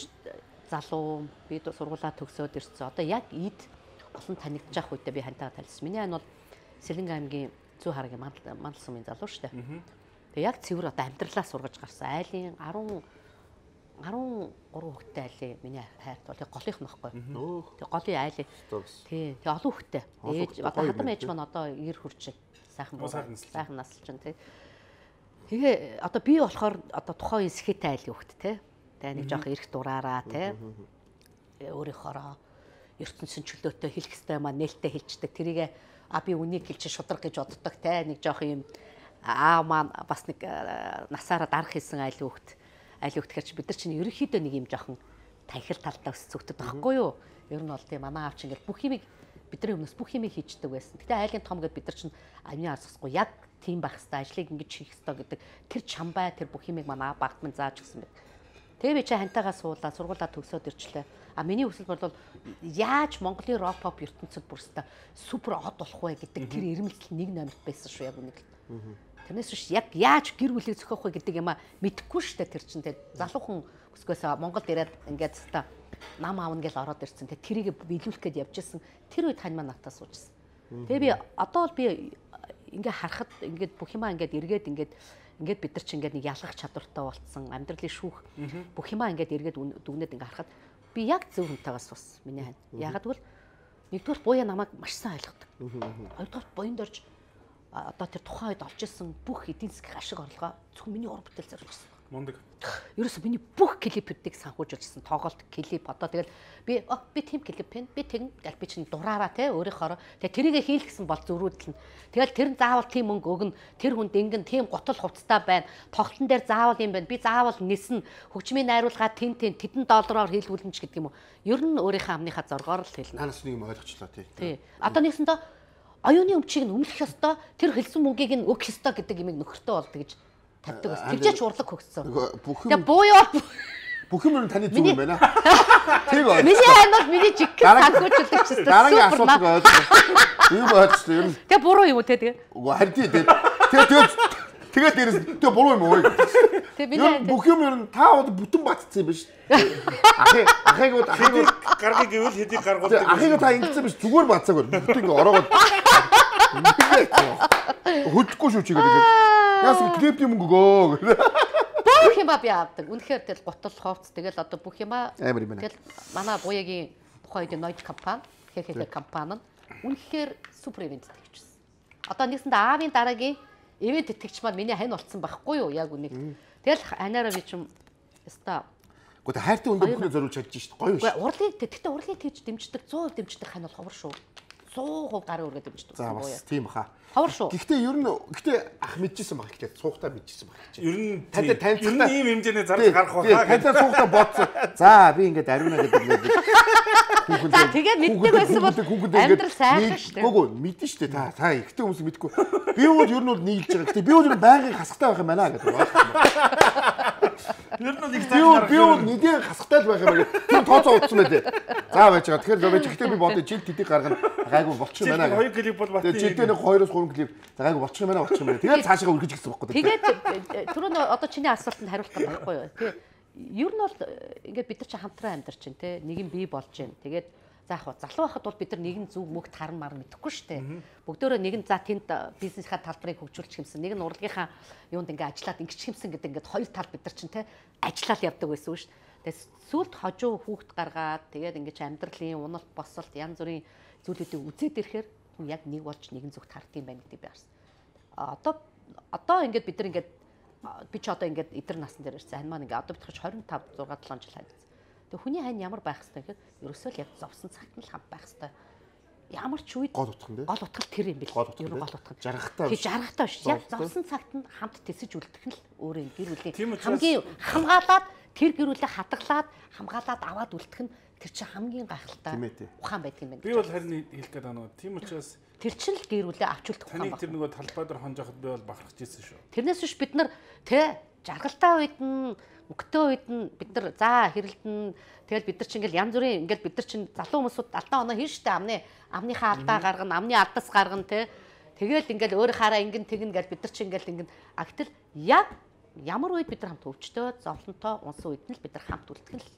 залуу бид сургуулаа төгсөөд ирсэн. Одоо яг эд олон танигдж явах үедээ би хантайгаа танилцсан. Миний ань бол Сэлэнг аймгийн Зүү харгийн мандал сумын залуу шүү дээ. Тэгээ яг цэвэр одоо амьдралаа сургаж гарсан. Айлын 13 хүүхэдтэй айлын миний хайрт бол тэг голынх нь байхгүй. Тэг голын айлын. Тий. Тэг олон хүүхэдтэй. Ээж одоо хадам ээж маань одоо 90 хүрч сайхан сайхан насалж байна тий. Тэгээ одоо би болохоор одоо тухайн үеийн сэхэтэй айлын хүүхэд тий. Тэгээ нэг жоох эрх дураараа тий. Өөрийнхоороо ертөнцийн чөлөөтэй хэлэх хэвээр маань нээлттэй хэлцдэг. Тэрийг би үнийг хэлж шудраг гэж боддог те нэг жоох юм маань бас нэг насаараа дарах хийсэн айл хүүхд гэхэрч бид нар чинь ерөнхийдөө нэг юм жоохон танхил талдаа өсцөгдөд байхгүй юу? Ер нь бол тийм манай аав чинь ингээл бүх юмыг бидний өмнөөс бүх юмыг хийждэг байсан. Гэтэ айлын том гэд бид нар чинь амны асахгүй яг тийм байх хэвээр ажлыг ингэж хийх хэвээр гэдэг тэр чамбай тэр бүх юмыг манай багт минь зааж өгсөн байт. Тэгээ би чи хантайгаа суулаа сургуулаа төгсөөд ирчлээ. Миний хүсэл бол яаж Монголын рок pop ертөнцид бүрстэ супер од болох вэ гэдэг тэр ирмэлт нэг номерт байсан шүү яг үнийг. Тэрнээс биш яг яаж гэр бүлийг зохиох вэ гэдэг юм а мэдэхгүй шүү дээ тэр чинь те залуухан өсгөөс Монголд ирээд ингээд та нам аавна гэж ороод ирсэн те тэрийг биелүүлэх гээд явж исэн тэр үед хань маань натаа суужсэн. Тэгээ би одоо л би ингээ харахад ингээд бүх юмаа ингээд эргээд ингээд бид нар чи ингээд нэг ялгах чадвартай болцсон амьдралын шүүх бүх юмаа ингээд эргээд дүгнээд ингээд харахад би яг зөв хүнтэйгээс бас миний хань. Ягаад гэвэл нэгдүгээр буяа намайг маш сайн ойлгодог. Хоёрдугаар буянд орж одоо тэр тухайн үед олж ирсэн бүх эдийн засгийн ашиг орлогоо зөвхөн миний уран бүтээл зориулсан. Мундаг. Ерөөсө миний бүх клипүүдийг санхүүжүүлж ирсэн. Тоглолт, клип одоо тэгэл би тийм клип байна. Би тэгнэ гэл би чинь дураараа те өөрийнхөө. Тэгээ тэрийгэ хийлгэсэн бол зөрүүлдэлнэ. Тэгэл тэр нь заавал тийм мөнгө өгнө. Тэр хүнд ингэн тийм готол хувцастай байна. Тоглолтын дээр заавал юм байна. Би заавал нисэн хөгжмийн найруулгаа тэдэн доллараар хийлгүүлнэ ч гэдэг юм уу. Ер нь өөрийнхөө амныхаа зоргоор л хэлнэ. Танаас нэг юм ойлгочлаа тий. Одоо нэгсэндээ оюуны өмчийг нь өмнөх ёстой. Тэр хэлсэн мөнгийг нь өгөх ёстой гэдэг юмыг нөхөртөө болдог гэж тавьдаг бас. Тэгжээч урлаг хөгссөн. Тэгээ буюу бүх юм таны зүг юм байна. Тэг байна. Миний ханаад миний жиг санхүүжүүлдэг ч гэсэн. Дараагийн асуудал ойлгоо. Юу бодчих юм. Тэгээ буруу юм уу те тэгээ. Үгүй харин тэгээ дээрээс тэгээ буруу юм уу? Тэгээ бүх юм ер нь та бол бүтэн батцсан юм биш. Ахыг гаргыг гэвэл хэдийг гаргуулдаг. Ахыг та ингэсэн биш зүгээр батцаагүй. Бүтэн ингээ ороогод хөдөлгөхгүй шүү чигээр ингээд. Яас клип юм өгөө. Бүх юм би авдаг. Үнэхээр тэл готол ховц тэгэл одоо бүх юм амар юм байна. Тэгэл манай буягийн тухайн үед Noise компани, хэхэ компани нь үнэхээр супер ивент тэтгэжсэн. Одоо нэгсэндээ аавын дараагийн ивент тэтгэгч маань миний хань болцсон байхгүй юу яг үнийг. Тэгэл анаараа би чим яста. Гэхдээ хайртай хүндээ бүхнээ зориулж чадж шít гоё шүү. Урлагийг тэгтээ урлагийг тэгж дэмждэг 100% дэмждэг хань бол ховор шүү. 100% гарын үргээ дэмждэг. За бас тийм баха. Ховор шүү. Гэхдээ ер нь ах мэдчихсэн баг ихтэй цуухтаа мэдчихсэн баг. Ер нь танилцахтаа ийм хэмжээний зардал гарах байхаа. Танилцаа цуухтаа бодсон. За би ингээд ариуна гэдэг нэг За тэгээ мэддэг байсан бол амьдрал сайхан шүү дээ. Гүг мэдэн шүү дээ. Та ихтэй хүмүүс мэдгүй. Би бол ер нь бол нийлж байгаа. Гэхдээ би бол байнгын хасахтай байх юм байна гэдэг байна. Ер нь их цааш би бол нэгэн хасахтай л байх юм байна. Тэр тооцоо утсан байлээ. За байж байгаа. Тэгэхээр ловэж ихтэй би бодож жил тэдийг гаргана. Гайгүй болчих юм байна. Хоёр клип бол бат. Жилдээ нэг 2-3 клип. За гайгүй болчих юм байна. Тэгээд цаашаа үргэж гисэн байхгүй. Тэгээд түрүүн одоо чиний асуултанд хариулах байхгүй юу? Тэгээ ер нь бол ингээд бид нар чи хамтран амьдарч чинь те нэг юм бий болж байна. Тэгээд за яг залуу байхад бол бид нар нэгэн зүг мөгт харан мар мэдэхгүй шүү дээ. Бүгдөө нэгэн за тэнд бизнесийнхаа талбарыг хөгжүүлчих юмсан. Нэг нь урлагийнхаа юунд ингээд ажиллаад ингэж хэмсэн гэдэг ингээд хоёр тал бид нар чинь те ажиллаад явдаг байсан шүү дээ. Тэгээд сүлд хожуу хүүхд гаргаад тэгээд ингээд амьдралын уналт босолт янз бүрийн зүйлүүдийг үзээд ирэхээр яг нэг болж нэгэн зүгт хардсан байна гэдэг би харсан. Одоо ингээд бид нар ингээд би ч одоо ингээд эдэр насн дээр ирсэн. Ань маань ингээд одоо битгэж 25 6 7 жил хайцсан. Тэг хүний хань ямар байх хэвээр гэхээр ерөөсөө л яг зовсон цагт нь л хамт байх хэвээр. Ямар ч үед гол утга нь гол утга тэр юм бэл. Ер нь гол утга. Жаргахтаа. Тэг жаргахтаа биш. Яг зовсон цагт нь хамт тэсэж үлдэх нь л өөрөө гэр бүлийн хамгийн хамгаалаад тэр гэр бүлээ хадгалаад хамгаалаад аваад үлдэх нь тэр чинь хамгийн гайхалтай ухаан байдаг юм байна. Би бол харин хэлэх гээд байна. Тийм учраас тэр чинь л гэр бүлээ авч үлдэх ухаан байна. Тэр нөгөө талбай дээр хонжоход би бол бахархаж ирсэн шүү. Тэрнээс биш бид нар тэ жаргалтай үед нь мөнгөтэй үед нь бид нар за хэрэлдэн тэгэл бид нар чинь ингээл янз бүрийн ингээл бид нар чинь залуу хүмүүсүүд алдаа оноо хийн штэ амныхаа алдаа гаргана амны алдаас гаргана тэгэл ингээл өөрийнхаараа ингэн тэгнэ гэж бид нар чинь ингээл ингэн агтл яг ямар үед бид нар хамт өвчтөө зовлонтой унсан үед нь л бид нар хамт үлдэх нь л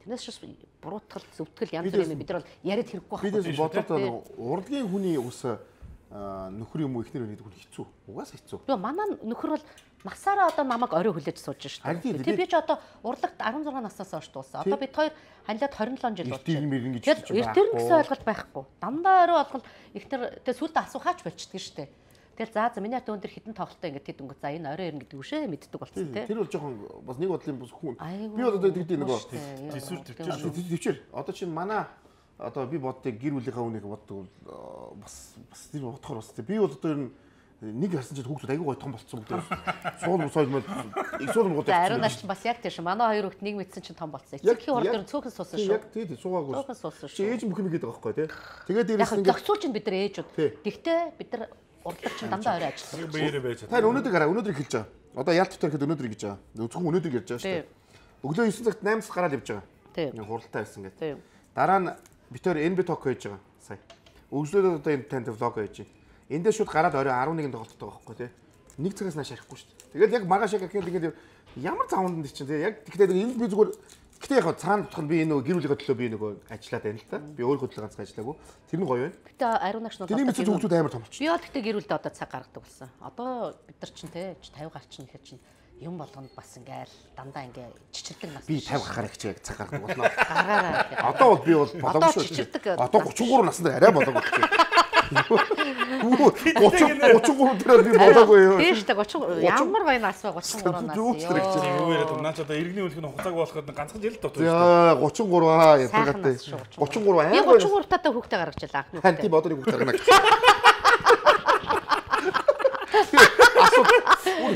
тэрнээс шус буруутгал зөвтгөл янз бүрийн бид нар бол яриад хэрэггүй байна. Бидээс бодлоо урлагийн хүний ус нөхөр юм уу ихнэр гэдэг хүн хэцүү. Угаасаа хэцүү. Тэгээ манай нөхөр бол насаараа одоо намайг орой хүлээж сууж шүү дээ. Тэг би ч одоо урлагт 16 наснаас хойш дуусан. Одоо бид хоёр ханилаад 27 жил болж байна. Тэгэл эртэр гэсэн ойлголт байхгүй. Дандаа орой болгол ихнэр тэг сүлд асуухаач болчихдээ шүү дээ. Тэгэл за миний хат өндөр хитэн тоглолтоо ингээд тэд өнгө за энэ орой ирнэ гэдэг үшээ мэддэг болсон тий. Тэр бол жоохон бас нэг бодлын бус хүн. Би бол одоо тэгдэг нөгөө төвчээр. Одоо чинь манай одоо би боддог гэр бүлийнхаа үнийг боддог бас тэр бодохоор бас би бол одоо ер нь нэг харсан чинь хүүхдүүд аягүй гой том болцсон бүгд суул соёл их суул гоо. Ариун наш бас яг тийм ш. Манай хоёр хүүхд нэг мэдсэн чинь том болцсон. Эцэгхийн хурд дээр цөөхөн суусан шүү. Яг тийм суугаагүй. Цөөхөн суусан шүү. Чи ээж бүх юм игээд байгаа байхгүй тий. Тэгээд дээрээс ингээд зохицуулж ин бид нар ээжүүд. Гэхдээ бид нар урлаг чинь дандаа орой ажилласан. Баяраа байж. Та өнөөдөр гараа өнөөдөр хэлж байгаа. Одоо ялт дотор ихэд өнөөдөр гэж байгаа. Зөвхөн өнөөдөр ярьж байгаа шүү дээ. Өглөө 9 цагт 8-аас гараад явж байгаа. Тийм. Хуралтай байсан гэдэг. Дараа нь битээр NB Talk хийж байгаа. Сая. Өглөөд одоо энэ танд влог хийж байна. Эндээ шууд гараад орой 11-нд тоглолттой байгаа байхгүй тий. Нэг цагаас нааш ярихгүй шүү дээ. Тэгээд яг маргааш яг ингээд ямар завнд чинь тий. Яг тэгэхээр энэ би зүгээр гэтээ яг цаана тутах нь би энэ нөгөө гэр бүлийнхээ төлөө би нөгөө ажиллаад байна л та. Би өөрөө төлөө ганцхан ажиллаагүй. Тэр нь гоё байна. Гэтээ ариун нагш нь тэрний мэдээ хүүхдүүд амар том болчих. Би бол гэтээ гэр бүлдээ одоо цаг гаргадаг болсон. Одоо бид нар чинь тий 50 гарч ийн гэхэд чинь юм болгонд бас ингээл дандаа ингээ чичирдэг нас. Би 50 гарах гэж яг цаг гаргадаг болно. Гараараа. Одоо бол би бол боломжгүй. Одоо 33 наснд арай болоогүй. 33 дээр би болоогүй юу. Тийм шүү дээ 30 ямар гоё нас вэ 33 нас. Юу яриад байна. Наач одоо иргэний үлгэн хугацааг болоход ганцхан жил дутуу шүү. Яа 33 ядаргатай. 33 аа. 33 татаа хүүхдээ гаргачихлаа анхны. Хан тийм одоо нэг хүүхдээ гаргана.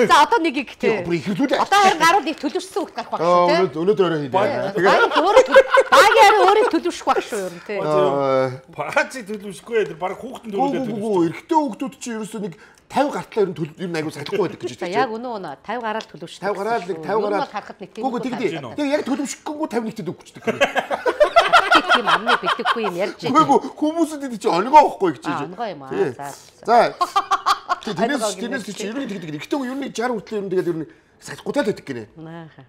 За одоо нэг ихтэй. Бүр ихэвлүүлээ. Одоо харин гарууд их төлөвшсөн хүүхд гарах байх шүү те. Өнөөдөр өөрөө хийлээ. Багаар өөрөө төлөвшөх байх шүү ер нь те. Багацыг төлөвшөхгүй тэр баг хүүхдэн төлөвлөж төлөвшөхгүй. Эрэгтэй хүүхдүүд чинь ерөөсөө нэг 50 гартлаа ер нь айгуу сахихгүй байдаг гэж байна. Яг өнөө 50 гараад төлөвшдөг. 50 гараад нэг 50 гараад харахад нэг тийм. Гэхдээ яг төлөвшөхгүй 51-т өгчдөг. Тийм амны битггүй юм ярьж байгаа. Үгүй хүмүүсүүд энэ чинь онгоо واخгүй гэж байна. Онгоо юм аа. За. Тэрнээс чи ер нь тэгдэг. Эрэгтэй хүн ер нь 60 хүртэл ер нь тэгээд ер нь сахихгүй байдаг гинэ.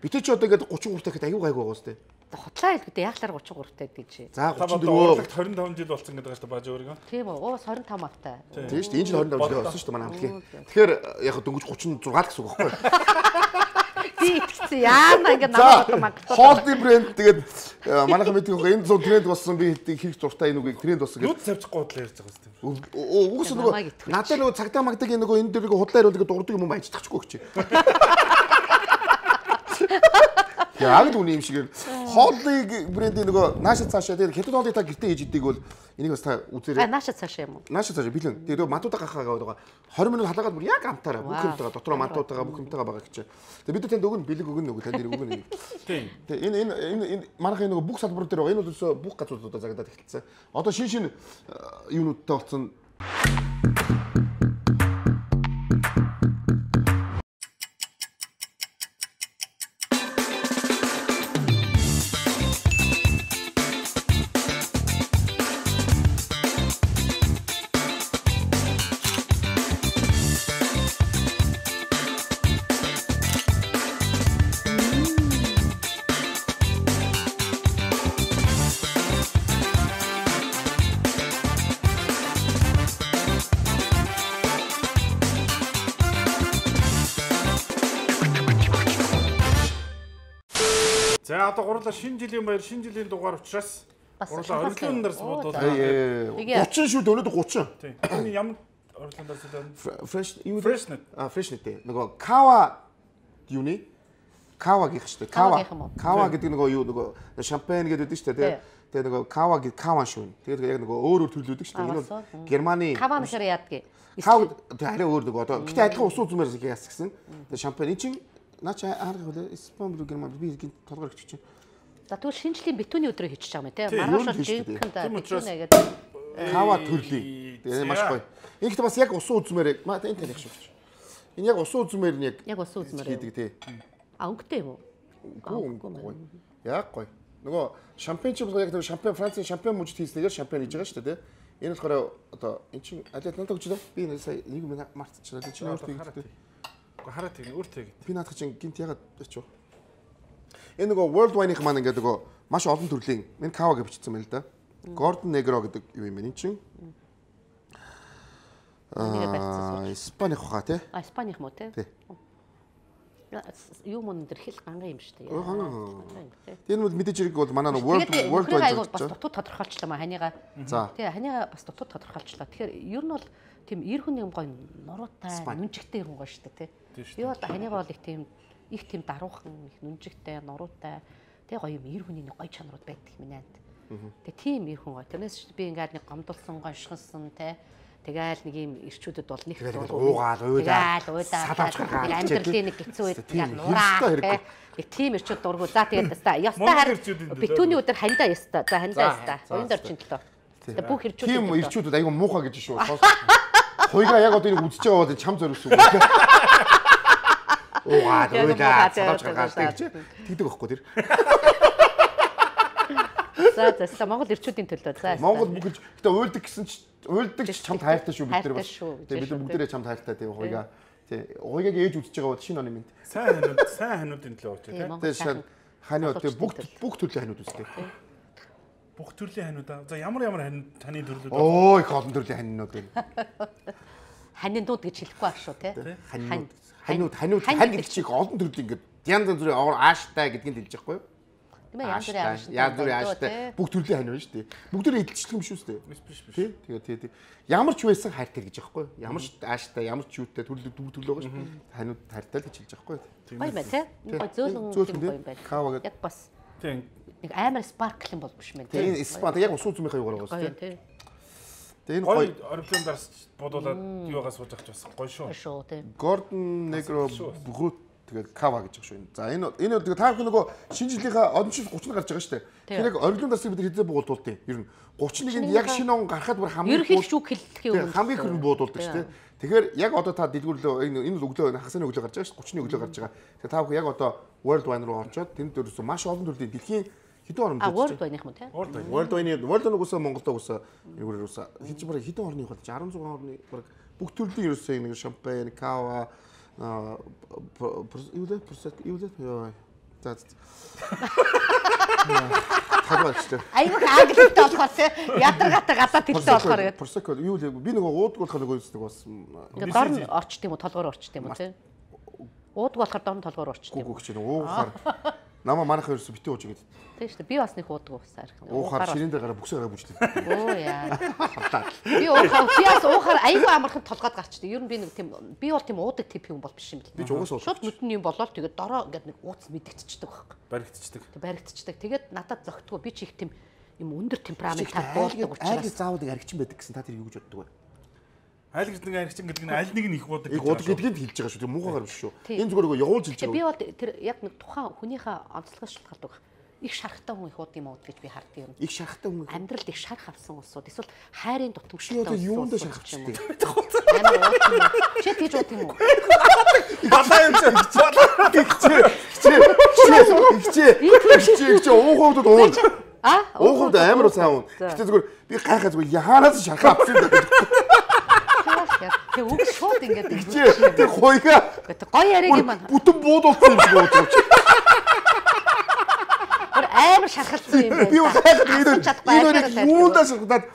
Битээ чи одоо ингээд 33 дахиад аюу гайгүй байгаа үстэй. Хутлаа хэлбэдээ яг л 33 таад гэж. За 34 25 жил болсон гэдэг байгаа шүү дээ бааж өөрийгөө. Тийм үү. 25 автай. Тийм шүү дээ. Энэ жил 25 жил болсон шүү дээ манай хамтлагийн. Тэгэхээр яг дөнгөж 36 л гэсэн үг байхгүй юу? Тэгсэн яана ингээд намайг магтуулсан. Холдын брэнд тэгээд манайхан мэддэг байгаа энэ зүүн тренд болсон би хэрэг зуртай энэ үгийг тренд болсон гэж. Нүд завчихгүй бодлоо ярьж байгаа юм. Угсаа нөгөө надад нөгөө цагдаа магдаг энэ нөгөө энэ дэрийг худлаа яриулдаг дурдаг юм баяжчихгүй гэж. Яг л үний юм шиг хоолыг брендийн нөгөө наашаа цаашаа тэгээд хятад хоолыг та гэртээ хийж идэг бол энийг бас та үзээрэй. Наашаа цаашаа юм уу? Наашаа цаашаа бэлэн. Тэгээд мантуудаа гахаагаа байгаа. 20 минут халаагаад бүр яг амтаараа бүх юмтайгаа дотроо мантуудаа бүх юмтайгаа байгаа гэж. Тэгээд бид танд өгнө бэлэг өгнө нөгөө танд өгнө. Тийм. Тэгээд энэ манайхын нөгөө бүх салбар дээр байгаа. Энэ үдээс бүх газруудаа загадаад эхэлсэн. Одоо шин юунуудтай болсон. За одоо гурлаа шинэ жилийн баяр шинэ жилийн дугаар учраас гурлаа ориглын нар суудуулаа. 30 шүү дээ өнөөдөр 30. Тийм. Энэ ямар ориглын нар суудаа? Freshnet. Freshnet дээ. Нөгөө Kawa юуны? Kawa-гийнх шүү дээ. Kawa гэдэг нөгөө юу нөгөө шампань гэдэг шүү дээ. Тэгээ нөгөө Kawa гэдэг Kawa шүү. Тэгээд яг нөгөө өөр төрлөөдөг шүү дээ. Энэ бол Германы Kawa гэхээр яадгийг. Kawa арай өөр нөгөө одоо гэтээ адилхан ус үзмээр яас гэсэн. Тэгээ шампань чинь наач харах хөлөө Испани руу Герман би гин толгоор өгч чинь. За тэгвэл шинжлэлийн битүүний өдрөө хийчих юм тий. Маргааш жинхэнд битүүнэ гэдэг. Kawa төрлийн. Тэгээ маш гоё. Энэ ихтэй бас яг усан үзмээр энэ талих шүү. Энэ яг усан үзмээр нь яг усан үзмээр хийдэг тий. А өнгөтэй юм уу? Үгүй. Яг гоё. Нөгөө шампань ч яг нөгөө шампань Францын шампань мужид хийснээр шампань хийж байгаа шүү дээ тий. Энэ болохоор одоо эн чинь алиад надад өгч лөө. Би сая нэг юм мартчихлаа. Чи өөртөө хийхдээ. Хараад тийм өөртөө гээд. Би наадах чинь гинт ягаад очив. Энэ нөгөө World Wine-ийн маань ингээд нөгөө маш олон төрлийн энэ Kawa гэж бичсэн байна л да. Gordon Negro гэдэг юу юм бэ энэ чинь? Испаних хаа тий? Испаних мó тий? Юу мөн дээр хэл ганган юм шүү дээ. Тэр нь мэдээж хэрэг бол манай World Wine бас дутуу тодорхойлчлаа маа ханигаа. Тий ханигаа бас дутуу тодорхойлчлаа. Тэгэхээр ер нь бол тийм эр хүн юм гоё нуруутай, нүнжигтэй эр хүн гоё шүү дээ тий. Би бол ханигаа бол их тийм даруухан, их нүнжигтэй, нуруутай тий гоё юм эр хүний гоё чанарууд байдаг минь аа. Тэгээ тийм эр хүн гоё. Тэрнээс би ингээд нэг гомдолсон, гоншгонсон тий. Тэгээл нэг юм ирчүүдэд бол нэг уугаал амьдралын нэг хэцүү үед яг нураа нэг тийм ирчүүд дургу. За тэгээд ястаа харин битүүний өдөр хандаа ястаа. За хандаа ястаа. Уян дорчин төлөө. Тэгээд бүх ирчүүд тийм ирчүүдэд айгүй муухай гэж шүү. Хойгаа яг одоо нэг үзэж байгаа бол чам зориулсан үг. Уугаад садавч гаргаалтай гэж тэгдэг байхгүй тэр. За Монгол ирчүүдийн төлөө. За Монгол бүгд гэтээ уйлдаг гэсэн чи уйлдаг чамд хайртай шүү бид нар бас. Тэгээ бид нар бүгдээрээ чамд хайртай тийм хойгаа. Тий. Хойгааг ээж үзэж байгаа бол шинэ оны минь. Сайн хануудын төлөө очоо тий. Тэгээ хань тий бүх төрлийн ханууд үзтээ. Бүх төрлийн ханууд. За ямар ханы төрлүүд байна? Оо их олон төрлийн ханууд байна. Ханинууд гэж хэлэхгүй байх шүү тий. Ханууд хань гэдэг чиг олон төрлийн ингээд янз бүрийн ааштай гэдгийг хэлж байхгүй юу? Янз бүрийн ааштай бүх төрлийн хань байна шүү дээ. Бүгд эдэлчлэг юм шүү дээ. Биш. Тэгээд ямар ч байсан хайртай гэж аахгүй. Ямар ч ааштай, ямар ч юутай төрлөг байгаа шүү дээ. Ханууд хайртай л гэж хэлж аахгүй. Гоё байна тий. Зөөлөн гоё байна. Кава гэдэг. Яг бас. Тийм. Нэг амар спаркл юм болмш мэн тий. Тийм спа яг ус үзмийнхаа юугаар байгаа шүү дээ. Тэгээд энэ гоё орбитын дарс бодуулаад юугаас сууж авч бас гоё шүү. Гоё шүү тий. Гордон Негро бүгд тэгээд кава гэж байгаа шүү. За энэ тэгээд та бүхэн нөгөө шинэ жилийнхаа одон шил 30 гарч байгаа шүү дээ. Тэгэхээр яг оргилын дарсыг бид хэзээ буудуулдیں۔ Ер нь 31-нд яг шинэ он гарахад бүр хамгийн ерөнхийдөө хэллэхийн өмнө хамгийн их буудуулдаг шүү дээ. Тэгэхээр яг одоо та дэлгүүрлөө энэ өглөө хагасны өглөө гарч байгаа шүү. 30-ны өглөө гарч байгаа. Тэгэхээр та бүхэн яг одоо World Wine руу орчоод тэнд дөрөсөн маш олон төрлийн дэлхийн хэдэн орнд World Wine-ийнх юм тий. World Wine уусаа Монголд уусаа юугаар уусаа хийж бараг хэдэн орны болж 16 орны бараг бүх төрлийн ерөөсөө нэг шампань, кава юу вэ? За. Айгуу англитэй болохоор тий. Ядаргаатай гадаад хэлтэй болохоор гэдэг. Prosecco юу вэ? Би нөгөө ууддаг болохоор нөгөө нэг бас ингээд дор нь орчт юм уу, толгоор орчт юм уу тий. Ууддаг болохоор дор нь толгоор орчт юм. Гүгч чинь уухаар намаа манайхаа ерөөсө битээ ууж игээд. Тийм шүү дээ. Би бас нэг уудаг уусаар. Уухаар ширэн дээр гараа бүксээ гараа бүжлээ. Оо яа. Би уухаар айгуу амархан толгойд гарчдаг. Ер нь би нэг тийм би бол тийм уудаг тип юм бол биш юм л. Би ч угаасаа шууд нүдэн юм болоод тэгээд дороо ингээд нэг ууц мэдэгдчихдэг байхгүй. Баригдчихдаг. Тэгээд надад зөгтгөө би ч их тийм юм өндөр темперамент буулдаг учраас. Айлгыз заавал аригчин байдаг гэсэн та тэр юу гэж боддог вэ? Айлгыз нэг аригчин гэдэг нь аль нэг нь их уудаг гэдгийг хэлж байгаа шүү. Тэр муухайгаар биш шүү. Энэ зүгээр нөгөө явуулж хэлж байгаа. Би бол тэр яг нэг тухайн хүнийхээ онцлогоос шалтгаалдаг. Их шархтай хүн их ууд юм уу гэж би харддаг юм. Их шархтай хүн амьдралд их шарх авсан улсууд эсвэл хайрын дутамжтай улсууд юунд шархч юм бэ? Амар ууд юм. Чи тийж ууд юм уу? Балаа юм чи ууховд уун. Ууховд амар сайн уун. Гэтэ зүгээр би гайхаа зүгээр яханаас шархаа авсан гэдэг. Тэг үг шууд ингээд тэр хойга гоё яриг юм байна. Бүтэн буудуулсан юм шиг ууж. Амар шархалсан юм байна. Би энэ юундаа шархаад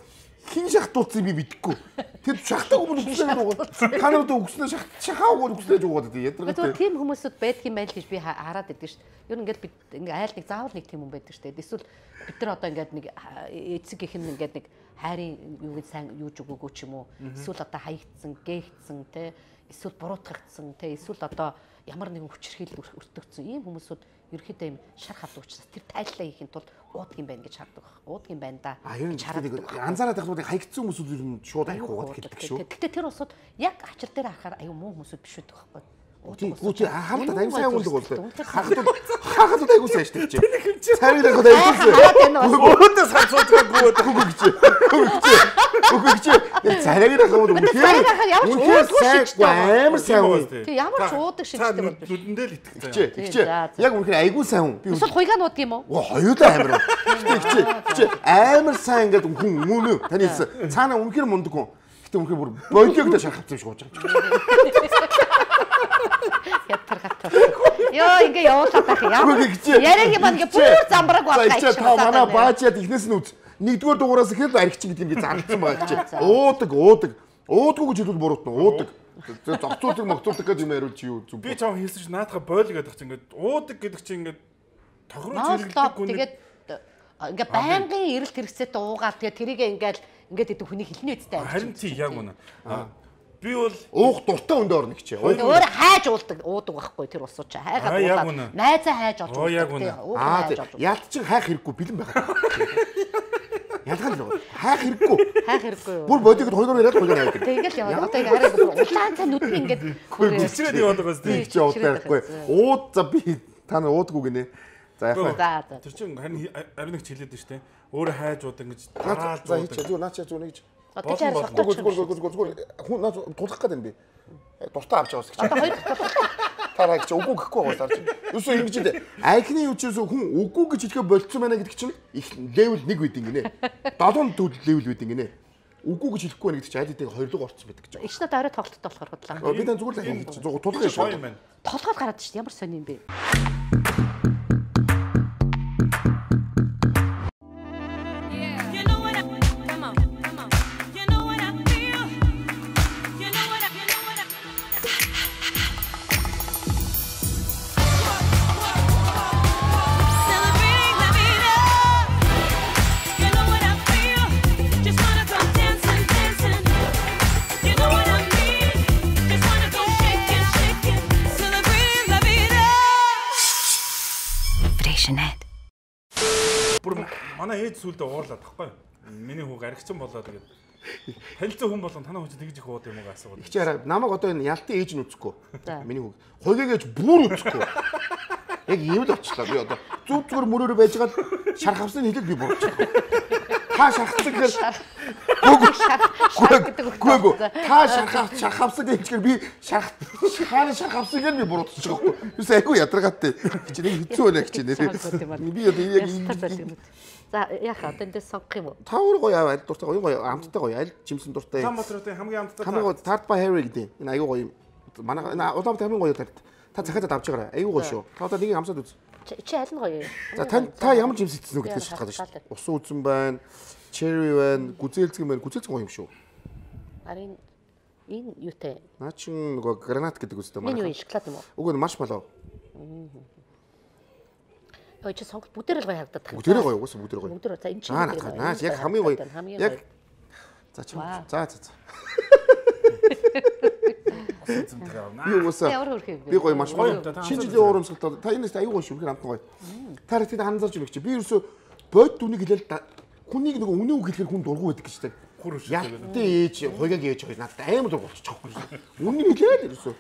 хин шахтуулсан би мэдэхгүй. Тэр шахтаг өмнө үгснээр уугаад. Та нарт үгснээр шахаагаар үгснээр уугаад дээ. Ядаргатай. Тийм хүмүүсүүд байдаг юм байл гэж би хараад байдаг шүү дээ. Ер нь ингээд бид ингээд айл нэг заавал нэг тийм хүн байдаг шүү дээ. Эсвэл бид нар одоо ингээд нэг эцэг гэх юм ингээд нэг хайрын юу гэж сайн юуж өгөөгүй ч юм уу. Эсвэл одоо хаягдсан, гээгдсэн те. Эсвэл буруутгагдсан те. Эсвэл одоо ямар нэгэн хүчирхийлэл өртөгдсөн ийм хүмүүсүүд ерөөхдөө юм шарх авдаг учраас тэр тайллаа хийхин тулд уудаг юм байна гэж хардаг. Уудаг юм байна да. Гэж хараад анзаараад байхад хаягдсан хүмүүсүүд ер нь шууд айх уугаад хэлдэг шүү. Гэтэ тэр усуд яг ачир дээр харахаар аюу муу хүмүүсүүд биш байдаг байхгүй. Гүч хаалтад аюу сайн үлдэг бол. Хахад аюу сайн штэ чи. Царилаг аюу. Өөдөөс хацууцгаагүй гүгч. Царилаг хавууд үнэхээр амар сайн уу. Тэг ямар ч уудаг шиг штэ бол. Нүдэндээ л итгэж байгаа. Яг үнэхээр аюу сайн хүн. Эсвэл хуйгаа нуудаг юм уу? Хоёулаа амар. Чи амар сайн ингээд хүн мөн үү? Таны цаана үнэхээр мундаг хүн. Гэтэ үнэхээр бүр бойлогдоо шархавсан юм шиг ууж байгаа. Ятаргатай. Йоо ингээ явуулаад байх ямар яриаг юм ингээ бүр замбраг байна. Та манай баачаад ихнээс нь үз. Нэгдүгээр дугаараас ихэд аригч гэдэг ингээ зарласан байгаа чи. Уудаггүй гэж хэлвэл буруутна. Уудаг. Зогцуулдаг могцуулдаг гэж юм яриул чи юу зүг. Би чам хэлсэн чи наадах бойл гэдэг чи ингээ уудаг гэдэг чи ингээ тохироо зэрэглэдэг хүн. Тэгээд ингээ байнгын эрэлт хэрэгцээтэй уугаад тэгээд тэрийг ингээд идэх хүний хэлний үстэй амжилт. Харин тий яг үнэ. Би бол уух дуртай өндөө орно гэж. Өөр хайж уудаг байхгүй тэр усуу чи. Хайгаад уулаад найзаа хайж олж уудаг. Ялт чи хайх хэрэггүй бэлэн байгаа. Ялгал л хайх хэрэггүй. Бүр бодигд хоёроор яриад хоёроор авдаг. Тэгэл яваад одоо ингээ хараа улаан цаа нүд нь ингээд жичгээд яваад байгаас тий чи уудахгүй. Ууд за би та нар уудгүй гинэ. За яхаа. Тэр чинь харин нэг хэлээд нь штэ. Өөрөө хайж уудаг гэж тараал уудаг. Зүгээр наач зүүнэ гэж. Зүгээр хүн наа тулах гэдэг юм би. Дуртай авч яваас гэж. Одоо хоёр тараа гэж үгүй гэхгүй байгаа чи. Юусоо ингэж дээ. Айхны үчээс хүн үгүй гэж хэлэхэ болцсон байна гэдэг чинь их левел 1 байд ингэнэ. 7 левел байд ингэнэ. Үгүй гэж хэлэхгүй байна гэдэг чинь айдыг хоёрлог орцсон байдаг гэж. Ичнэ дараа тоглолттой болохоор бодлоо. Би дан зүгээр л ингэж тулах юм шүү. Толгойд гараад шүү. Ямар сони юм бэ? passionate. Бүр манай ээж сүлдээ уурлаад тахгүй. Миний хүүг аригчин болоо тэгээд танилцсан хүн болгон танаа хүн тэгж их ууд юм уу асуугаад. Чи хараа намайг одоо энэ ялтын ээж нь үзэхгүй. Миний хүүг. Хойгоогээж бүр үзэхгүй. Яг ийм л очлоо би одоо. Зүг зүгээр мөрөөрөө байж гал шархавсан хэлээд би буурчихлаа. Та шархсан гэхээр гүг. Та шархавсан гэхээр би хаана шархавсан гэхээр би буурчихж байгаа байхгүй. Юус айгүй ядаргаатай. Чи нэг хэцүү байна гэж нэрээ. Би одоо яг За яах вэ? Одоо эндээс сонгох юм уу? Та өөр гоё аль дуртай гоё амттай гоё аль жимсэн дуртай. Улаанбаатарын хамгийн амттай. Хамгийн гоё Tart by Harry гэдэг. Энэ аюу гоё. Манай Улаанбаатар хамгийн гоё Tart. Та захиад авч байгаарай. Аюу гоё шүү. Та одоо нэг амсаад үз. Чи аль нь гоё юм? За та ямар жимс идсэн үү гэдгийг шалтгаалж шүү. Усан үзэн байна. Cherry байна. Гүзээлцгэн байна. Гүзээлцгэн гоё юм шүү. Харин энэ юутай? Наа чин нөгөө гранат гэдэг үстэй манай. Энэ юу шоколад юм уу? Үгүй нь маршмеллоу. Ой чи сонгол бүгдээр л гоё харагдаад байна. Бүгдээр гоё угсаа бүгдээр гоё. Бүгдээр за энэ чинь наас яг хамгийн гоё. Яг за чи за. Би угсаа. Би гоё маш гоё. Шинэ жилийн урамсгалд та энэс аюу гоё шүү. Хэр амтан гоё. Та хэд ханзарч өгч чи. Би ерөөсө бод дүнийг хэлэл хүнийг нөгөө үнэн үг хэлэхээр хүн дургу байдаг гэж та. Ялтын ээж, хойгог ээж хоёр надад амар дургу болчихчихгүй. Үнэн хэлээл ерөөсө.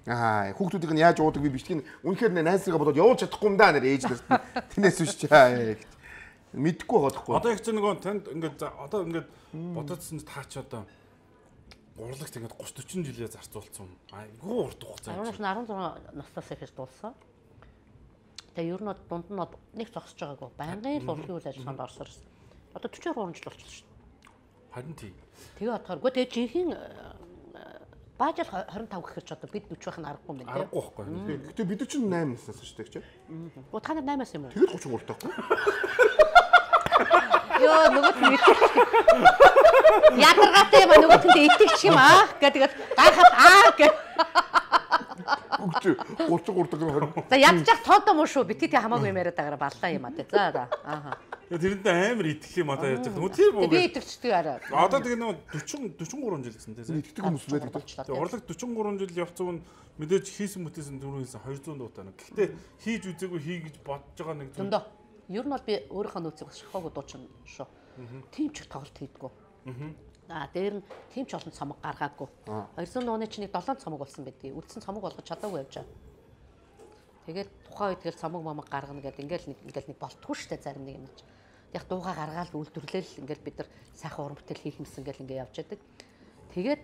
Хүүхдүүдийг нь яаж уудаг би бичгийг үнэхээр найзраа бодоод явуулж чадахгүй юм да нэр ээж нарт. Тэнэс биш чаа. Мэдхгүй байгаа байхгүй. Одоо их ч нөгөө танд ингээд одоо ингээд бодоодсэн таа ч одоо урлагт ингээд 30 40 жилээ зарцуулсан. Айгүй урт хугацаа. 16 наснаас ихэж дуулсан. Тэгээ ер нь дунд нь нэг зогсож байгаагүй. Байнгын л урлагийн үйл ажиллагаанд орсоор. Одоо 43 жил болчихлоо шүү дээ. Харин тий. Тэгээ бодохоор тэгээ жинхэнэ баажал 25 гэхэр ч одоо бид 40 байх нь аргагүй юм байна. Аргагүй байхгүй. Гэтэ бид чинь 8 наснаас шүү дээ ч. Оо та нар 8-аас юм уу? Тэгээд 33 таахгүй. Йоо нөгөөт нь ядаргаатай юм нөгөөт нь итгэж юм аа гэдэг гайхаад гэх. Үгүй 33 таграа. За ядчих тоодоо муу шүү. Бити тий хамаагүй юм яриад байгаараа баллаа юм аа тий. За ааха. Тэрэндээ амар итгэх юм одоо яаж байгаа. Тэр би итгэжтэй арай. Одоо тэгээ нэг 43 жил гэсэн тийм. Итгэдэг хүмүүс байдаг. Тэгээ урлаг 43 жил явцсан нь мэдээж хийсэн мөтөөсөн түрүү хийсэн 200 дуутай нэг. Гэхдээ хийж үзээгүй хий гэж бодож байгаа нэг зүйл. Зөндөө. Ер нь бол би өөрийнхөө нөөцийг шахаагүй дуучин шүү. Тим ч их тоглолт хийдгүү. Дээр нь тим ч олон цомог гаргаагүй. 200 дууны чинь 7 цомог болсон байдгийг. Үлдсэн цомог болгож чадаагүй явж байгаа. Тэгээд тухайн үед тэгэл цомог момог гаргана гэдэг ингээл нэг болтгүй штэ зарим нэг юм. Яг дууга гаргаал үйлдвэрлэл ингээл бид нар сайхан уран бүтээл хийх юмсан ингээл ингээ явж яадаг. Тэгээд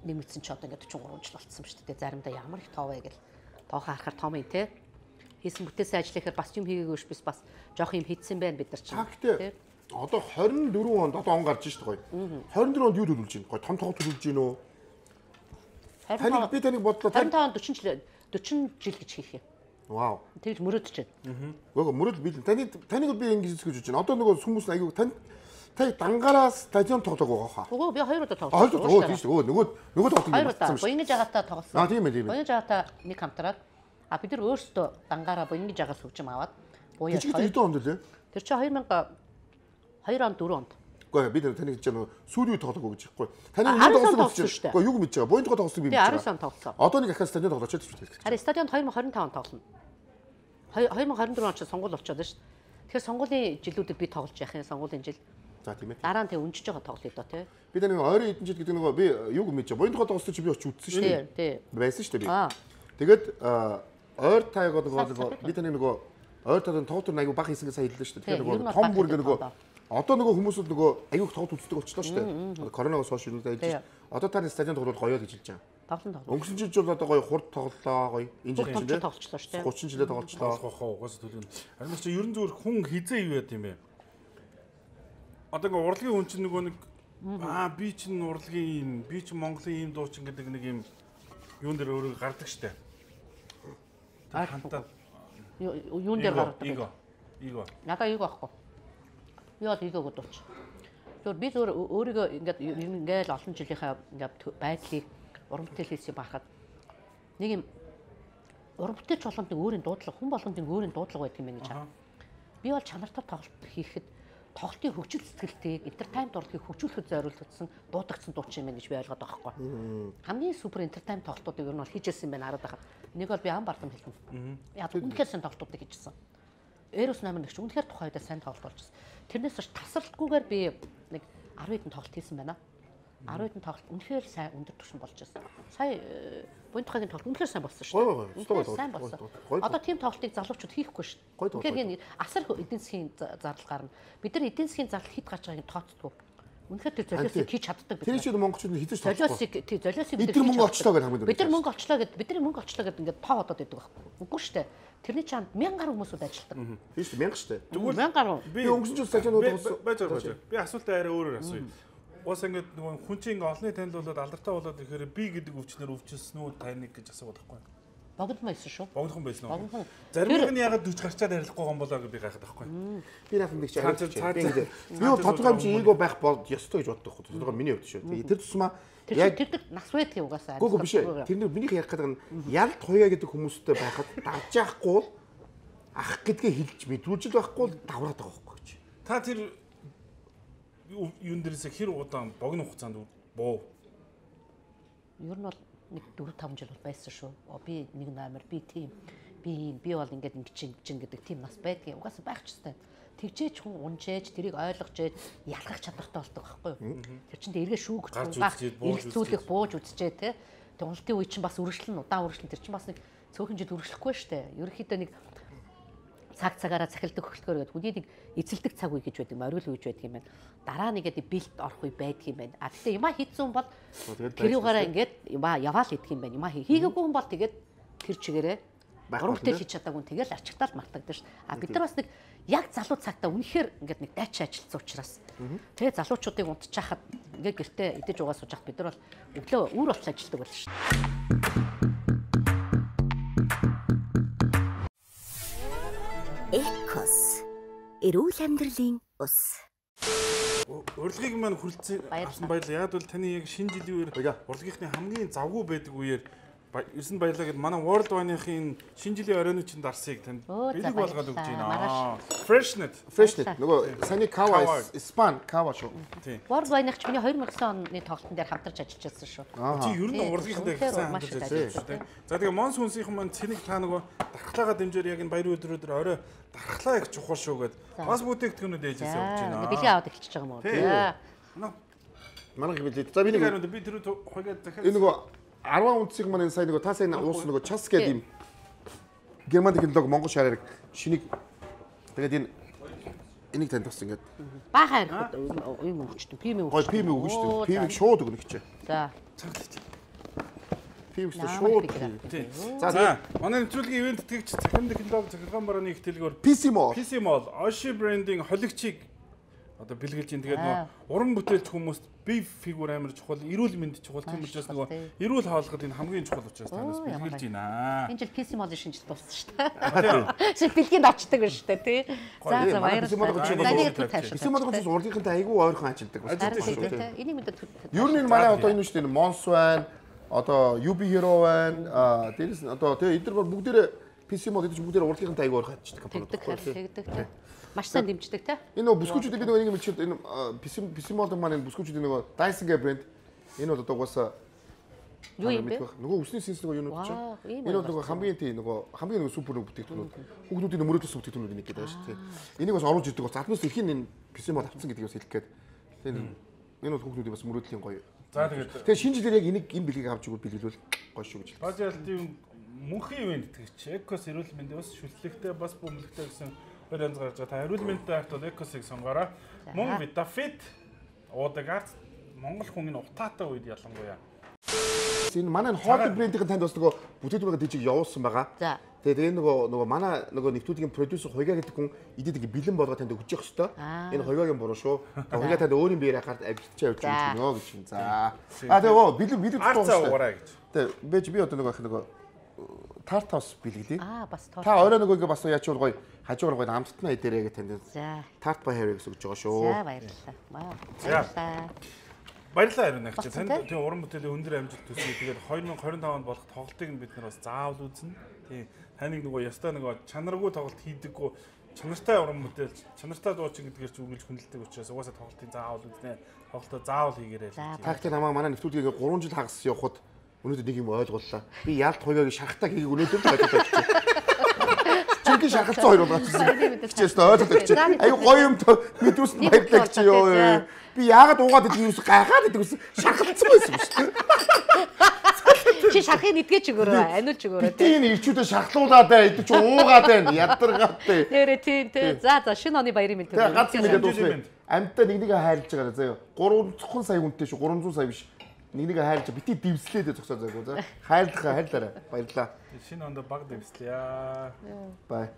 нэмэгдсэн ч одоо ингээ 43 жил болцсон шүү дээ. Заримдаа ямар их тоо вэ гэл тоохоо харахаар том юм те. Хийсэн бүтээсэн ажлынхаар бас юм хийгээгүй биш бас жоох юм хийдсэн байна бид нар чинь. Гэхдээ одоо 24 онд одоо он гарч шүү дээ гоё. 24 онд юу төлөвлөж байна? Гоё том төлөвлөж байна уу? Таныг би таныг бодлоо 55 онд 40 жил гэж хийх юм. Вау. Тэгж мөрөөдөж байна. Гоо мөрөөд би таныг би ингэж хэлж байна. Одоо нөгөө хүмүүс аягүй та дангаараа стадион тоглоог байгаа хаа. Үгүй би 2 удаа тоглосон. Оо тийм шүү. Нөгөө тоглосон юм байна. Боёнгиж агатаа тоглосон. Тийм ээ. Боёнгиж агатаа нэг хамтраад бид нар өөрсдөө дангаараа боёнгиж агаас хөгжим аваад буяа. Тэр онд лээ. Тэр чинь 2002 онд 4 онд. Гэхдээ бид таныг хэлж байгаа сүүлийн тоглоог гэж байхгүй. Таныг юу тоглосон гэж байна. Гэхдээ юу мэдж байгаа. Боёнд тоглосон би мэдж байгаа. Би 19 онд тоглосон. Одоо нэг ахаа стадион тоглож чадчих шүү дээ. Харин стадионд 2025 онд тоглоно. 2024 онд ч сонгуул болчиход шүү дээ. Тэгэхээр сонгуулийн жилүүдэд би тоглож яах юм сонгуулийн жил. За тийм ээ. Дараа нь тэг үнжиж байгаа тоглоё доо тий. Би нэг ойрын эдэн жил гэдэг нөгөө би юуг мэдж байгаа. Боёнд тоглосон чи би очиж үзсэн шүү дээ. Тий. Байсан шүү дээ би. Тэгээд ойр тайгаа нөгөө би таны нөгөө ойр тайдан тоглолт аягүй баг хийсэн гэж сайн хэллээ шүү дээ. Тэгэхээр нөгөө том бүр нөгөө одоо нөгөө хүмүүсүүд нөгөө аягүй тоглолт үздэг болчихлоо шүү дээ. Коронавигоос хойш юу дайж. Одоо таны стадион тоглолт гоё л гэж хэлж байгаа. Тоглоно. Өнгөрсөн жил бол одоо гоё хурд тоглолоо гоё. Энэ жил чинь тоглолцлоо шүү дээ. 30 жилээ тоглолцлоо. Угаасаа төлөвлөн. Харин чи ерөн зүгээр хүн хизээ юу яд юм бэ? Одоо ингээ урлагийн хүн чинь нөгөө нэг би чинь урлагийн би чинь Монголын ийм дуучин гэдэг нэг юм юун дээр өөрөө гардаг штэ. Хантаа юун дээр гардаг. Иго. Надаа иго ахгүй. Би бол игог дууч. Тэгэхээр би зөвөр өөрийгөө ингээл олон жилийнхаа ингээд байдлыг уран бүтээл хийсэн байхад нэг юм уран бүтээлч болгонд өөрийн дуудлага хүн болгонд өөрийн дуудлага байдаг юм байна гэж байна. Би бол чанартай тоглолт хийхэд тоглолтын хөгжил сэтгэлтэйг entertainment урлагийг хөгжүүлэхэд зориулагдсан дуудагдсан дуучин юм гэж би ойлгоод байгаа байхгүй. Хамгийн супер entertainment тоглолтуудыг ер нь бол хийжсэн юм байна хараад байгаа. Нэг бол би ам бардам хэлсэн. Яг үнэхээр сайн тоглолтуудыг хийжсэн. Эрос номер 1 ч үнэхээр тухайн үедээ сайн тоглолт болж байна. Тэрнээс ч тасралтгүйгээр би нэг 10 хэдэн тоглолт хийсэн байна. 10 хэдэн тоглолт үнэхээр сайн өндөр түвшин болж байна. Сая Бунтхагийн тоглолт үнэхээр сайн болсон шүү дээ. Сайн болсон. Одоо тийм тоглолтыг залуучууд хийхгүй шүү дээ. Тэгэхээр асар эдийн засгийн зардал гарна. Бид нар эдийн засгийн зардал хэд гарч байгааг тооцдгүй. Үнэхээр тэр золиосыг хийж чаддаг бид. Тэр чинь монголчууд нь хизэж золиосыг бид нар мөнгө олчлоо гэх хамаг. Бид нар мөнгө олчлоо гэдэг ингээд тоо одоод байдаг байхгүй. Үгүй шүү дээ. Тэрний чанд 1000 гаруй хүмүүсүүд ажилладаг. Тийм шүү дээ 1000 шүү дээ. Тэгвэл 1000 гаруй. Би өнгөрсөн жил сажаанууд байж. Би асуултаа арай өөрөөр асууя. Уус ингээд нөгөө хүн чинь олны танилцуулаад алдартай болоод ирэхээр би гэдэг өвчнөр өвчсөн үү таныг гэж асууад байхгүй. Богдхон байсан шүү. Богдхон байсан уу? Зарим нь ягаад 40 гарчаад арилахгүй юм болоо гэж би гайхаад байхгүй. Би наасан нэг чи арилж. Би тодорхой хэмжээ эго байх бол ёстой гэж боддог байхгүй. Тодорхой миний хувьд шүү. Тэр тусмаа яг тэр нас байдаг угаасаа. Гүг биш. Тэр минийх ярих гэдэг нь ялт хуяа гэдэг хүмүүстэй байхад давж яахгүй ах гэдгээ хэлж мэдрүүлж байхгүй давраад байгаа байхгүй чи. Та тэр юун дээрээс хэр удаан богино хугацаанд боо? Ер нь бол нэг 4-5 жил бол байсан шүү. Би нэг номер, би тийм, би бол ингээд ингэчин гэдэг тийм нас байдгийн. Угаасаа байх ч ёстой. Тэгжээч хүн унжээж, тэрийг ойлгож ялгах чадвартай болдог байхгүй юу? Тэр чинь эргээ шүүгдэх, эргэлзүүлэх, бууж үзчээ те. Тоглолтын үе чинь бас үргэлжлэн, удаан үргэлжлэн тэр чинь бас нэг цөөхөн жил үргэлжлэхгүй шүү дээ. Ерөнхийдөө нэг цагаараа захилдаг хөглөхөөр гэдэг үнийг нэг эзэлдэг цаг үе гэж байдаг, оргил үе гэж байдаг юм байна. Дараа нэгээд бэлт орох үе байдаг юм байна. А тэгтээ юмаа хийцэн бол тэр югаараа ингээд юмаа яваал идэх юм байна. Юмаа хийгээгүй хүн бол тэгээд тэр чигээрээ гуравтай хийж чадаагүй тэгэл арчигтаал мартагдаж шүү. А бид нар бас нэг яг залуу цагтаа үнэхээр ингээд нэг дайчин ажилласан учраас тэгээ залуучуудыг унтчихахад ингээд гэртээ идэж угаа сууж хат бид нар бол өглөө үүр болч ажилладаг байлаа шүү. Экос эрүүл амьдралын ус. Урлагийг маань хүрэлцэн авсан баярлалаа. Яг бол таны яг шинэ жилийн үеэр урлагийнхны хамгийн завгүй байдаг үеэр ерсэн баярлалаа гэд манай World Wine-ийн шинэ жилийн оройны чинь дарсыг танд бэлэг болгоод өгч байна. Freshnet нөгөө саний кава Испан кава шүү. World Wine-ch миний 2009 оны тоглолтын дээр хамтарч ажиллаж байсан шүү. Чи ер нь урлагийнхтай гэсэн хамтарч ажиллаж байна. За тэгээ Монс хүнсийнхэн маань цэник та нөгөө дархлаагаа дэмжээр яг энэ баяр өдрөөр орой дархлаа их чухал шүү гэд бас бүтээгдэхүүнүүд ээжээсээ өгч байна. Бэлэг аваад эхэлчихэж байгаа юм уу? Манай хэмжээ. За би тэр хуйгаад дахиад энэ нөгөө 10 унцыг маань сайн нөгөө та сайн уус нөгөө час гэдэг юм Герман технологи Монгол шаарыг шинийг тэгээд энийг танд бас ингээд баахан юм өгчтэй пим өгч. Пим өгч шүү. Пимийг шууд өгнө гэж. За. Пим шууд. За манай нэвтрүүлгийн ивент тэтгэгч Цахим технологи захиргаан барааны их дэлгүүр PC Mall Oshi брендинг холигчийг одоо бэлгэлж ин тэгээд нөгөө уран бүтээлч хүмүүст бие фигур амар чухал, эрүүл мэнд чухал тийм учраас нөгөө эрүүл хаалгад энэ хамгийн чухал учраас танаас бэлгэлж байна. Энэ жил PC Mall-ийн шинжил дууссан шүү дээ. Шиг бэлгэнд очдөг байна шүү дээ тий. За баярлалаа. PC Mall-ын урлагийнхантай айгүй ойрхон ажилладаг байна шүү дээ. Энийг мэдээ. Ер нь манай одоо энэ шүү дээ Mons байна, одоо UB Hero байна, дээрээс одоо тэгээ эдгээр бол бүгдээрээ PC Mall гэдэг чинь бүгдээрээ урлагийнхантай айгүй ойрхон ажилладаг. Тэгдэг. Маш сайн дэмждэг те. Энэ нөгөө бүсгүүчүүд би нөгөө нэг мэдчихэд энэ PC Mall маань энэ бүсгүүчүүд нөгөө Dyson гэх брэнд энэ бол одоо угаасаа юу юм бэ? Нөгөө үсний сэнс нөгөө юунууд чинь. Энэ бол нөгөө хамгийн супер нөгөө бүтээгдэхүүнүүд. Хүүхдүүдийн мөрөөдөл бүтээгдэхүүнүүд нэг гэдэг байна шүү дээ. Энийг бас оруулж ирдэг. Заднаас ихэн энэ PC Mall авцсан гэдгийг бас хэлэх гээд. Энэ бол хүүхдүүдийн бас мөрөөдлийн гоё. За тэгээд шинэ жилээр яг энийг энэ бэлгийг авч игэл бэлгэлвэл гоё шүү гэж. Бажаалтын мөнхийн ивент тэгч Экос эрүүл мэндийн бас шүтлэгтэй бас бөмбөлтэй гэсэн хоёр янз гарч байгаа. Та эрүүл мэндтэй харт бол Экосыг сонгоорой. Мөн Vitafit уудагаар Монгол хүний утаатай үед ялангуяа. Энэ манай хоолой брендийн танд бас нөгөө бүтээгдэхүүн дижиг явуулсан байгаа. За. Тэгээд энэ нөгөө манай нөгөө нэвтрүүлгийн продюсер Хуйга гэдэг хүн идэд ингээ бэлэн болгоод танд өгч явах хэвээр. Энэ Хуйгагийн буруу шүү. Хуйга танд өөрийн биеэр хахад авчирч явж байна гэж юм. За. Бэлэн уураа гэж. Тэгээд би одоо нөгөө тартаус бэлгэлээ. Бас та орой нөгөө ингээ бас яачвал гоё хажуугаар гоё амттнаа идэрээ гэж танд. За. Тарт бай хэрэг гэж өгч байгаа шүү. За баярлалаа. Баярлалаа харин агч. Танд тийм уран бүтээлийн өндөр амжилт төсөө. Тэгээд 2025 онд болох тоглолтыг нь бид нар бас заавал үзнэ. Тийм таныг нөгөө ястаа нөгөө чанаргүй тоглолт хийдэггүй чанартай уран мэдээлж, чанартай дуучин гэдгээр ч үргэлж хүндэлдэг учраас угаасаа тоглолтын заавал үзнэ. Тоглолтоо заавал хийгээрэй. Тактик намаа манай нэвтрүүлгийг 3 жил хагас явахад өнөөдөр нэг юм ойлголлоо. Би яалт хуйгааг шарахтаа хийгийг өнөөдөр л ойлгож байна. Чигээр шархалцсан хоёр болгочихсон. Хичээс ойлгож байна. Аюу гоё юм мэдрүүлсэн баярлалаа гэж ёо. Би яагаад уугаад идэв юус гайхаад идэв гэсэн шархалцсан байсан юм шүү дээ. Чи шархыг нэдгэж өгөөрэй. Аниулж өгөөрэй. Тийм ирчүүдээ шархлуулаад бай. Идэж уугаад байна. Ядаргаад бай. Нэрэ тийм. За шинэ оны баярын мэнд. Тэгээ гац мэдээ дуусна. Амьтаа нэг хайрлаж байгаа заяа. 300 сая хүнтэй шүү. 300 сая биш. Нэг хайрлаж бити дивслээд зогсоо заяа. Хайрлахаа хайрлаарай. Баярлаа. Шинэ онд баг дэвслэе. Бай.